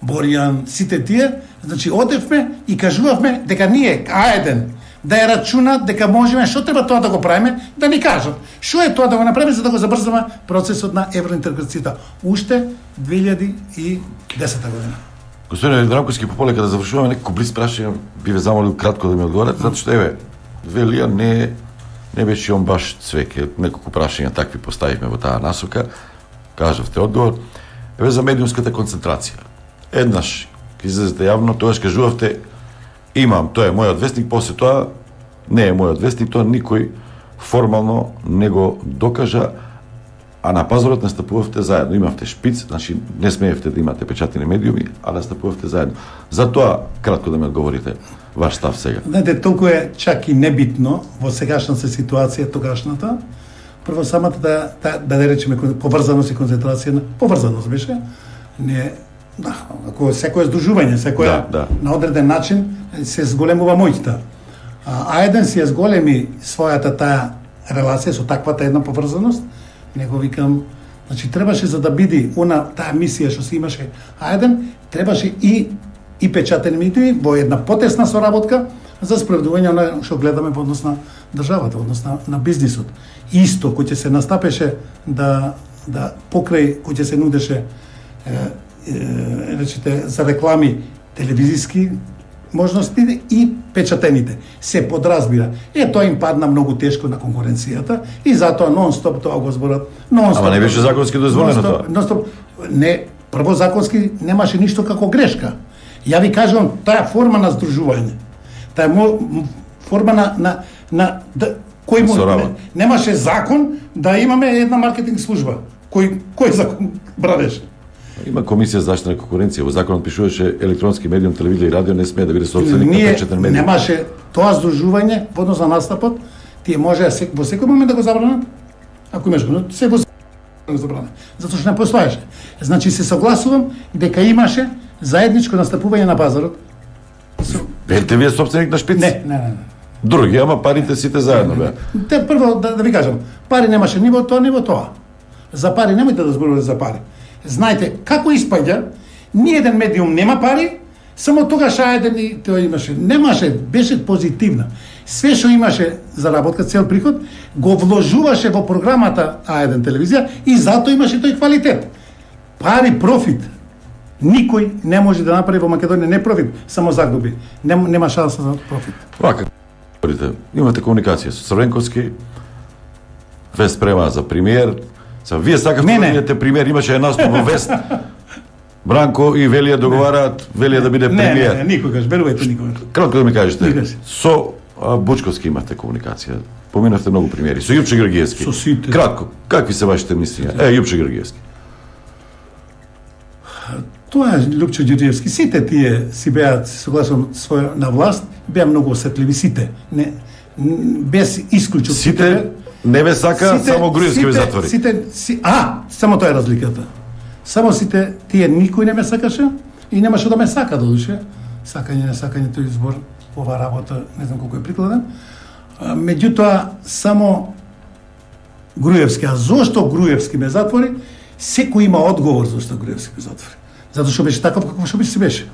Боријан, сите тие, значи одевме и кажувавме дека ние, А еден, да ја рачунат дека можеме, што треба тоа да го правиме, да ни кажат. Што е тоа да го направиме за да го забрзаме процесот на евроинтеграцијата. Уште две илјади и десета година. Господин Дранковски, пополека да завршуваме некако близ прашање, би ве замолил кратко да ми одговорите, затоа што еве, велија не не беше он баш цвеќе, неколку прашања такви поставивме во таа насока. Кажавте одговор. Еве за медиумската концентрација. Еднаш ќе излезете јавно, тогаш кажувавте имам, тоа е мојот вестник, после тоа не е мојот вестник, тоа никој формално не го докажа, а на пазарот настапувавте заедно. Имавте шпиц, значи не смеевте да имате печатени медиуми, а настапувавте заедно. За тоа кратко да ме одговорите ваш став сега. Знаете, толку е чак и небитно во сегашната ситуација, тогашната. Прво самата да да, да, да речеме поврзаност и концентрација, поврзаност беше. Не, да, ако секое здружување, секое да, да. на одреден начин се зголемува моќта. А, а еден си ја зголеми својата таа релација со таквата една поврзаност, него викам, значи требаше за да биде она таа мисија што се имаше А еден, требаше и и печатени медиуми во една потесна соработка за справедување на што гледаме во однос на државата, во однос на, на бизнисот. Исто кој ќе се настапеше да да покрај кој ќе се нудеше е, е, речете за реклами телевизиски можности и печатените. Се подразбира. Е, тоа им падна многу тешко на конкуренцијата и затоа нон-стоп тоа го зборат. Ама не беше законски дозволено тоа. Нон-стоп, не, прво законски немаше ништо како грешка. Ја ви кажувам, таа форма на здружување, таа форма на, на, на да, кој му, не, немаше закон да имаме една маркетинг служба. Кој, кој закон бранеше? Има комисија за заштита на конкуренција. Во законот пишуваше електронски медиум, телевизија и радио не смее да биде собственик на печатен медиум. Немаше тоа здружување во однос на настапот, тие може во секој момент да го забранат. Ако имаш го, се во забрана. Затоа што не постоеше. Значи се согласувам дека имаше заедничко настапување на пазарот. Бевте вие собственик на шпиц? Не, не, не. Други, ама парите сите заедно беа. Те прво да, да ви кажам, пари немаше ни во тоа, ни во тоа. За пари немојте да зборувате за пари. Знаете како испаѓа, ни еден медиум нема пари, само тогаш еден и тој имаше, немаше, беше позитивна. Све што имаше заработка, цел приход, го вложуваше во програмата А еден телевизија и затоа имаше тој квалитет. Пари, профит. Никој не може да направи во Македонија не профит, само загуби. Нем, нема шанса за профит. Вака, говорите, имате комуникација со Црвенковски, Вест према за премиер. Са, вие сакавте да бидете премиер, имаше една наstup во Вест. Бранко и Велија договараат Велија да биде премиер. Не, не, никогаш, верувајте никогаш. Кратко да ми кажете, Никогаш. со а, Бучковски имате комуникација. Поминавте многу премиери. Со Јупче Георгиевски. Со сите. Кратко, какви се вашите мислења? Е, Јупче Георгиевски. Тоа е Лупчо Ѓурѓевски. Сите тие си беа, согласно своја на власт, беа многу осетливи сите. Не, без исклучок. Сите не ве сака, сите, само Груевски ве затвори. Сите, си, а, само тоа е разликата. Само сите тие никој не ме сакаше и немаше да ме сака додуше. Сакање, не сакање тој избор, ова работа, не знам колку е прикладен. А, меѓутоа, само Груевски. А зошто Груевски ме затвори? Секој има одговор зошто Груевски ме затвори. Затоа што беше таков како што беше беше.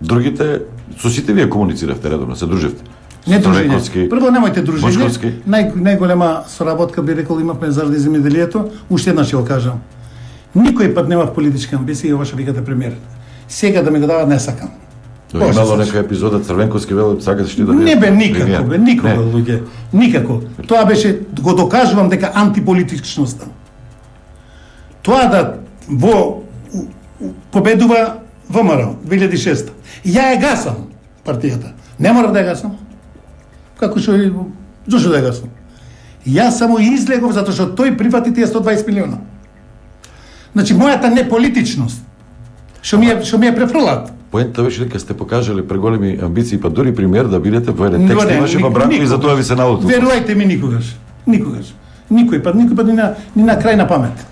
Другите, со сите вие комунициравте редовно, се дружевте? Не дружење. Прво немојте дружење. Бочковски. Нај, најголема соработка би рекол имавме заради земјоделието, уште еднаш ќе го кажам. Никој пат немав политичка амбиција и ова што викате премиер. Сега да ми го дават не сакам. Но имало нека епизода Црвенковски велел сакате што да не бе никако, бе никога луѓе, никако. Тоа беше го докажувам дека антиполитичноста. Тоа да во победува ВМРО две илјади и шеста. Ја ја гасам партијата. Не мора да ја гасам. Како што и зошто да ја гасам? Јас само излегов затоа што тој прифати тие сто и дваесет милиона. Значи мојата неполитичност што ми е што ми е префрлат. Поентата беше дека сте покажале преголеми амбиции, па дури премиер да бидете во еден текст имаше па Бранко и затоа ви се наутил. Верувајте ми никогаш. Никогаш. Никој пат, никој пат ни на ни на крај на памет.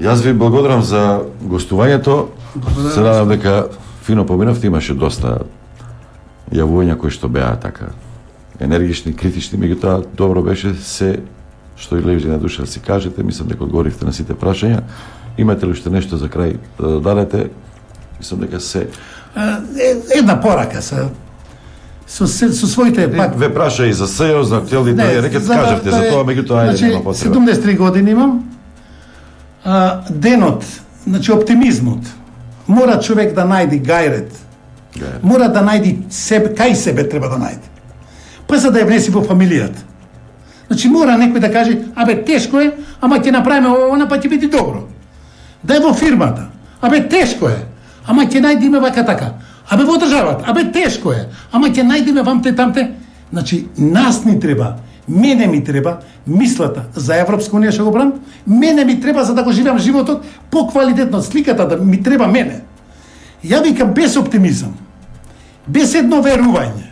Јас ви благодарам за гостувањето. Се надам дека фино поминавте, имаше доста јавувања кои што беа така енергични, критични, меѓутоа добро беше се што и лежи на душа да си кажете. Мислам дека одговоривте на сите прашања. Имате ли уште нешто за крај да додадете? Мислам дека се една порака со со, со своите пак ве праша и за СЕО, за актуелните рекет кажавте за тоа, меѓутоа ајде нема потреба. седумдесет и три години имам. А, денот, значи оптимизмот, мора човек да најди гајрет. Гајрет. Мора да најди себе, кај себе треба да најди. Па за да ја внеси во фамилијата. Значи мора некој да каже, абе тешко е, ама ќе направиме она па ќе биде добро. Да е во фирмата. Абе тешко е, ама ќе најдиме вака така. Абе во државата, абе тешко е, ама ќе најдиме вамте тамте. Значи нас ни треба, мене ми треба мислата за Европска унија што го брам, мене ми треба за да го живеам животот поквалитетно, сликата да ми треба мене. Ја викам без оптимизам, без едно верување,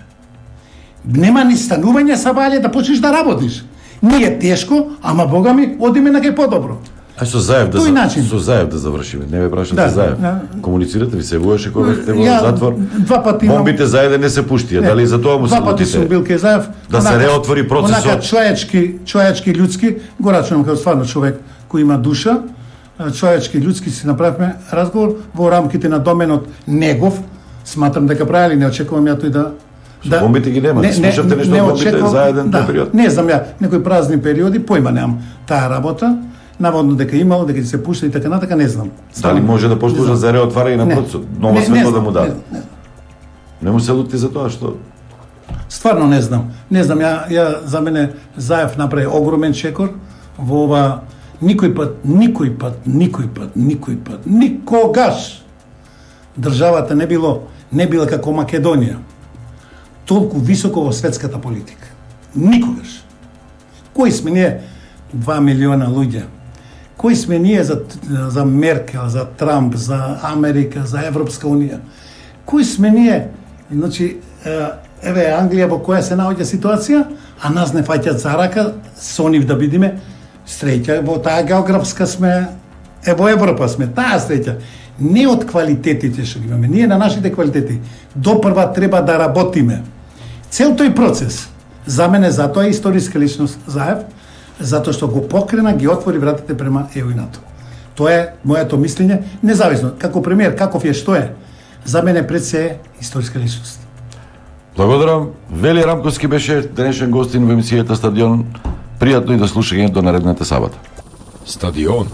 нема ни станување са вале да почнеш да работиш. Не е тешко, ама Бога ми, одиме на кај подобро. А со Заев да начин. со Заев да завршиме. Не ме прашате Да, за Заев. да. Комуницирате ви се воеше кога сте во Ја затвор. Два пати имам- Бомбите за еден не се пуштија. Дали за тоа му се Два пати сум бил кај Заев. Да се Онака- реотвори процесот. Онака човечки, човечки, људски, го рачунам како стварно човек кој има душа, а, човечки, људски си направивме разговор во рамките на доменот негов. Сматрам дека правили, не очекувам ја тој да Што бомбите ги нема? Слушавте нешто од бомбите очекувам- за еден да, тој период? Не знам ја, некои празни периоди, појма немам таа работа. Наводно дека имало, дека ќе се пушта и така натака, не знам. Дали може да послужа за реотварање на Не. процесот? Ново Не, не светло да знам, му даде. не, не. Не му се лути за тоа што Стварно не знам. Не знам, ја, ја за мене Заев направи огромен чекор во ова никој пат, никој пат, никој пат, никој пат, никогаш државата не било не била како Македонија. Толку високо во светската политика. Никогаш. Кои сме ние? Два милиона луѓе. Кои сме ние за, за Меркел, за Трамп, за Америка, за Европска унија? Кои сме ние? Значи, еве Англија во која се наоѓа ситуација, а нас не фаќаат за рака со нив да бидиме Среќа во таа географска сме, е во Европа сме, таа среќа. Не од квалитетите што ги имаме, ние на нашите квалитети допрва треба да работиме. Цел тој процес, за мене затоа е историска личност Заев, затоа што го покрена, ги отвори вратите према ЕУ и НАТО. Тоа е моето мислење, независно како премиер, каков е, што е. За мене пред се е историска личност. Благодарам. Вели Рамковски беше денешен гостин во емисијата Стадион. Пријатно и да слушање до наредната сабота. Стадион.